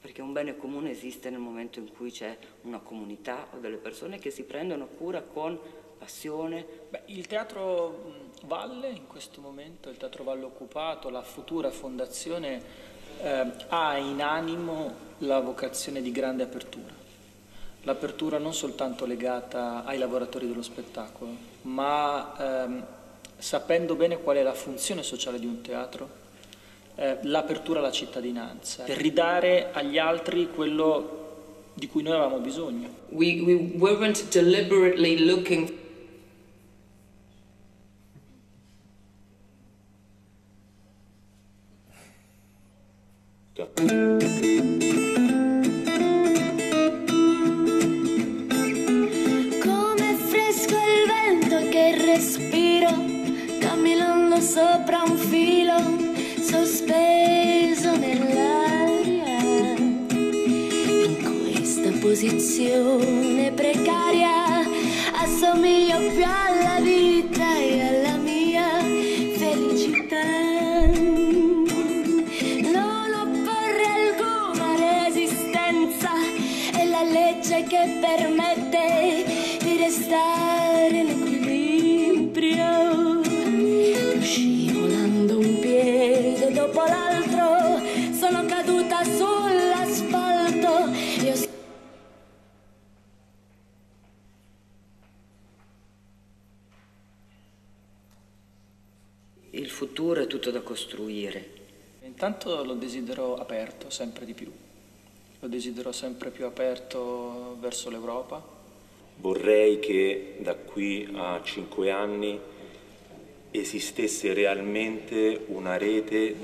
perché un bene comune esiste nel momento in cui c'è una comunità o delle persone che si prendono cura con passione. Il Teatro Valle in questo momento, il Teatro Valle occupato, la futura fondazione ha in animo la vocazione di grande apertura. L'apertura non soltanto legata ai lavoratori dello spettacolo, ma sapendo bene qual è la funzione sociale di un teatro, l'apertura alla cittadinanza, per ridare agli altri quello di cui noi avevamo bisogno. We weren't deliberately looking. Come fresco il vento che respiro, camminando sopra un filo, sospeso nell'aria. In questa posizione precaria assomiglio più alla vita e alla mia felicità. Che permette di restare in equilibrio, scivolando un piede dopo l'altro, sono caduta sull'asfalto. Il futuro è tutto da costruire. Intanto lo desidero aperto sempre di più. Lo desidero sempre più aperto verso l'Europa. Vorrei che da qui a 5 anni esistesse realmente una rete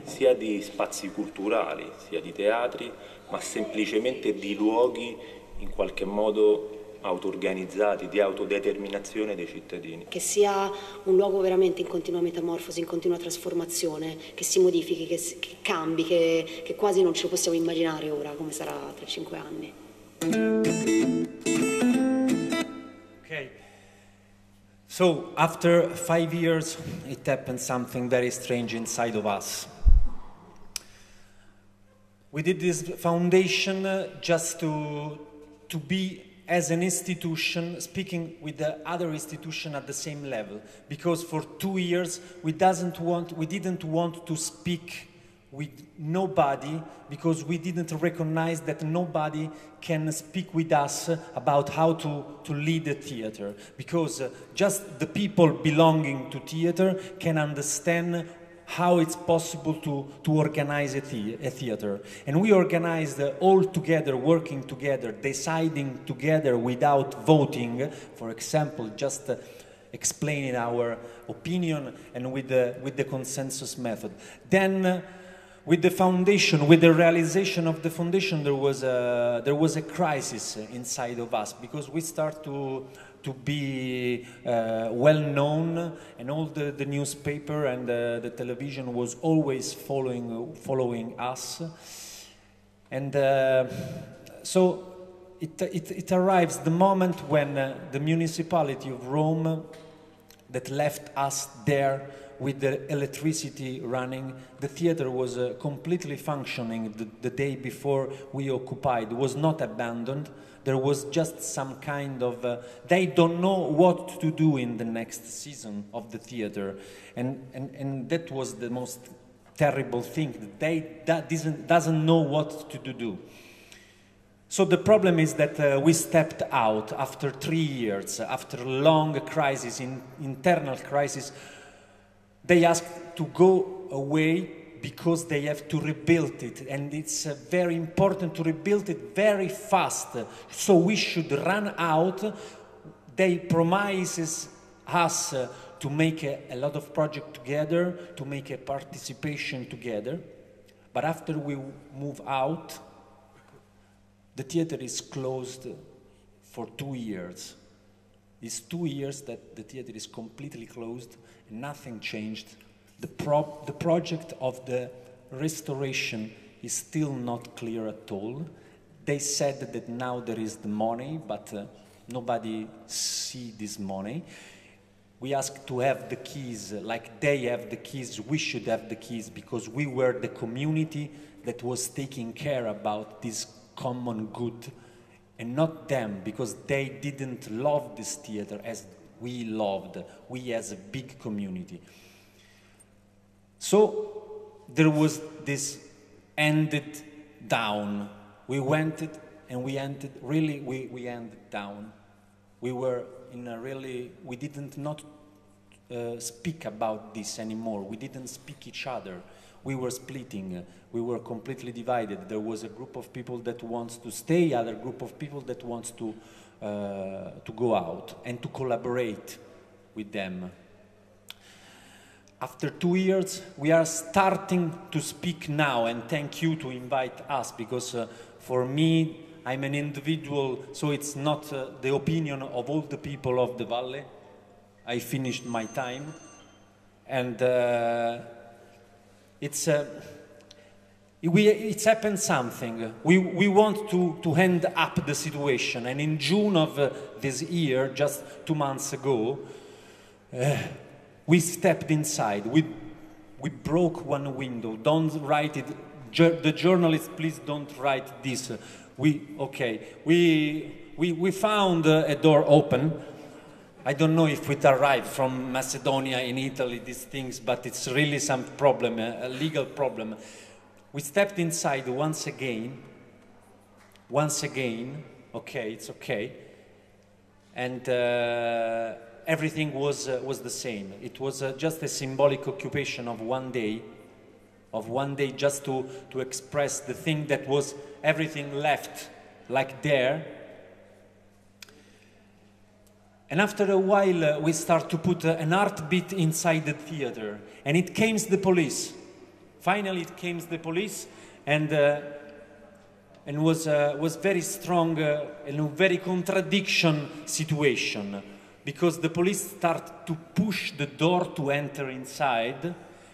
sia di spazi culturali, sia di teatri, ma semplicemente di luoghi in qualche modo auto-organizzati, di autodeterminazione dei cittadini. Che sia un luogo veramente in continua metamorfosi, in continua trasformazione, che si modifichi, che cambi, che quasi non ce lo possiamo immaginare ora come sarà tra 5 anni. Okay. So, after 5 years, it happened something very strange inside of us. We did this foundation just to be as an institution, speaking with the other institution at the same level, because for 2 years we didn't want to speak with nobody, because we didn't recognize that nobody can speak with us about how to lead a theater, because just the people belonging to theater can understand how it's possible to organize a theater. And we organized all together, working together, deciding together without voting, for example, just explaining our opinion and with the consensus method. Then with the foundation, with the realization of the foundation, there was a crisis inside of us, because we start to be well known, and all the newspaper and the television was always following us, and so it arrives the moment when the municipality of Rome that left us there with the electricity running. The theater was completely functioning the day before we occupied. It was not abandoned. There was just some kind of, they don't know what to do in the next season of the theater. And that was the most terrible thing. That doesn't know what to do. So the problem is that we stepped out after 3 years, after a long crisis, internal crisis. They asked to go away because they have to rebuild it, and it's very important to rebuild it very fast. So we should run out. They promises us to make a lot of projects together, to make a participation together. But after we move out, the theater is closed for 2 years. It's 2 years that the theater is completely closed, and nothing changed. The project of the restoration is still not clear at all. They said that now there is the money, but nobody see this money. We asked to have the keys, like they have the keys, we should have the keys, because we were the community that was taking care about this common good, and not them, because they didn't love this theater as we loved, we as a big community. So there was this ended down. We went it and we ended, really, we ended down. We were in a really, we didn't not speak about this anymore. We didn't speak each other. We were splitting. We were completely divided. There was a group of people that wants to stay, other group of people that wants to go out and to collaborate with them. After 2 years, we are starting to speak now, and thank you to invite us, because for me, I'm an individual, so it's not the opinion of all the people of the Valley. I finished my time, and it's happened something. We want to end up the situation, and in June of this year, just 2 months ago, we stepped inside. We broke one window. Don't write it. The journalists, please don't write this. We found a door open. I don't know if it arrived from Macedonia in Italy, these things, but it's really some problem, a legal problem. We stepped inside once again, okay, it's okay, and everything was the same. It was just a symbolic occupation of one day just to express the thing that was everything left like there. And after a while, we start to put an heartbeat inside the theater, and it came the police. Finally, it came the police, and was very strong and a very contradiction situation, because the police start to push the door to enter inside.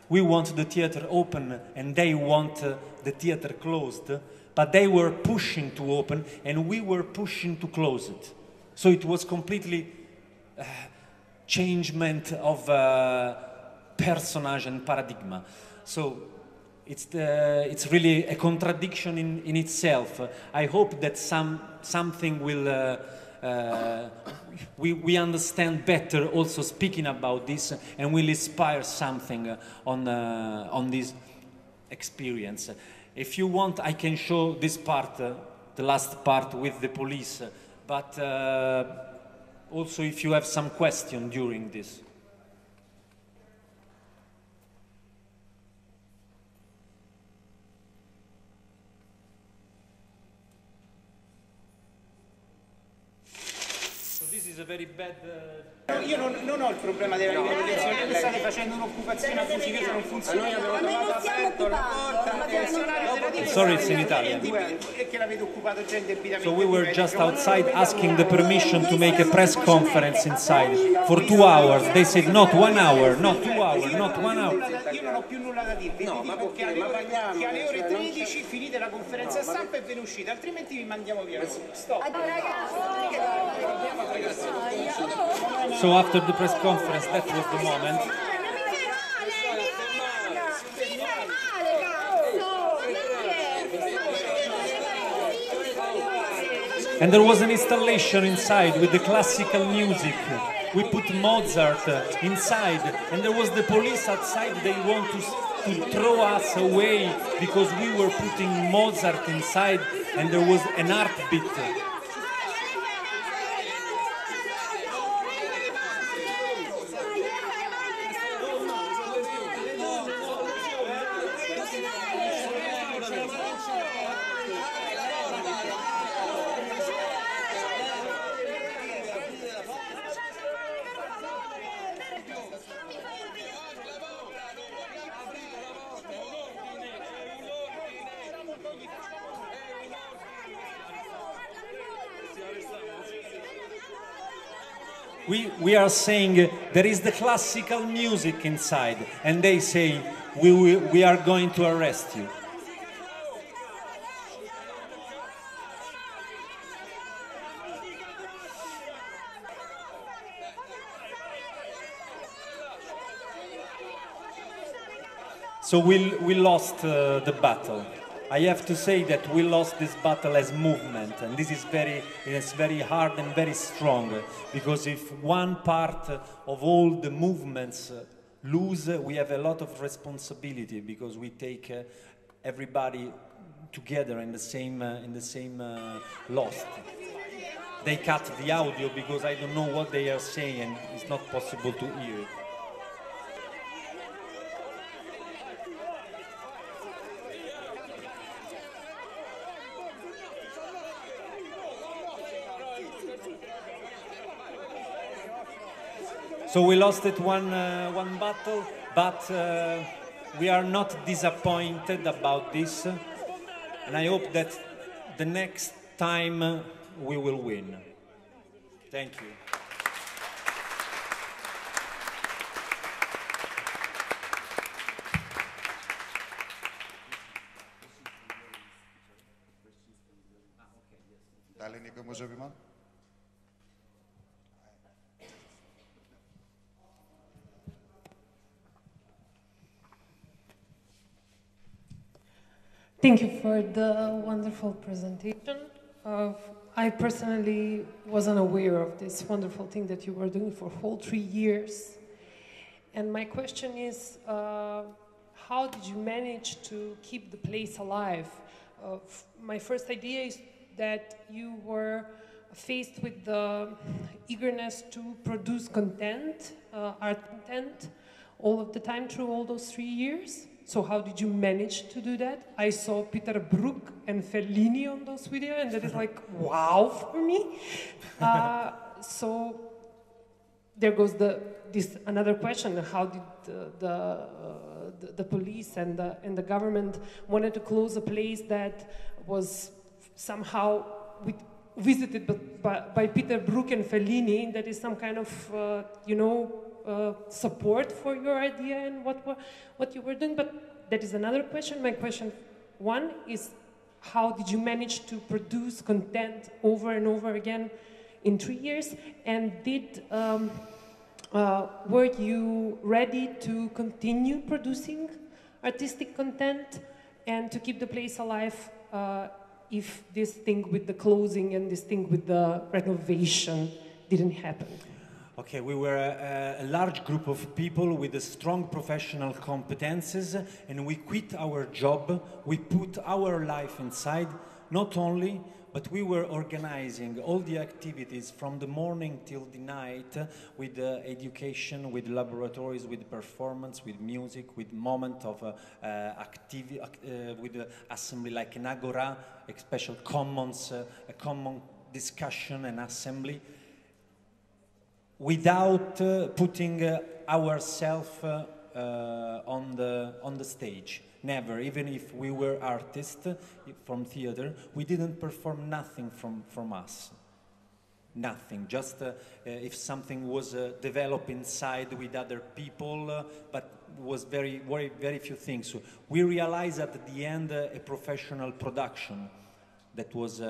We want the theater open, and they want the theater closed, but they were pushing to open, and we were pushing to close it. So it was completely changement of personage and paradigm. So it's really a contradiction in itself. I hope that something will we understand better also speaking about this, and will inspire something on this experience. If you want, I can show this part, the last part with the police, but also if you have some question during this. So this is a very bad... Io non ho il problema della ripetizione, voi state facendo un'occupazione abusiva, io sono un funzionario, avevo trovato aperto la porta, Sorry, it's in Italian. e che l'avete occupato già indebitamente. So we were just outside asking the permission to make a press conference inside for 2 hours. They said not 1 hour, not 2 hours, not 1 hour. Io non ho più nulla da dirvi, vi dico che alle ore 13 finite la conferenza stampa e ve ne uscite, altrimenti vi mandiamo via. Stop. So after the press conference, that was the moment. And there was an installation inside with the classical music. We put Mozart inside, and there was the police outside. They want to throw us away because we were putting Mozart inside, and there was an heartbeat. We are saying there is the classical music inside, and they say we are going to arrest you. So we lost the battle. I have to say that we lost this battle as movement, and this is very hard and very strong, because if one part of all the movements lose, we have a lot of responsibility, because we take everybody together in the same loss. They cut the audio because I don't know what they are saying, and it's not possible to hear it. So we lost it one battle, but we are not disappointed about this, and I hope that the next time we will win. Thank you. Дали некој може би има? Thank you for the wonderful presentation. I personally wasn't aware of this wonderful thing that you were doing for whole 3 years. And my question is, how did you manage to keep the place alive? My first idea is that you were faced with the eagerness to produce content, art content, all of the time through all those 3 years. So how did you manage to do that? I saw Peter Brook and Fellini on those videos, and that is like, wow for me. So there goes this another question: how did the police and the government wanted to close a place that was somehow visited by Peter Brook and Fellini? That is some kind of support for your idea and what you were doing. But that is another question. My question one is, how did you manage to produce content over and over again in 3 years? And were you ready to continue producing artistic content and to keep the place alive if this thing with the closing and this thing with the renovation didn't happen? Okay, we were a large group of people with strong professional competences, and we quit our job. We put our life inside, not only, but we were organizing all the activities from the morning till the night, with education, with laboratories, with performance, with music, with moment of activity, with assembly like an agora, a special commons, a common discussion and assembly, without putting ourselves on the stage. Never. Even if we were artists from theater, we didn't perform nothing from us. Nothing. Just if something was developed inside with other people, but was very few things. So we realized at the end a professional production that was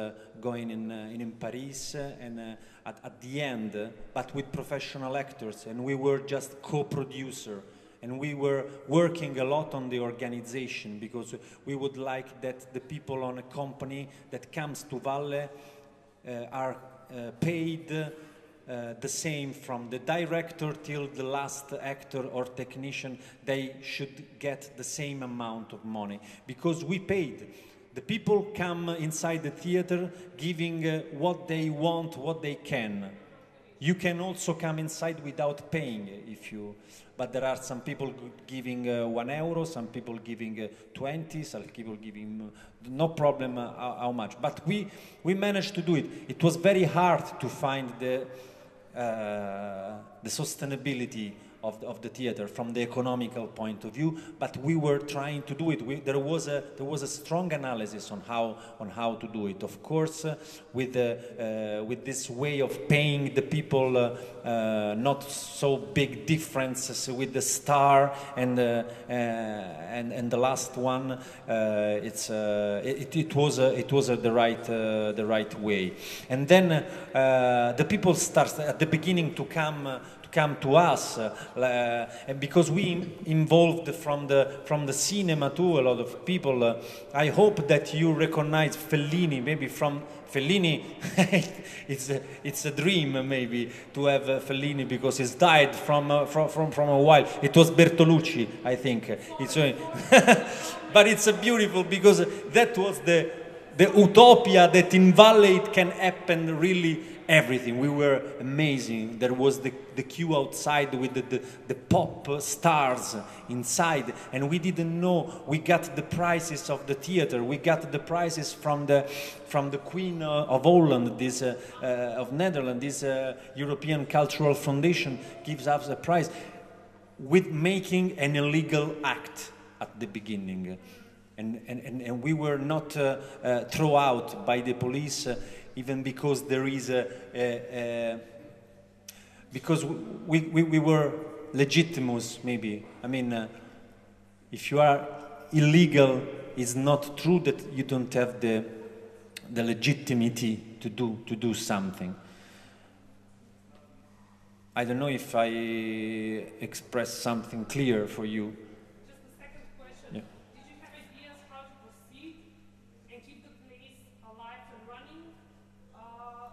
going in Paris, and at the end, but with professional actors, and we were just co-producer, and we were working a lot on the organization, because we would like that the people on a company that comes to Valle are paid the same, from the director till the last actor or technician. They should get the same amount of money, because we paid. The people come inside the theater giving what they want, what they can. You can also come inside without paying, but there are some people giving €1, some people giving 20, some people giving no problem how much. But we managed to do it. It was very hard to find the sustainability of the theater from the economical point of view, but we were trying to do it. There was a strong analysis on how to do it. Of course, with this way of paying the people, not so big differences with the star and the last one. It was the right way, and then the people start at the beginning to come to us, and because we involved from the cinema too, a lot of people. I hope that you recognize Fellini, maybe from Fellini. it's a dream maybe to have Fellini, because he's died from a while. It was Bertolucci, I think. But it's beautiful, because that was the utopia that in Valle it can happen really everything. We were amazing. There was the queue outside with the pop stars inside, and we didn't know. We got the prizes of the theater. We got the prizes from the Queen of Holland, of Netherlands. This European Cultural Foundation gives us a prize with making an illegal act at the beginning, and we were not thrown out by the police. Even because there is because we were legitimate, maybe. I mean, if you are illegal, it's not true that you don't have the legitimacy to do something. I don't know if I expressed something clear for you.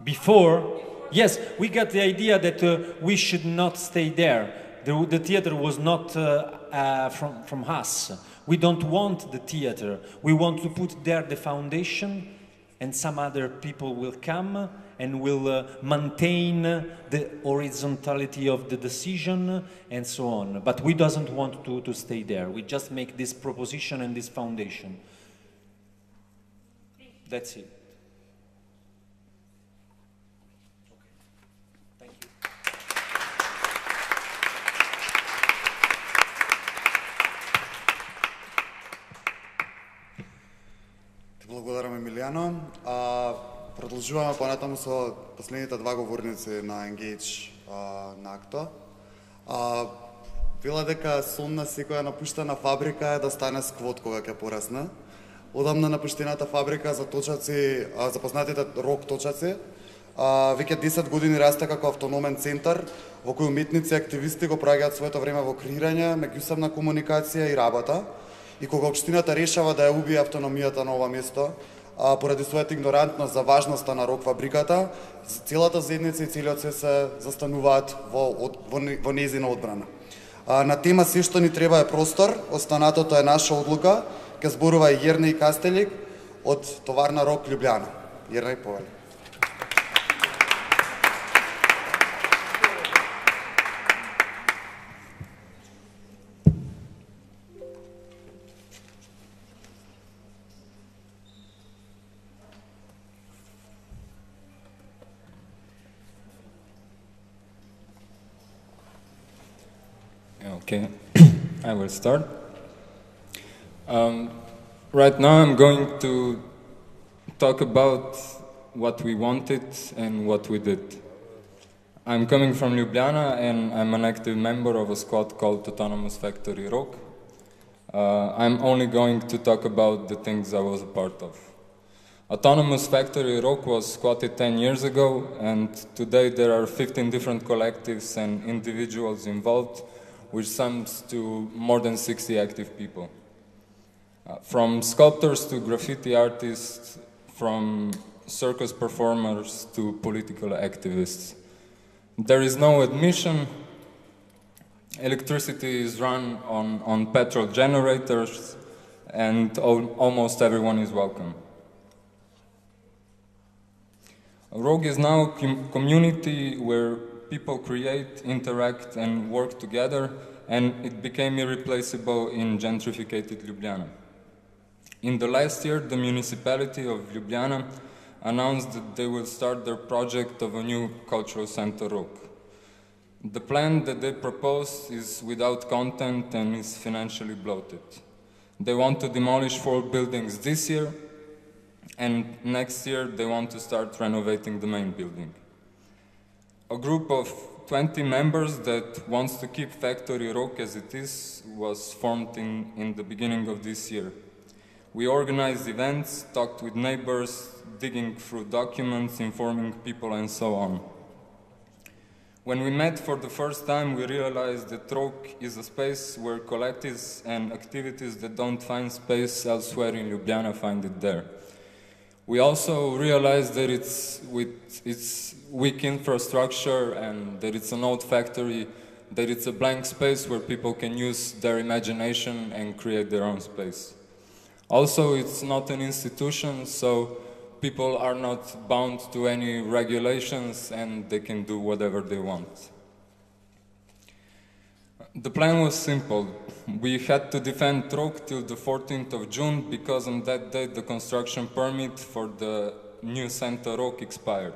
Before, yes, we got the idea that we should not stay there. The theater was not from us. We don't want the theater. We want to put there the foundation, and some other people will come and will maintain the horizontality of the decision and so on. But we doesn't want to stay there. We just make this proposition and this foundation. That's it. Благодарам, Емилијано. Продолжуваме понатаму со последните два говорници на Engage на АКТО. Вела дека сон на секоја напуштена фабрика е да стане сквот кога ќе порасне. Одамна напуштената фабрика за точаци, за познатите рок точаци, веќе 10 години расте како автономен центар во кој уметници и активисти го прагаат своето време во креирање, меѓусебна комуникација и работа. И кога општината решава да ја убие автономијата на ова место, поради својата игнорантност за важноста на рок фабриката, целата заедница и целиот свет се застануваат во нејзина одбрана. На тема се што ни треба е простор, останатото е наша одлука, ке зборува и Јернеј Кастелик од Товарна Рок Љубљана. Јернеј, повели. Okay, I will start. Right now I'm going to talk about what we wanted and what we did. I'm coming from Ljubljana and I'm an active member of a squad called Autonomous Factory Rock. I'm only going to talk about the things I was a part of. Autonomous Factory Rock was squatted 10 years ago, and today there are 15 different collectives and individuals involved, which sums to more than 60 active people. From sculptors to graffiti artists, from circus performers to political activists. There is no admission. Electricity is run on petrol generators, and almost everyone is welcome. Rogue is now a community where people create, interact, and work together, and it became irreplaceable in gentrified Ljubljana. In the last year, the municipality of Ljubljana announced that they will start their project of a new cultural center, Rock. The plan that they propose is without content and is financially bloated. They want to demolish 4 buildings this year, and next year they want to start renovating the main building. A group of 20 members that wants to keep Factory Rock as it is was formed in the beginning of this year. We organized events, talked with neighbors, digging through documents, informing people, and so on. When we met for the first time, we realized that ROK is a space where collectives and activities that don't find space elsewhere in Ljubljana find it there. We also realized that with its weak infrastructure and that it's an old factory, that it's a blank space where people can use their imagination and create their own space. Also, it's not an institution, so people are not bound to any regulations and they can do whatever they want. The plan was simple. We had to defend ROK till the 14th of June because on that day the construction permit for the new center ROK expired.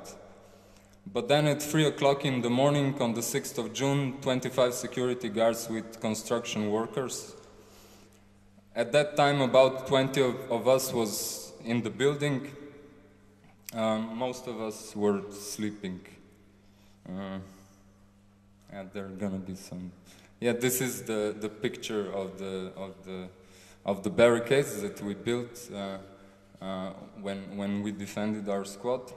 But then at 3 o'clock in the morning on the 6th of June, 25 security guards with construction workers. At that time about 20 of us was in the building. Most of us were sleeping. And there are gonna be some. Yeah, this is the picture of the barricades that we built when we defended our squad.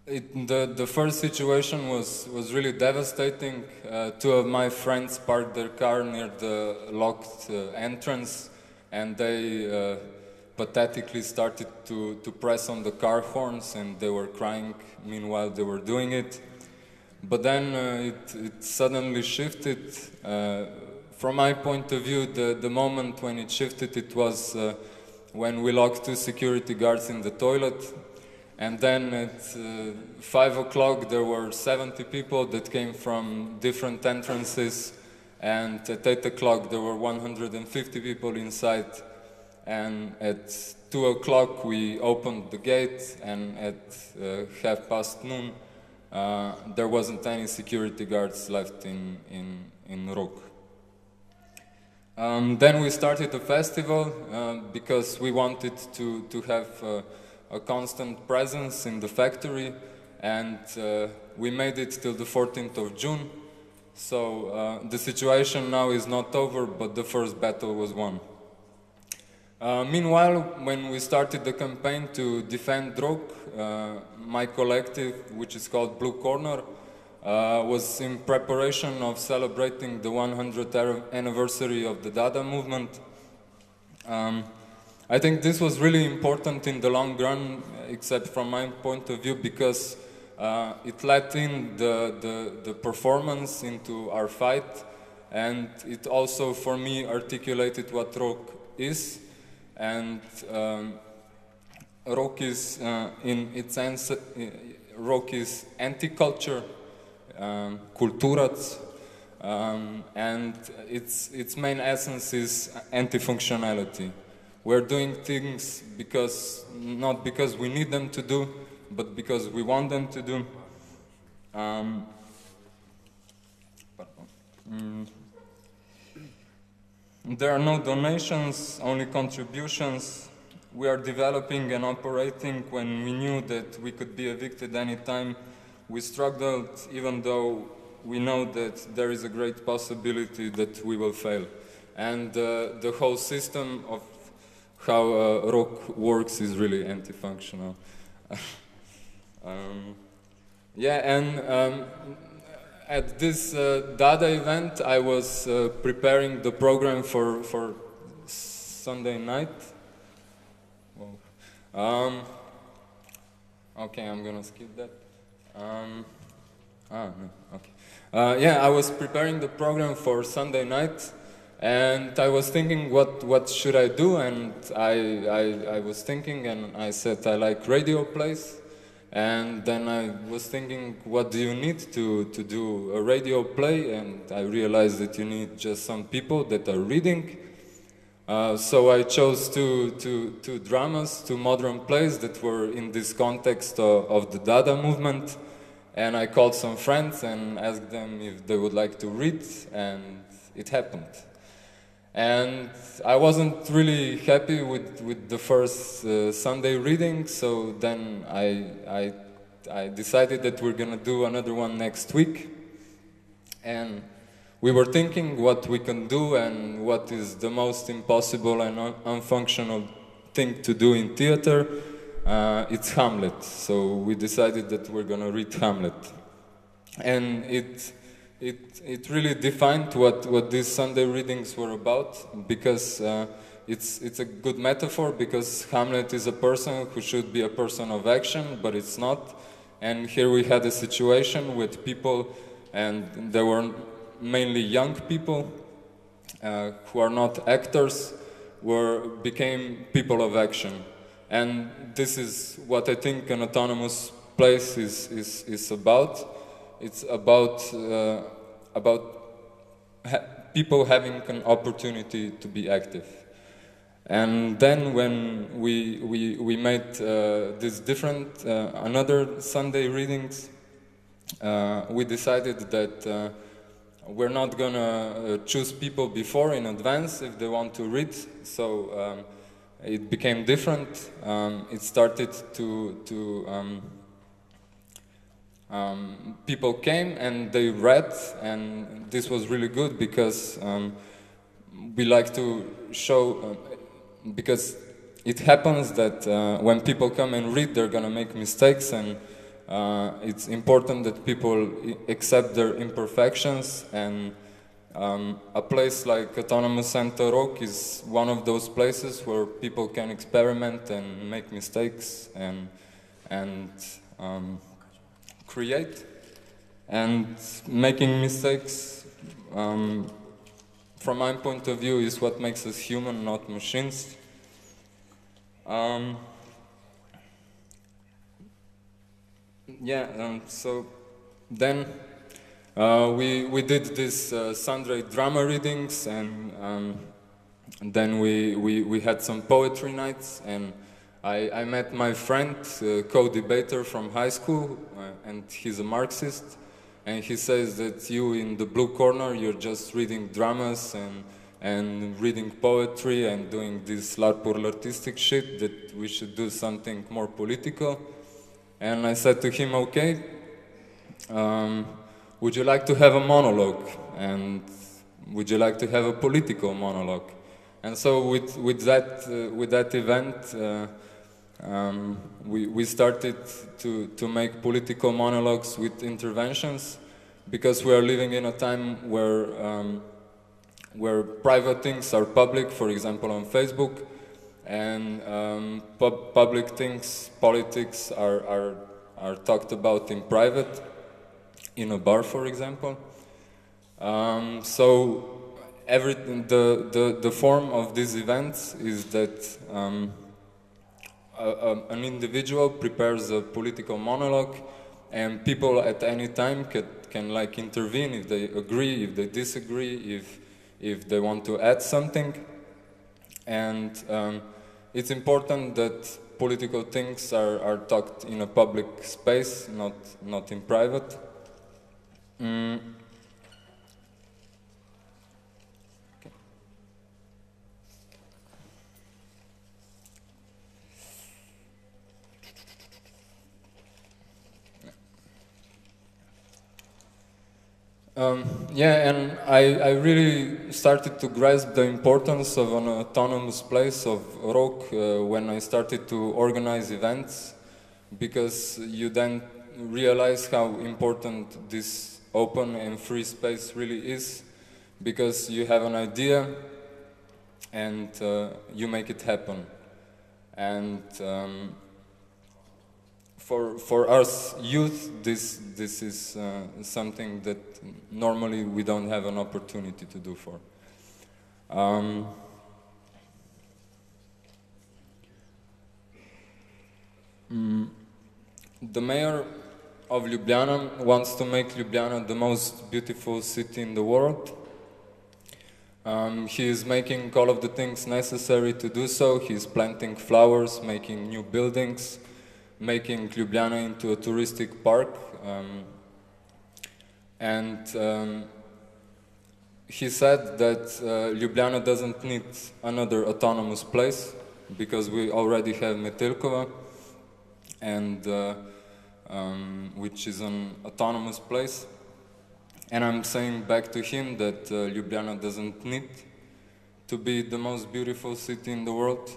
The first situation was really devastating. 2 of my friends parked their car near the locked entrance, and they pathetically started to press on the car horns, and they were crying meanwhile they were doing it. But then it suddenly shifted. From my point of view, the moment when it shifted, it was when we locked 2 security guards in the toilet. And then at 5 o'clock there were 70 people that came from different entrances, and at 8 o'clock there were 150 people inside. And at 2 o'clock we opened the gate, and at 12:30 there wasn't any security guards left in ROK. Then we started the festival because we wanted to have a constant presence in the factory, and we made it till the 14th of June. So the situation now is not over, but the first battle was won. Meanwhile, when we started the campaign to defend ROK, my collective, which is called Blue Corner, was in preparation of celebrating the 100th anniversary of the Dada movement. I think this was really important in the long run, except from my point of view, because it let in the performance into our fight, and it also, for me, articulated what ROK is. And ROK is, in its sense, ROK is anti-culture, kulturac, and its main essence is anti-functionality. We're doing things not because we need them to do, but because we want them to do. There are no donations, only contributions. We are developing and operating when we knew that we could be evicted anytime. We struggled, even though we know that there is a great possibility that we will fail. And the whole system of how ROK works is really anti-functional. At this Dada event, I was preparing the program for Sunday night. Okay, I'm gonna skip that. I was preparing the program for Sunday night, and I was thinking, what should I do? And I was thinking, and I said I like radio plays. And then I was thinking, what do you need to do a radio play? And I realized that you need just some people that are reading. So I chose two dramas, 2 modern plays that were in this context of the Dada movement. And I called some friends and asked them if they would like to read, and it happened. And I wasn't really happy with the first Sunday reading, so then I decided that we're gonna do another one next week. And we were thinking what we can do and what is the most impossible and unfunctional thing to do in theater. It's Hamlet, so we decided that we're gonna read Hamlet. And it really defined what these Sunday readings were about, because it's a good metaphor, because Hamlet is a person who should be a person of action, but it's not. And here we had a situation with people, and there were mainly young people who are not actors, became people of action. And this is what I think an autonomous place is about. It's about people having an opportunity to be active. And then when we made these different another Sunday readings, we decided that we're not gonna choose people before in advance if they want to read. So it became different. It started to people came and they read, and this was really good, because we like to show, because it happens that when people come and read, they're gonna make mistakes, and it's important that people accept their imperfections. And a place like Autonomous Center Rock is one of those places where people can experiment and make mistakes and create. And making mistakes, from my point of view, is what makes us human, not machines. So then we did this Sunday drama readings, and then we had some poetry nights, and I met my friend, co-debater from high school, and he's a Marxist, and he says that you in the blue corner, you're just reading dramas and reading poetry and doing this larpur artistic shit, that we should do something more political. And I said to him, okay, would you like to have a monologue? And would you like to have a political monologue? And so with that event, we started to make political monologues with interventions, because we are living in a time where private things are public, for example on Facebook, and public things, politics are talked about in private, in a bar, for example. So everything, the form of these events is that an individual prepares a political monologue, and people at any time can like intervene if they agree, if they disagree, if they want to add something. And it's important that political things are talked in a public space, not in private. And I really started to grasp the importance of an autonomous place of Rok when I started to organize events, because you then realize how important this open and free space really is, because you have an idea and you make it happen. And for us youth, this is something that normally we don't have an opportunity to do for. The mayor of Ljubljana wants to make Ljubljana the most beautiful city in the world. He is making all of the things necessary to do so. He is planting flowers, making new buildings, making Ljubljana into a touristic park. And he said that Ljubljana doesn't need another autonomous place because we already have Metelkova, and which is an autonomous place. And I'm saying back to him that Ljubljana doesn't need to be the most beautiful city in the world,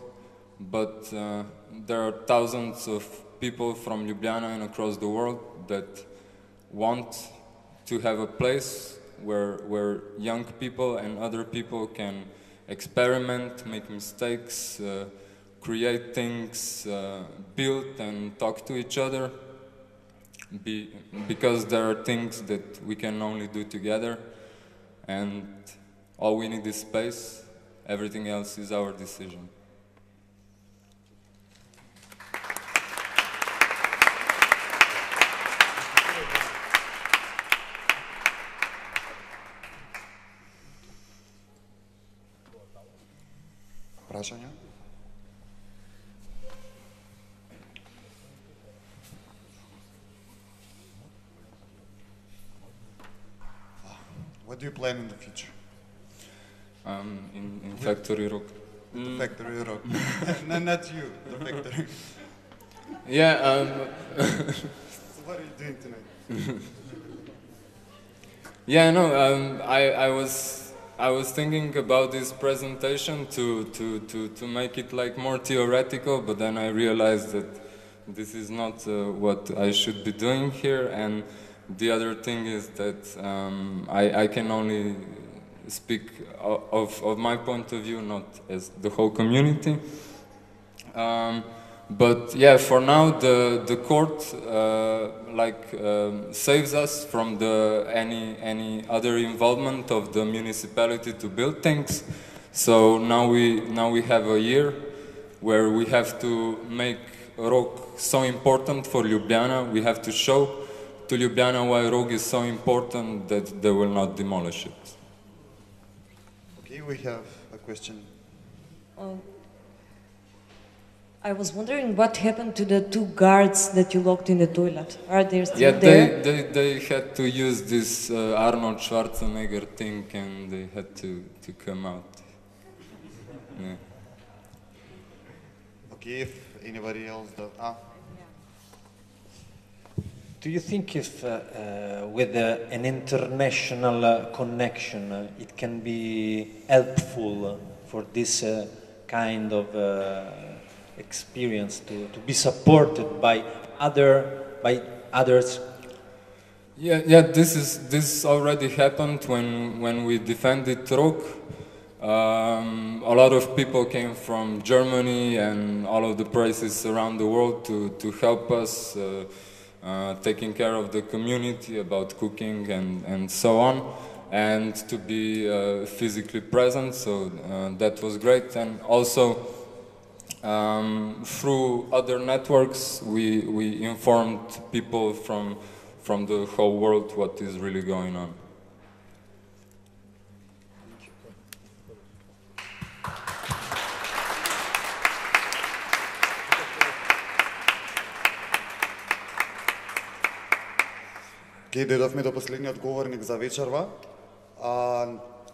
but there are thousands of people from Ljubljana and across the world that want to have a place where young people and other people can experiment, make mistakes, create things, build and talk to each other, because there are things that we can only do together, and all we need is space. Everything else is our decision. Прашања? What do you plan in the future? In Factory Rock. The Factory Rock. No, not you, the factory. Yeah. So what are you doing tonight? Yeah, no. I was thinking about this presentation to make it like more theoretical, but then I realized that this is not what I should be doing here. And the other thing is that I can only speak of my point of view, not as the whole community. But yeah, for now the court saves us from any other involvement of the municipality to build things. So now we have a year where we have to make Rog so important for Ljubljana. We have to show to Ljubljana why Rog is so important that they will not demolish it. Okay, we have a question. I was wondering what happened to the 2 guards that you locked in the toilet. Are they still there? They had to use this Arnold Schwarzenegger thing, and they had to come out. Yeah. Okay, if anybody else does. Do you think if with an international connection it can be helpful for this kind of experience to be supported by others? Yeah. This already happened when we defended Rog. A lot of people came from Germany and all of the places around the world to help us. Taking care of the community about cooking and so on, and to be physically present, so that was great. And also through other networks we informed people from the whole world what is really going on. Ке дојдовме до последниот говорник за вечерва.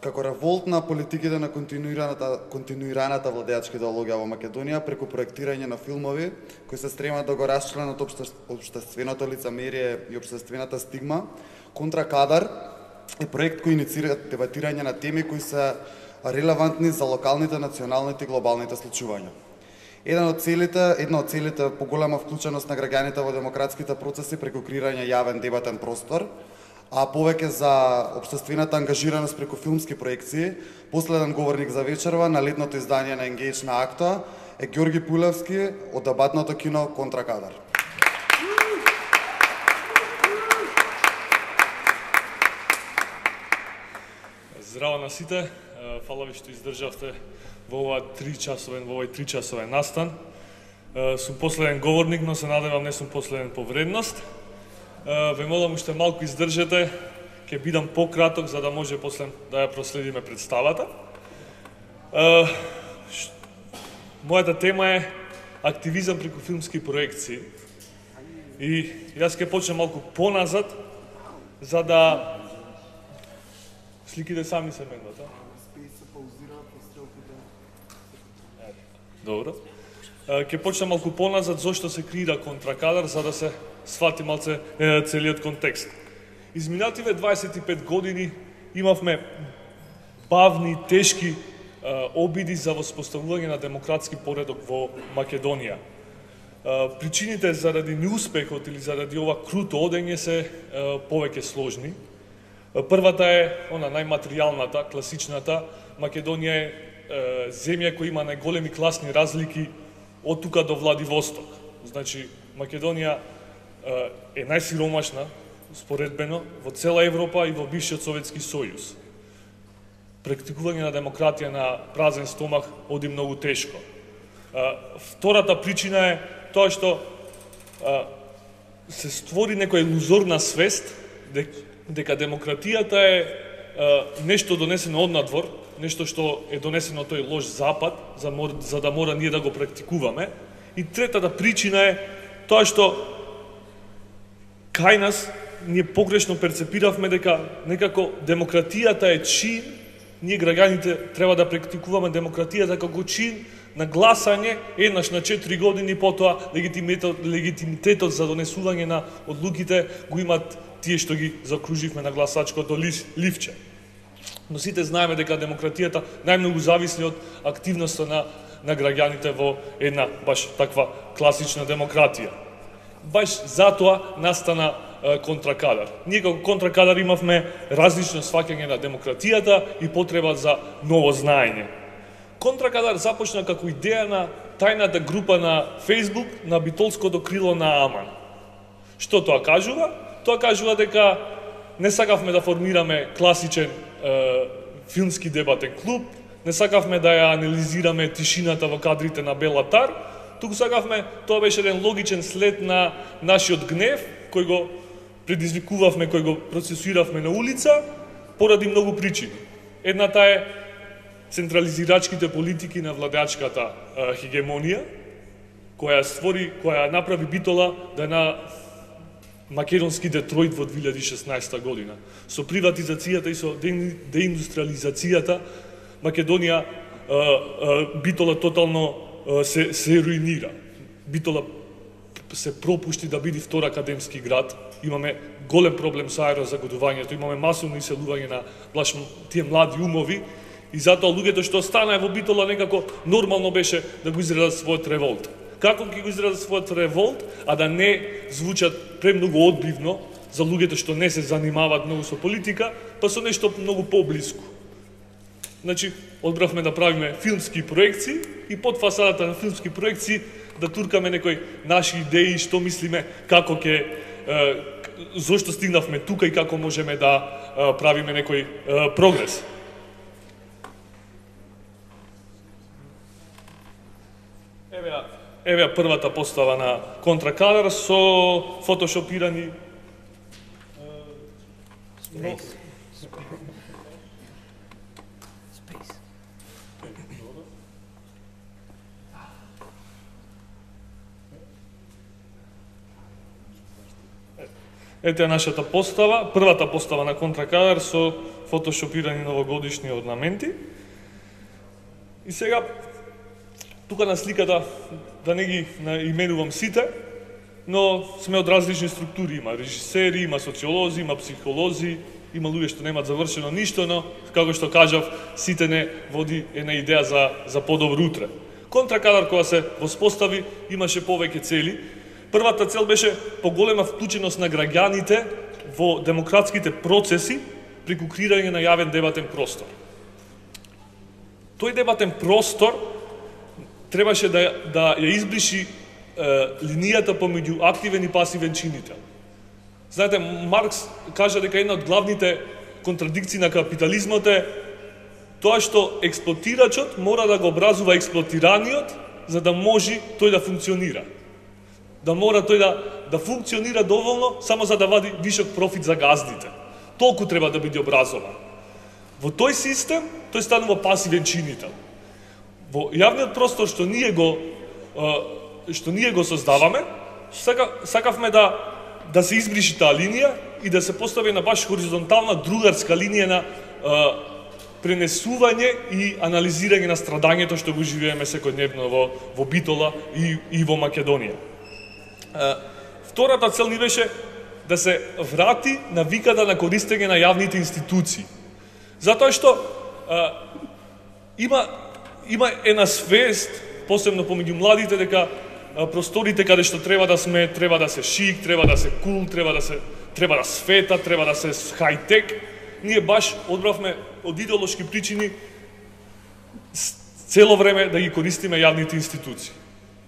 Како револт на политиките на континуираната владеачка идеологија во Македонија преку проектирање на филмови кои се стремат да го расчленат општественото лицемерие и општествената стигма, Контракадар е проект кој инициира дебатирање на теми кои се релевантни за локалните, националните и глобалните случувања. Една од целите поголема вклученост на граѓаните во демократските процеси преку креирање јавен дебатен простор, а повеќе за општествената ангажираност преку филмски проекции. Последен говорник за вечерва на летното издание на Engage на Актуа е Ѓорги Пулевски од дебатното кино Контракадар. Здраво на сите, фала ви што издржавте во овој 3-часовен настан. Сум последен говорник, но се надевам не сум последен по вредност. Ве молам уште малку издржете, ќе бидам пократок за да може после да ја проследиме представата. Мојата тема е активизам преку филмски проекции. И јас ќе почнем малку поназад за да сликите сами се менуват, Добро. Ќе почнем малку поназад зошто се креира контракадар, за да се свати малце целиот контекст. Изминативе 25 години имавме бавни, тешки обиди за воспоставување на демократски поредок во Македонија. Причините заради неуспехот или заради ова круто одење се повеќе сложни. Првата е она најматеријалната, класичната. Македонија е земја која има најголеми класни разлики од тука до Владивосток. Значи, Македонија е најсиромашна, споредбено, во цела Европа и во бившиот Советски сојуз. Практикување на демократија на празен стомах оди многу тешко. Втората причина е тоа што се створи некоја илузорна свест дека демократијата е нешто донесено од надвор, нешто што е донесено тој лош запад, за да мора ние да го практикуваме. И третата причина е тоа што кај нас ние погрешно перцепиравме дека некако демократијата е чин, ние граѓаните треба да практикуваме демократијата како чин на гласање еднаш на 4 години, потоа легитимитетот за донесување на одлуките го имат тие што ги закруживме на гласачкото ливче. Но сите знаеме дека демократијата најмногу зависи од активноста на граѓаните во една баш таква класична демократија. Баш затоа настана контракадар. Ние како контракадар имавме различно сваќање на демократијата и потреба за ново знаење. Контракадар започна како идеја на тајната група на Facebook на битолското крило на Аман. Што тоа кажува? Тоа кажува дека не сакавме да формираме класичен филмски дебатен клуб, не сакавме да ја анализираме тишината во кадрите на Белатар, туку сакавме, тоа беше еден логичен след на нашиот гнев, кој го предизвикувавме, кој го процесуиравме на улица, поради многу причини. Едната е централизирачките политики на владеачката хегемонија, која направи Битола да е на македонски Детройт во 2016 година. Со приватизацијата и со деиндустриализацијата Македонија, Битола тотално се руинира. Битола се пропушти да биде втор академски град. Имаме голем проблем со аерозагодувањето, имаме масовно иселување на тие млади умови и затоа луѓето што останаа во Битола некако нормално беше да го изразат својот револт. Како ќе го изразат својот револт, а да не звучат премногу одбивно за луѓето што не се занимаваат многу со политика, па со нешто многу поблиску. Значи, одбравме да правиме филмски проекции и под фасадата на филмски проекции да туркаме некои наши идеи, што мислиме, како зошто стигнавме тука и како можеме да правиме некој прогрес. Еве првата постава на контракадар со фотошопирани Ете е нашата постава, првата постава на контракадар со фотошопирани новогодишни орнаменти. И сега, тука на сликата, да не ги именувам сите, но сме од различни структури. Има режисери, има социолози, има психолози, има луѓе што немаат завршено ништо, но, како што кажав, сите не води една идеја за подобро утре. Контракадар кога се воспостави, имаше повеќе цели. Првата цел беше поголема вклученост на граѓаните во демократските процеси преку креирање на јавен дебатен простор. Тој дебатен простор требаше да ја избриши линијата помеѓу активен и пасивен чинител. Знаете, Маркс кажа дека една од главните контрадикции на капитализмот е тоа што експлоатирачот мора да го образува експлоатираниот за да може тој да функционира. Да мора тој да функционира доволно само за да вади вишок профит за газдите. Толку треба да биде образован. Во тој систем, тој станува пасивен чинител. Во јавниот простор што ние го создаваме, сакавме да се избриши таа линија и да се постави на баш хоризонтална другарска линија на пренесување и анализирање на страдањето што го живееме секојдневно во Битола и во Македонија. Втората цел ни беше да се врати навиката на користење на јавните институции. Затоа што има една свест, посебно помеѓу младите, дека просторите каде што треба да сме, треба да се шик, треба да се кул, треба да света, треба да се хајтек. Ние баш одбравме од идеолошки причини цело време да ги користиме јавните институции.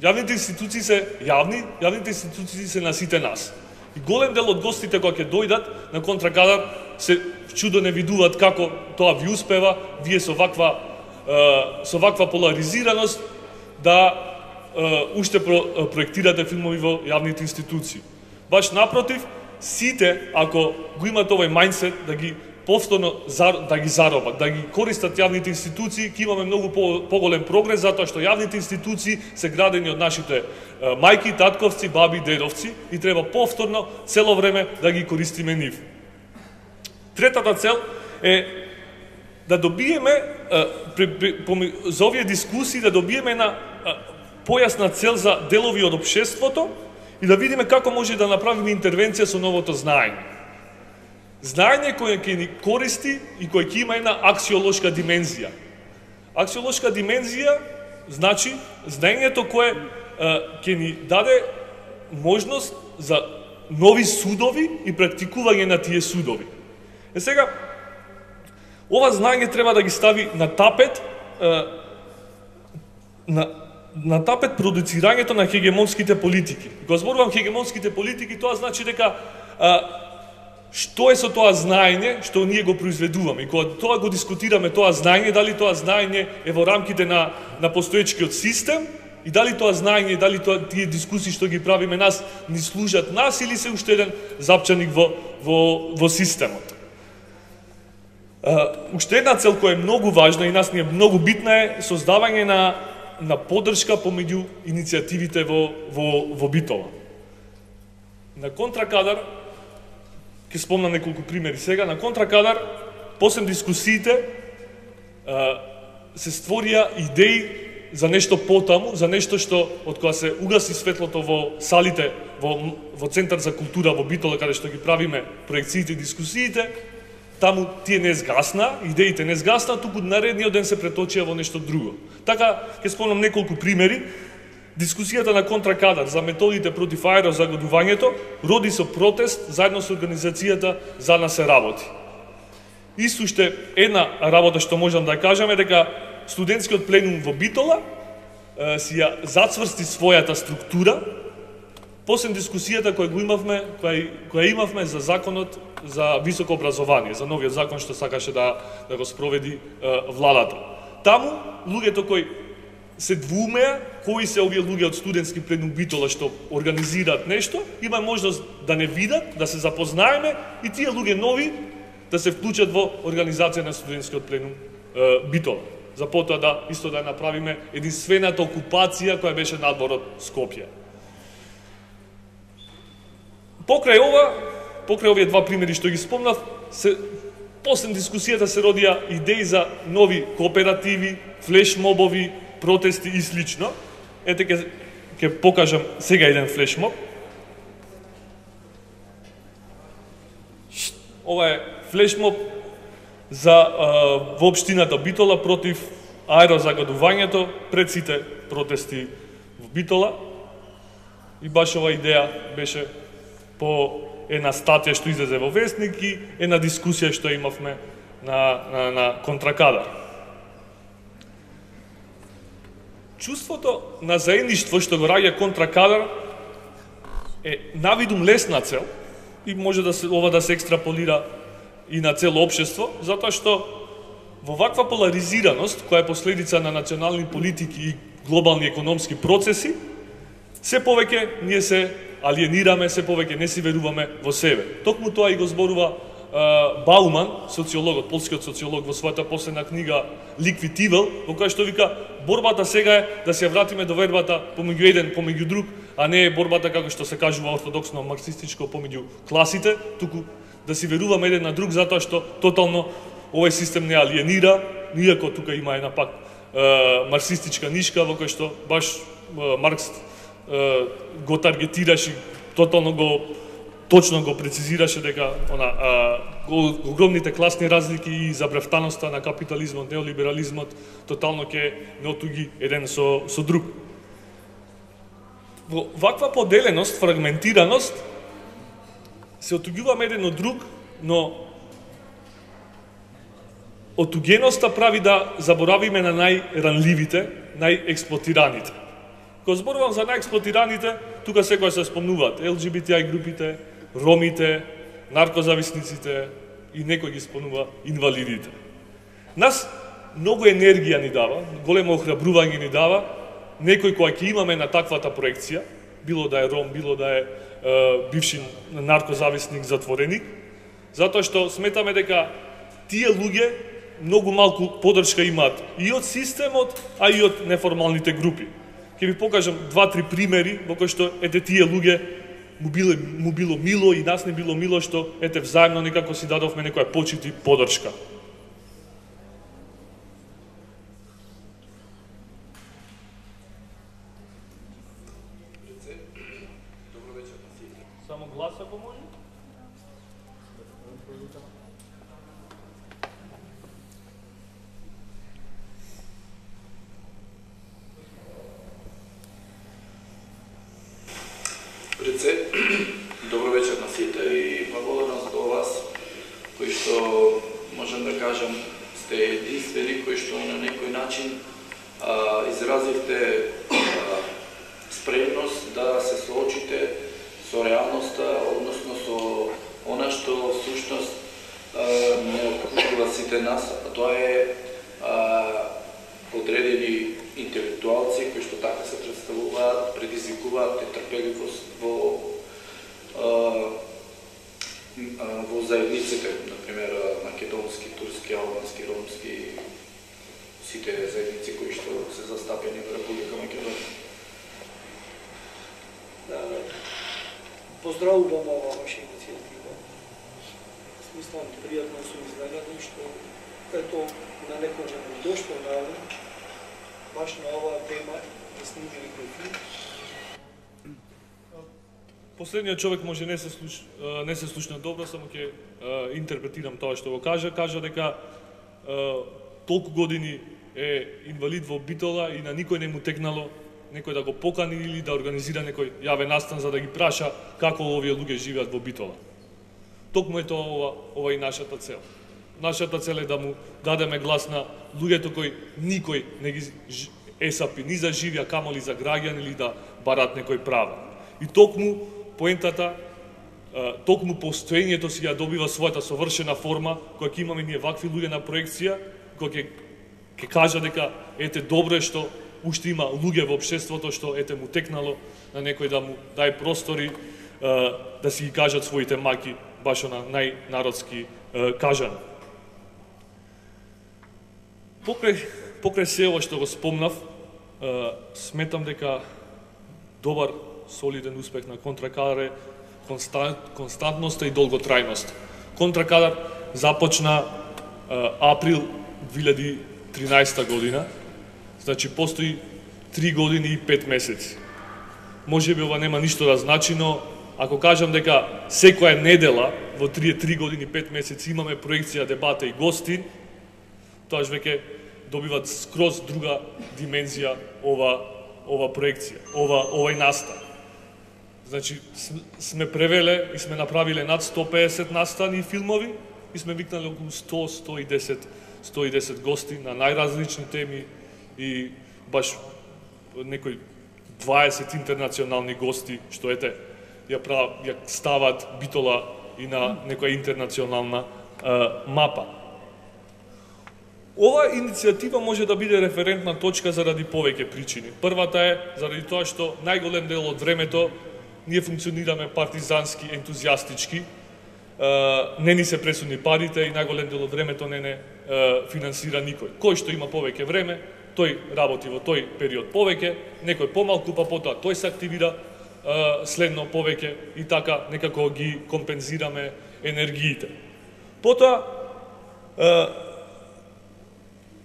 Јавните институции се јавни, јавните институции се на сите нас. И голем дел од гостите кои ќе дојдат на контракадар се чудо не видуваат како тоа ви успева, вие со ваква поларизираност да уште проектирате филмови во јавните институции. Баш напротив, сите, ако го имат овој мајндсет да ги повторно да ги заробат, да ги користат јавните институции, ќе имаме многу поголем прогрес, затоа што јавните институции се градени од нашите мајки, татковци, баби, дедовци и треба повторно цело време да ги користиме нив. Третата цел е да добиеме за овие дискусии да добиеме една појасна цел за делови од општеството и да видиме како може да направиме интервенција со новото знаење. Знаење кое ќе ни користи и кое ќе има една аксиолошка димензија. Аксиолошка димензија значи знаењето кое ќе ни даде можност за нови судови и практикување на тие судови. Сега, ова знаење треба да ги стави на тапет на тапет продуцирањето на хегемонските политики. Кога зборувам хегемонските политики, тоа значи дека што е со тоа знаење што ние го произведуваме. И кога тоа го дискутираме тоа знаење, дали тоа знаење е во рамките на постоечкиот систем и дали тоа знаење, дали тие дискусии што ги правиме нас ни служат нас или се уште еден запчаник во системот. Уште една цел која е многу важна и нас ни е многу битна е создавање на поддршка помеѓу иницијативите во Битола. На контракадар, ќе спомнам неколку примери сега, на контракадар, после дискусиите, се створија идеи за нешто потаму, за нешто што, од која се угаси светлото во салите, во Центар за култура во Битола, каде што ги правиме проекциите и дискусиите, таму тие не згасна, идеите не згасна, туку наредниот ден се преточија во нешто друго. Така, ќе спомнам неколку примери. Дискусијата на контракадар за методите против аерозагадувањето роди со протест заедно со организацијата За нас се работи. Исто уште една работа што можам да кажам е дека студентскиот пленум во Битола си ја зацврсти својата структура после дискусијата која имавме за законот за високо образование, за новиот закон што сакаше да го спроведи владата. Таму луѓето кои се двумеа кои се овие луѓе од студентски пленум Битола што организираат нешто, има можност да не видат, да се запознаеме и тие луѓе нови да се вклучат во организација на студентскиот пленум Битола. За потоа да исто да направиме единствената окупација која беше надвор од Скопје. Покрај овие два примери што ги спомнав, после дискусијата се родија идеи за нови кооперативи, флешмобови, протести и слично. Ете ќе покажам сега еден флешмоб. Ова е флешмоб во општината Битола против аерозагадувањето пред сите протести во Битола. И баш ова идеја беше по една статија што излезе во Вестник и една дискусија што имавме на контракадар. Чувството на заедништво што го раѓа контракадар е навидум лесна цел и може ова да се екстраполира и на цело општество, затоа што во ваква поларизираност, која е последица на национални политики и глобални економски процеси, се повеќе ние се алиенираме, се повеќе не си веруваме во себе. Токму тоа и го зборува Бауман, социологот, полскиот социолог, во својата последна книга Ликвитивел, во која што вика борбата сега е да се вратиме до вербата помеѓу еден, помеѓу друг, а не е борбата како што се кажува ортодоксно марксистичко помеѓу класите, туку да си веруваме еден на друг затоа што тотално овој систем не алиенира, иако тука има една пак марксистичка нишка во кој што баш Маркс го таргетираше, тотално точно го прецизираше дека огромните класни разлики и забревтаноста на капитализмот, неолиберализмот тотално ќе не отуги еден со друг. Во ваква поделеност, фрагментираност се отугуваме еден од друг, но отугеноста прави да заборавиме на најранливите, најексплотираните. Кога зборувам за најексплотираните, тука секој се спомнуваат LGBTI групите, ромите, наркозависниците и некој ги спомнува инвалидите. Нас многу енергија ни дава, големо охрабрување ни дава, некој кој ќе имаме на таквата проекција, било да е ром, било да е бивши наркозависник, затвореник, затоа што сметаме дека тие луѓе многу малку поддршка имаат и од системот, а и од неформалните групи. Ќе ви покажам 2-3 примери во кои што ете тие луѓе му било мило и нас не било мило што ете взаемно некако си дадовме некоја почит и поддршка. Само глас ако може. Преце, добро вечер на сите и благодарност до вас, кои што можам да кажам сте единствени, кои што на некој начин изразивте спремност да се соочите со реалноста, односно со она што всушност не окупува сите нас, а тоа е одредени интелектуалци кои што така се представуваат, предизвикуваат нетрпеливост во заедниците, например македонски, турски, албански, ромски, сите заедници кои што се застапени во Република Македонија. Поздравувам ова ваша иницијатива. Смислам, пријатно сум изненаден што ето на некој не дошло на баш на оваа тема да снимили кој филм. Последниот човек може не се слушна добро, само ќе интерпретирам тоа што го кажа. Кажа дека толку години е инвалид во Битола и на никој не му текнало некој да го покани или да организира некој јавен настан за да ги праша како овие луѓе живеат во Битола. Токму е тоа ова и нашата цел. Нашата цел е да му дадеме глас на луѓето кои никој не ги есапи ни за живија, камоли за граѓани или да барат некој права. И токму поентата, токму постоењето си ја добива својата совршена форма, која ќе имаме ние вакви луѓе на проекција, која ќе кажа дека ете добро е што уште има луѓе во општеството што ете му текнало на некој да му дај простори да си ги кажат своите маки баш на најнародски кажано. Покрај се ова што го спомнав, сметам дека добар солиден успех на Контракадар е константноста и долготрајност. Контракадар започна април 2013 година, значи постои 3 години и 5 месеци. Може би ова нема ништо да значи, но ако кажам дека секоја недела во 3 години и 5 месеци имаме проекција, дебата и гости, тоаш веќе добиват скроз друга димензија ова проекција, овај настан. Значи, сме превеле и сме направиле над 150 настани и филмови и сме викнали околу 100-110 гости на најразлични теми и баш некои 20 интернационални гости, што ете, ја стават Битола и на некоја интернационална мапа. Ова иницијатива може да биде референтна точка заради повеќе причини. Првата е заради тоа што најголем дел од времето ние функционираме партизански, ентузијастички, не ни се пресудни парите и најголем дел од времето не финансира никој. Кој што има повеќе време, тој работи во тој период повеќе, некој помалку, па потоа тој се активира, следно повеќе и така некако ги компензираме енергиите. Потоа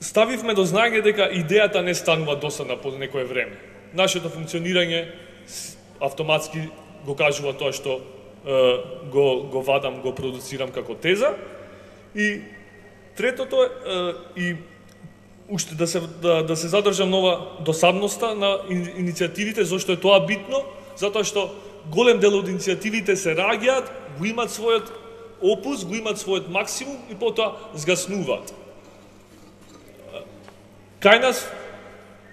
ставивме до знаење дека идејата не станува досадна по некое време. Нашето функционирање автоматски го кажува тоа што го вадам, го продуцирам како теза. И третото е и уште да се задржам нова досадноста на иницијативите. Зошто е тоа битно? Затоа што голем дел од иницијативите се раѓаат, го имат својот опус, го имат својот максимум и потоа згаснуваат. Кај нас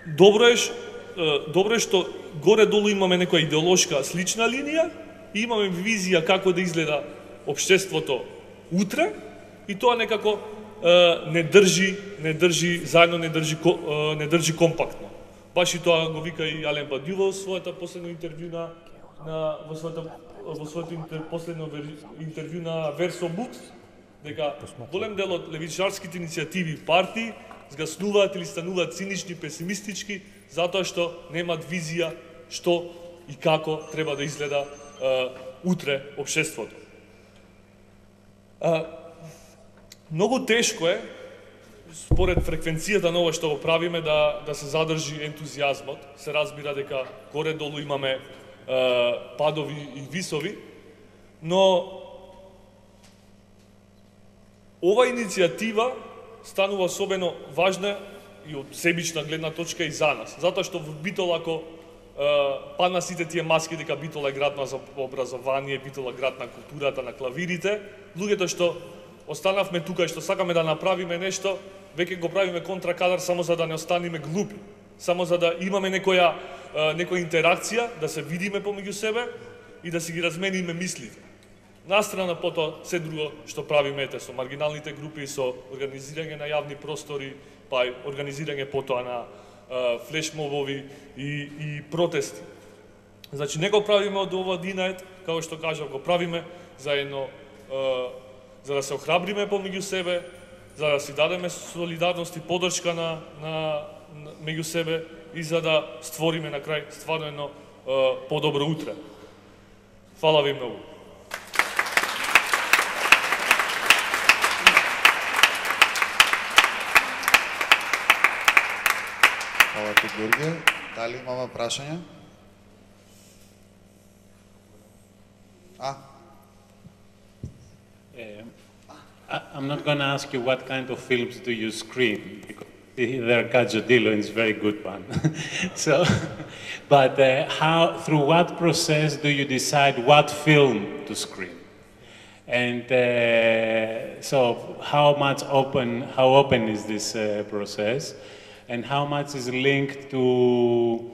добро е што горе-долу имаме некоја идеолошка слична линија и имаме визија како да изгледа општеството утре и тоа некако не држи заедно, не држи компактно. Баш и тоа го вика и Ален Бадју во своето последно интервју последно интервју на Verso Books, дека голем дел од левичарските иницијативи и партии згаснуваат или стануваат цинични, песимистички, затоа што немаат визија што и како треба да изгледа утре општеството. Многу тешко е, според фреквенцијата на ова што го правиме, да се задржи ентузијазмот. Се разбира дека горе-долу имаме падови и висови, но ова иницијатива станува особено важна и од себична гледна точка и за нас. Затоа што во Битола, ако падна сите тие маски дека Битола е град на образование, Битола град на културата, на клавирите, луѓето што останавме тука и што сакаме да направиме нешто, веќе го правиме контракадар само за да не останеме глупи, само за да имаме некоја интеракција, да се видиме помеѓу себе и да си ги размениме мислите. Настрана потоа се друго што правиме со маргиналните групи, со организирање на јавни простори, па и организирање потоа на флешмобови и протести. Значи, не го правиме од ова динает, како што кажав, го правиме заедно за да се охрабриме помеѓу себе, за да си дадеме солидарност и поддршка меѓу себе и за да створиме на крај стварно едно подобро утре. Фала ви многу. Фала ти, Георгија. Дали имаме прашања? I'm not going to ask you what kind of films do you screen, because there Caggiodillo is a very good one. But through what process do you decide what film to screen? And so how open is this process? And how much is linked to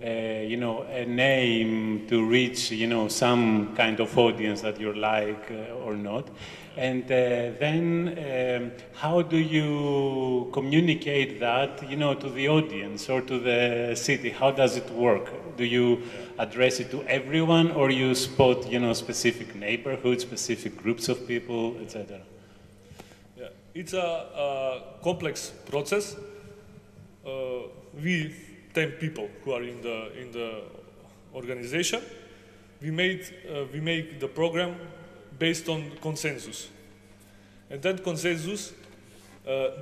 a name to reach, some kind of audience that you like or not? And then how do you communicate that, to the audience or to the city? How does it work? Do you address it to everyone, or you spot, specific neighborhoods, specific groups of people, etc.? Yeah, it's a complex process. We 10 people who are in the organization. We make the program based on consensus, and that consensus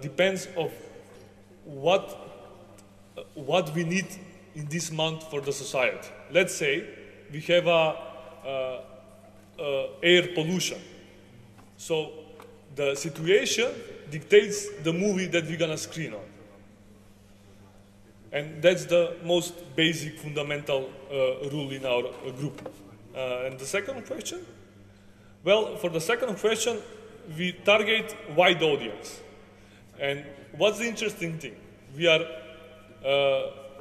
depends of what we need in this month for the society. Let's say we have air pollution, so the situation dictates the movie that we're gonna screen on. And that's the most basic, fundamental rule in our group. And the second question? Well, for the second question, we target wide audience. And what's the interesting thing? We are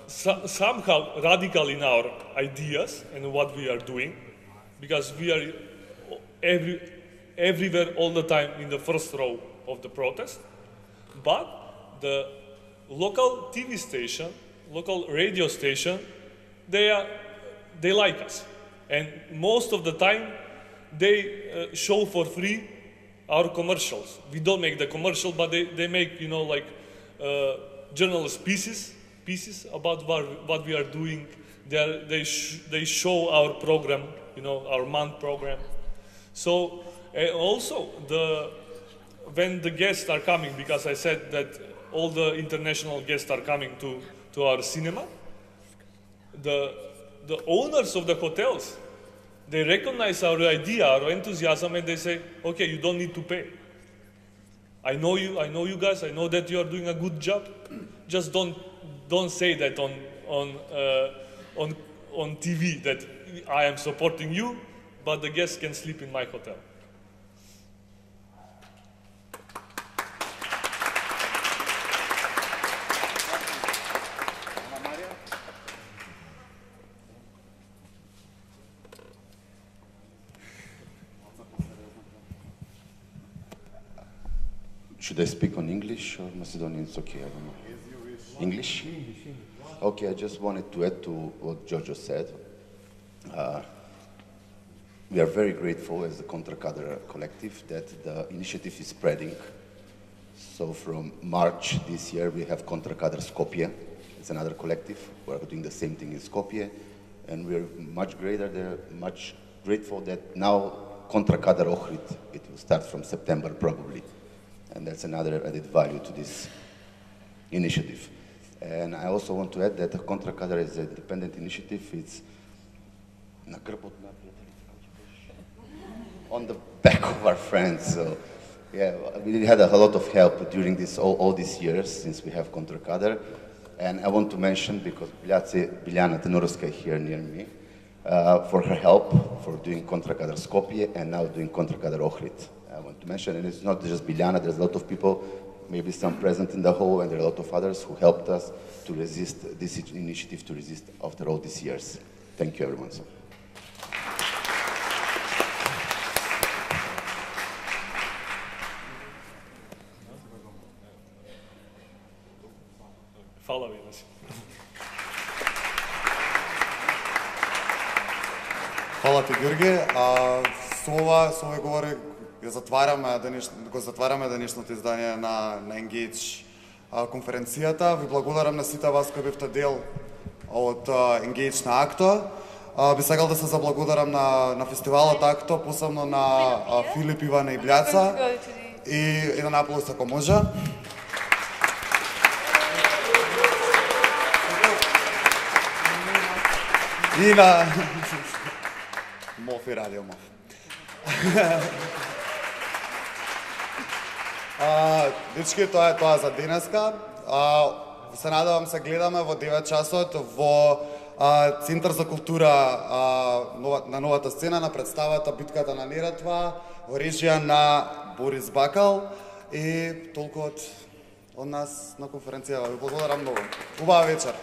somehow radical in our ideas and what we are doing, because we are everywhere all the time in the first row of the protest. But the local TV station, local radio station, they like us. And most of the time, they show for free our commercials. We don't make the commercial, but they make, journalist pieces pieces about what we are doing. They show our program, our month program. So also when the guests are coming, because I said that all the international guests are coming to our cinema, the owners of the hotels, they recognize our idea, our enthusiasm, and they say, okay, you don't need to pay. I know you guys, I know that you are doing a good job. Just don't say that on TV that I am supporting you, but the guests can sleep in my hotel. Should I speak on English or Macedonian? It's okay, I don't know. English? Okay, I just wanted to add to what Giorgio said. We are very grateful as the Contra Cadre collective that the initiative is spreading. So from March this year, we have Contra Cadre Skopje. It's another collective. We're doing the same thing in Skopje. And we're much grateful that now Contra Cadre Ohrid, it will start from September probably. And that's another added value to this initiative. And I also want to add that the Contra Cadre is an independent initiative. It's on the back of our friends. So yeah, we had a lot of help during all these years since we have Contra Cadre. And I want to mention, because Biljana Tenurovska here near me, for her help for doing Contra Cadre Skopje and now doing Contra Cadre Ohrid. I want to mention, and it's not just Biljana, there's a lot of people, maybe some present in the hall, and there are a lot of others who helped us to resist this initiative, to resist after all these years. Thank you, everyone. Hvala vi. Hvala ти, Георги. Со овој говори го затвараме денешното издание на Engage конференцијата. Ви благодарам на сите вас кои бевте дел од Engage на АКТО. Би сакал да се заблагодарам на фестивалот АКТО, посебно на Филип, Ивана и Бљаца и еден аплауз ако може. И на Моф и Радио Моф. Дечки, тоа е тоа за денеска. Се надевам се гледаме во 9 часот во Центар за култура на новата сцена на представата Битката на Неретва во режија на Борис Бакал и толку од нас на конференцијава. Ви благодарам многу. Убава вечер.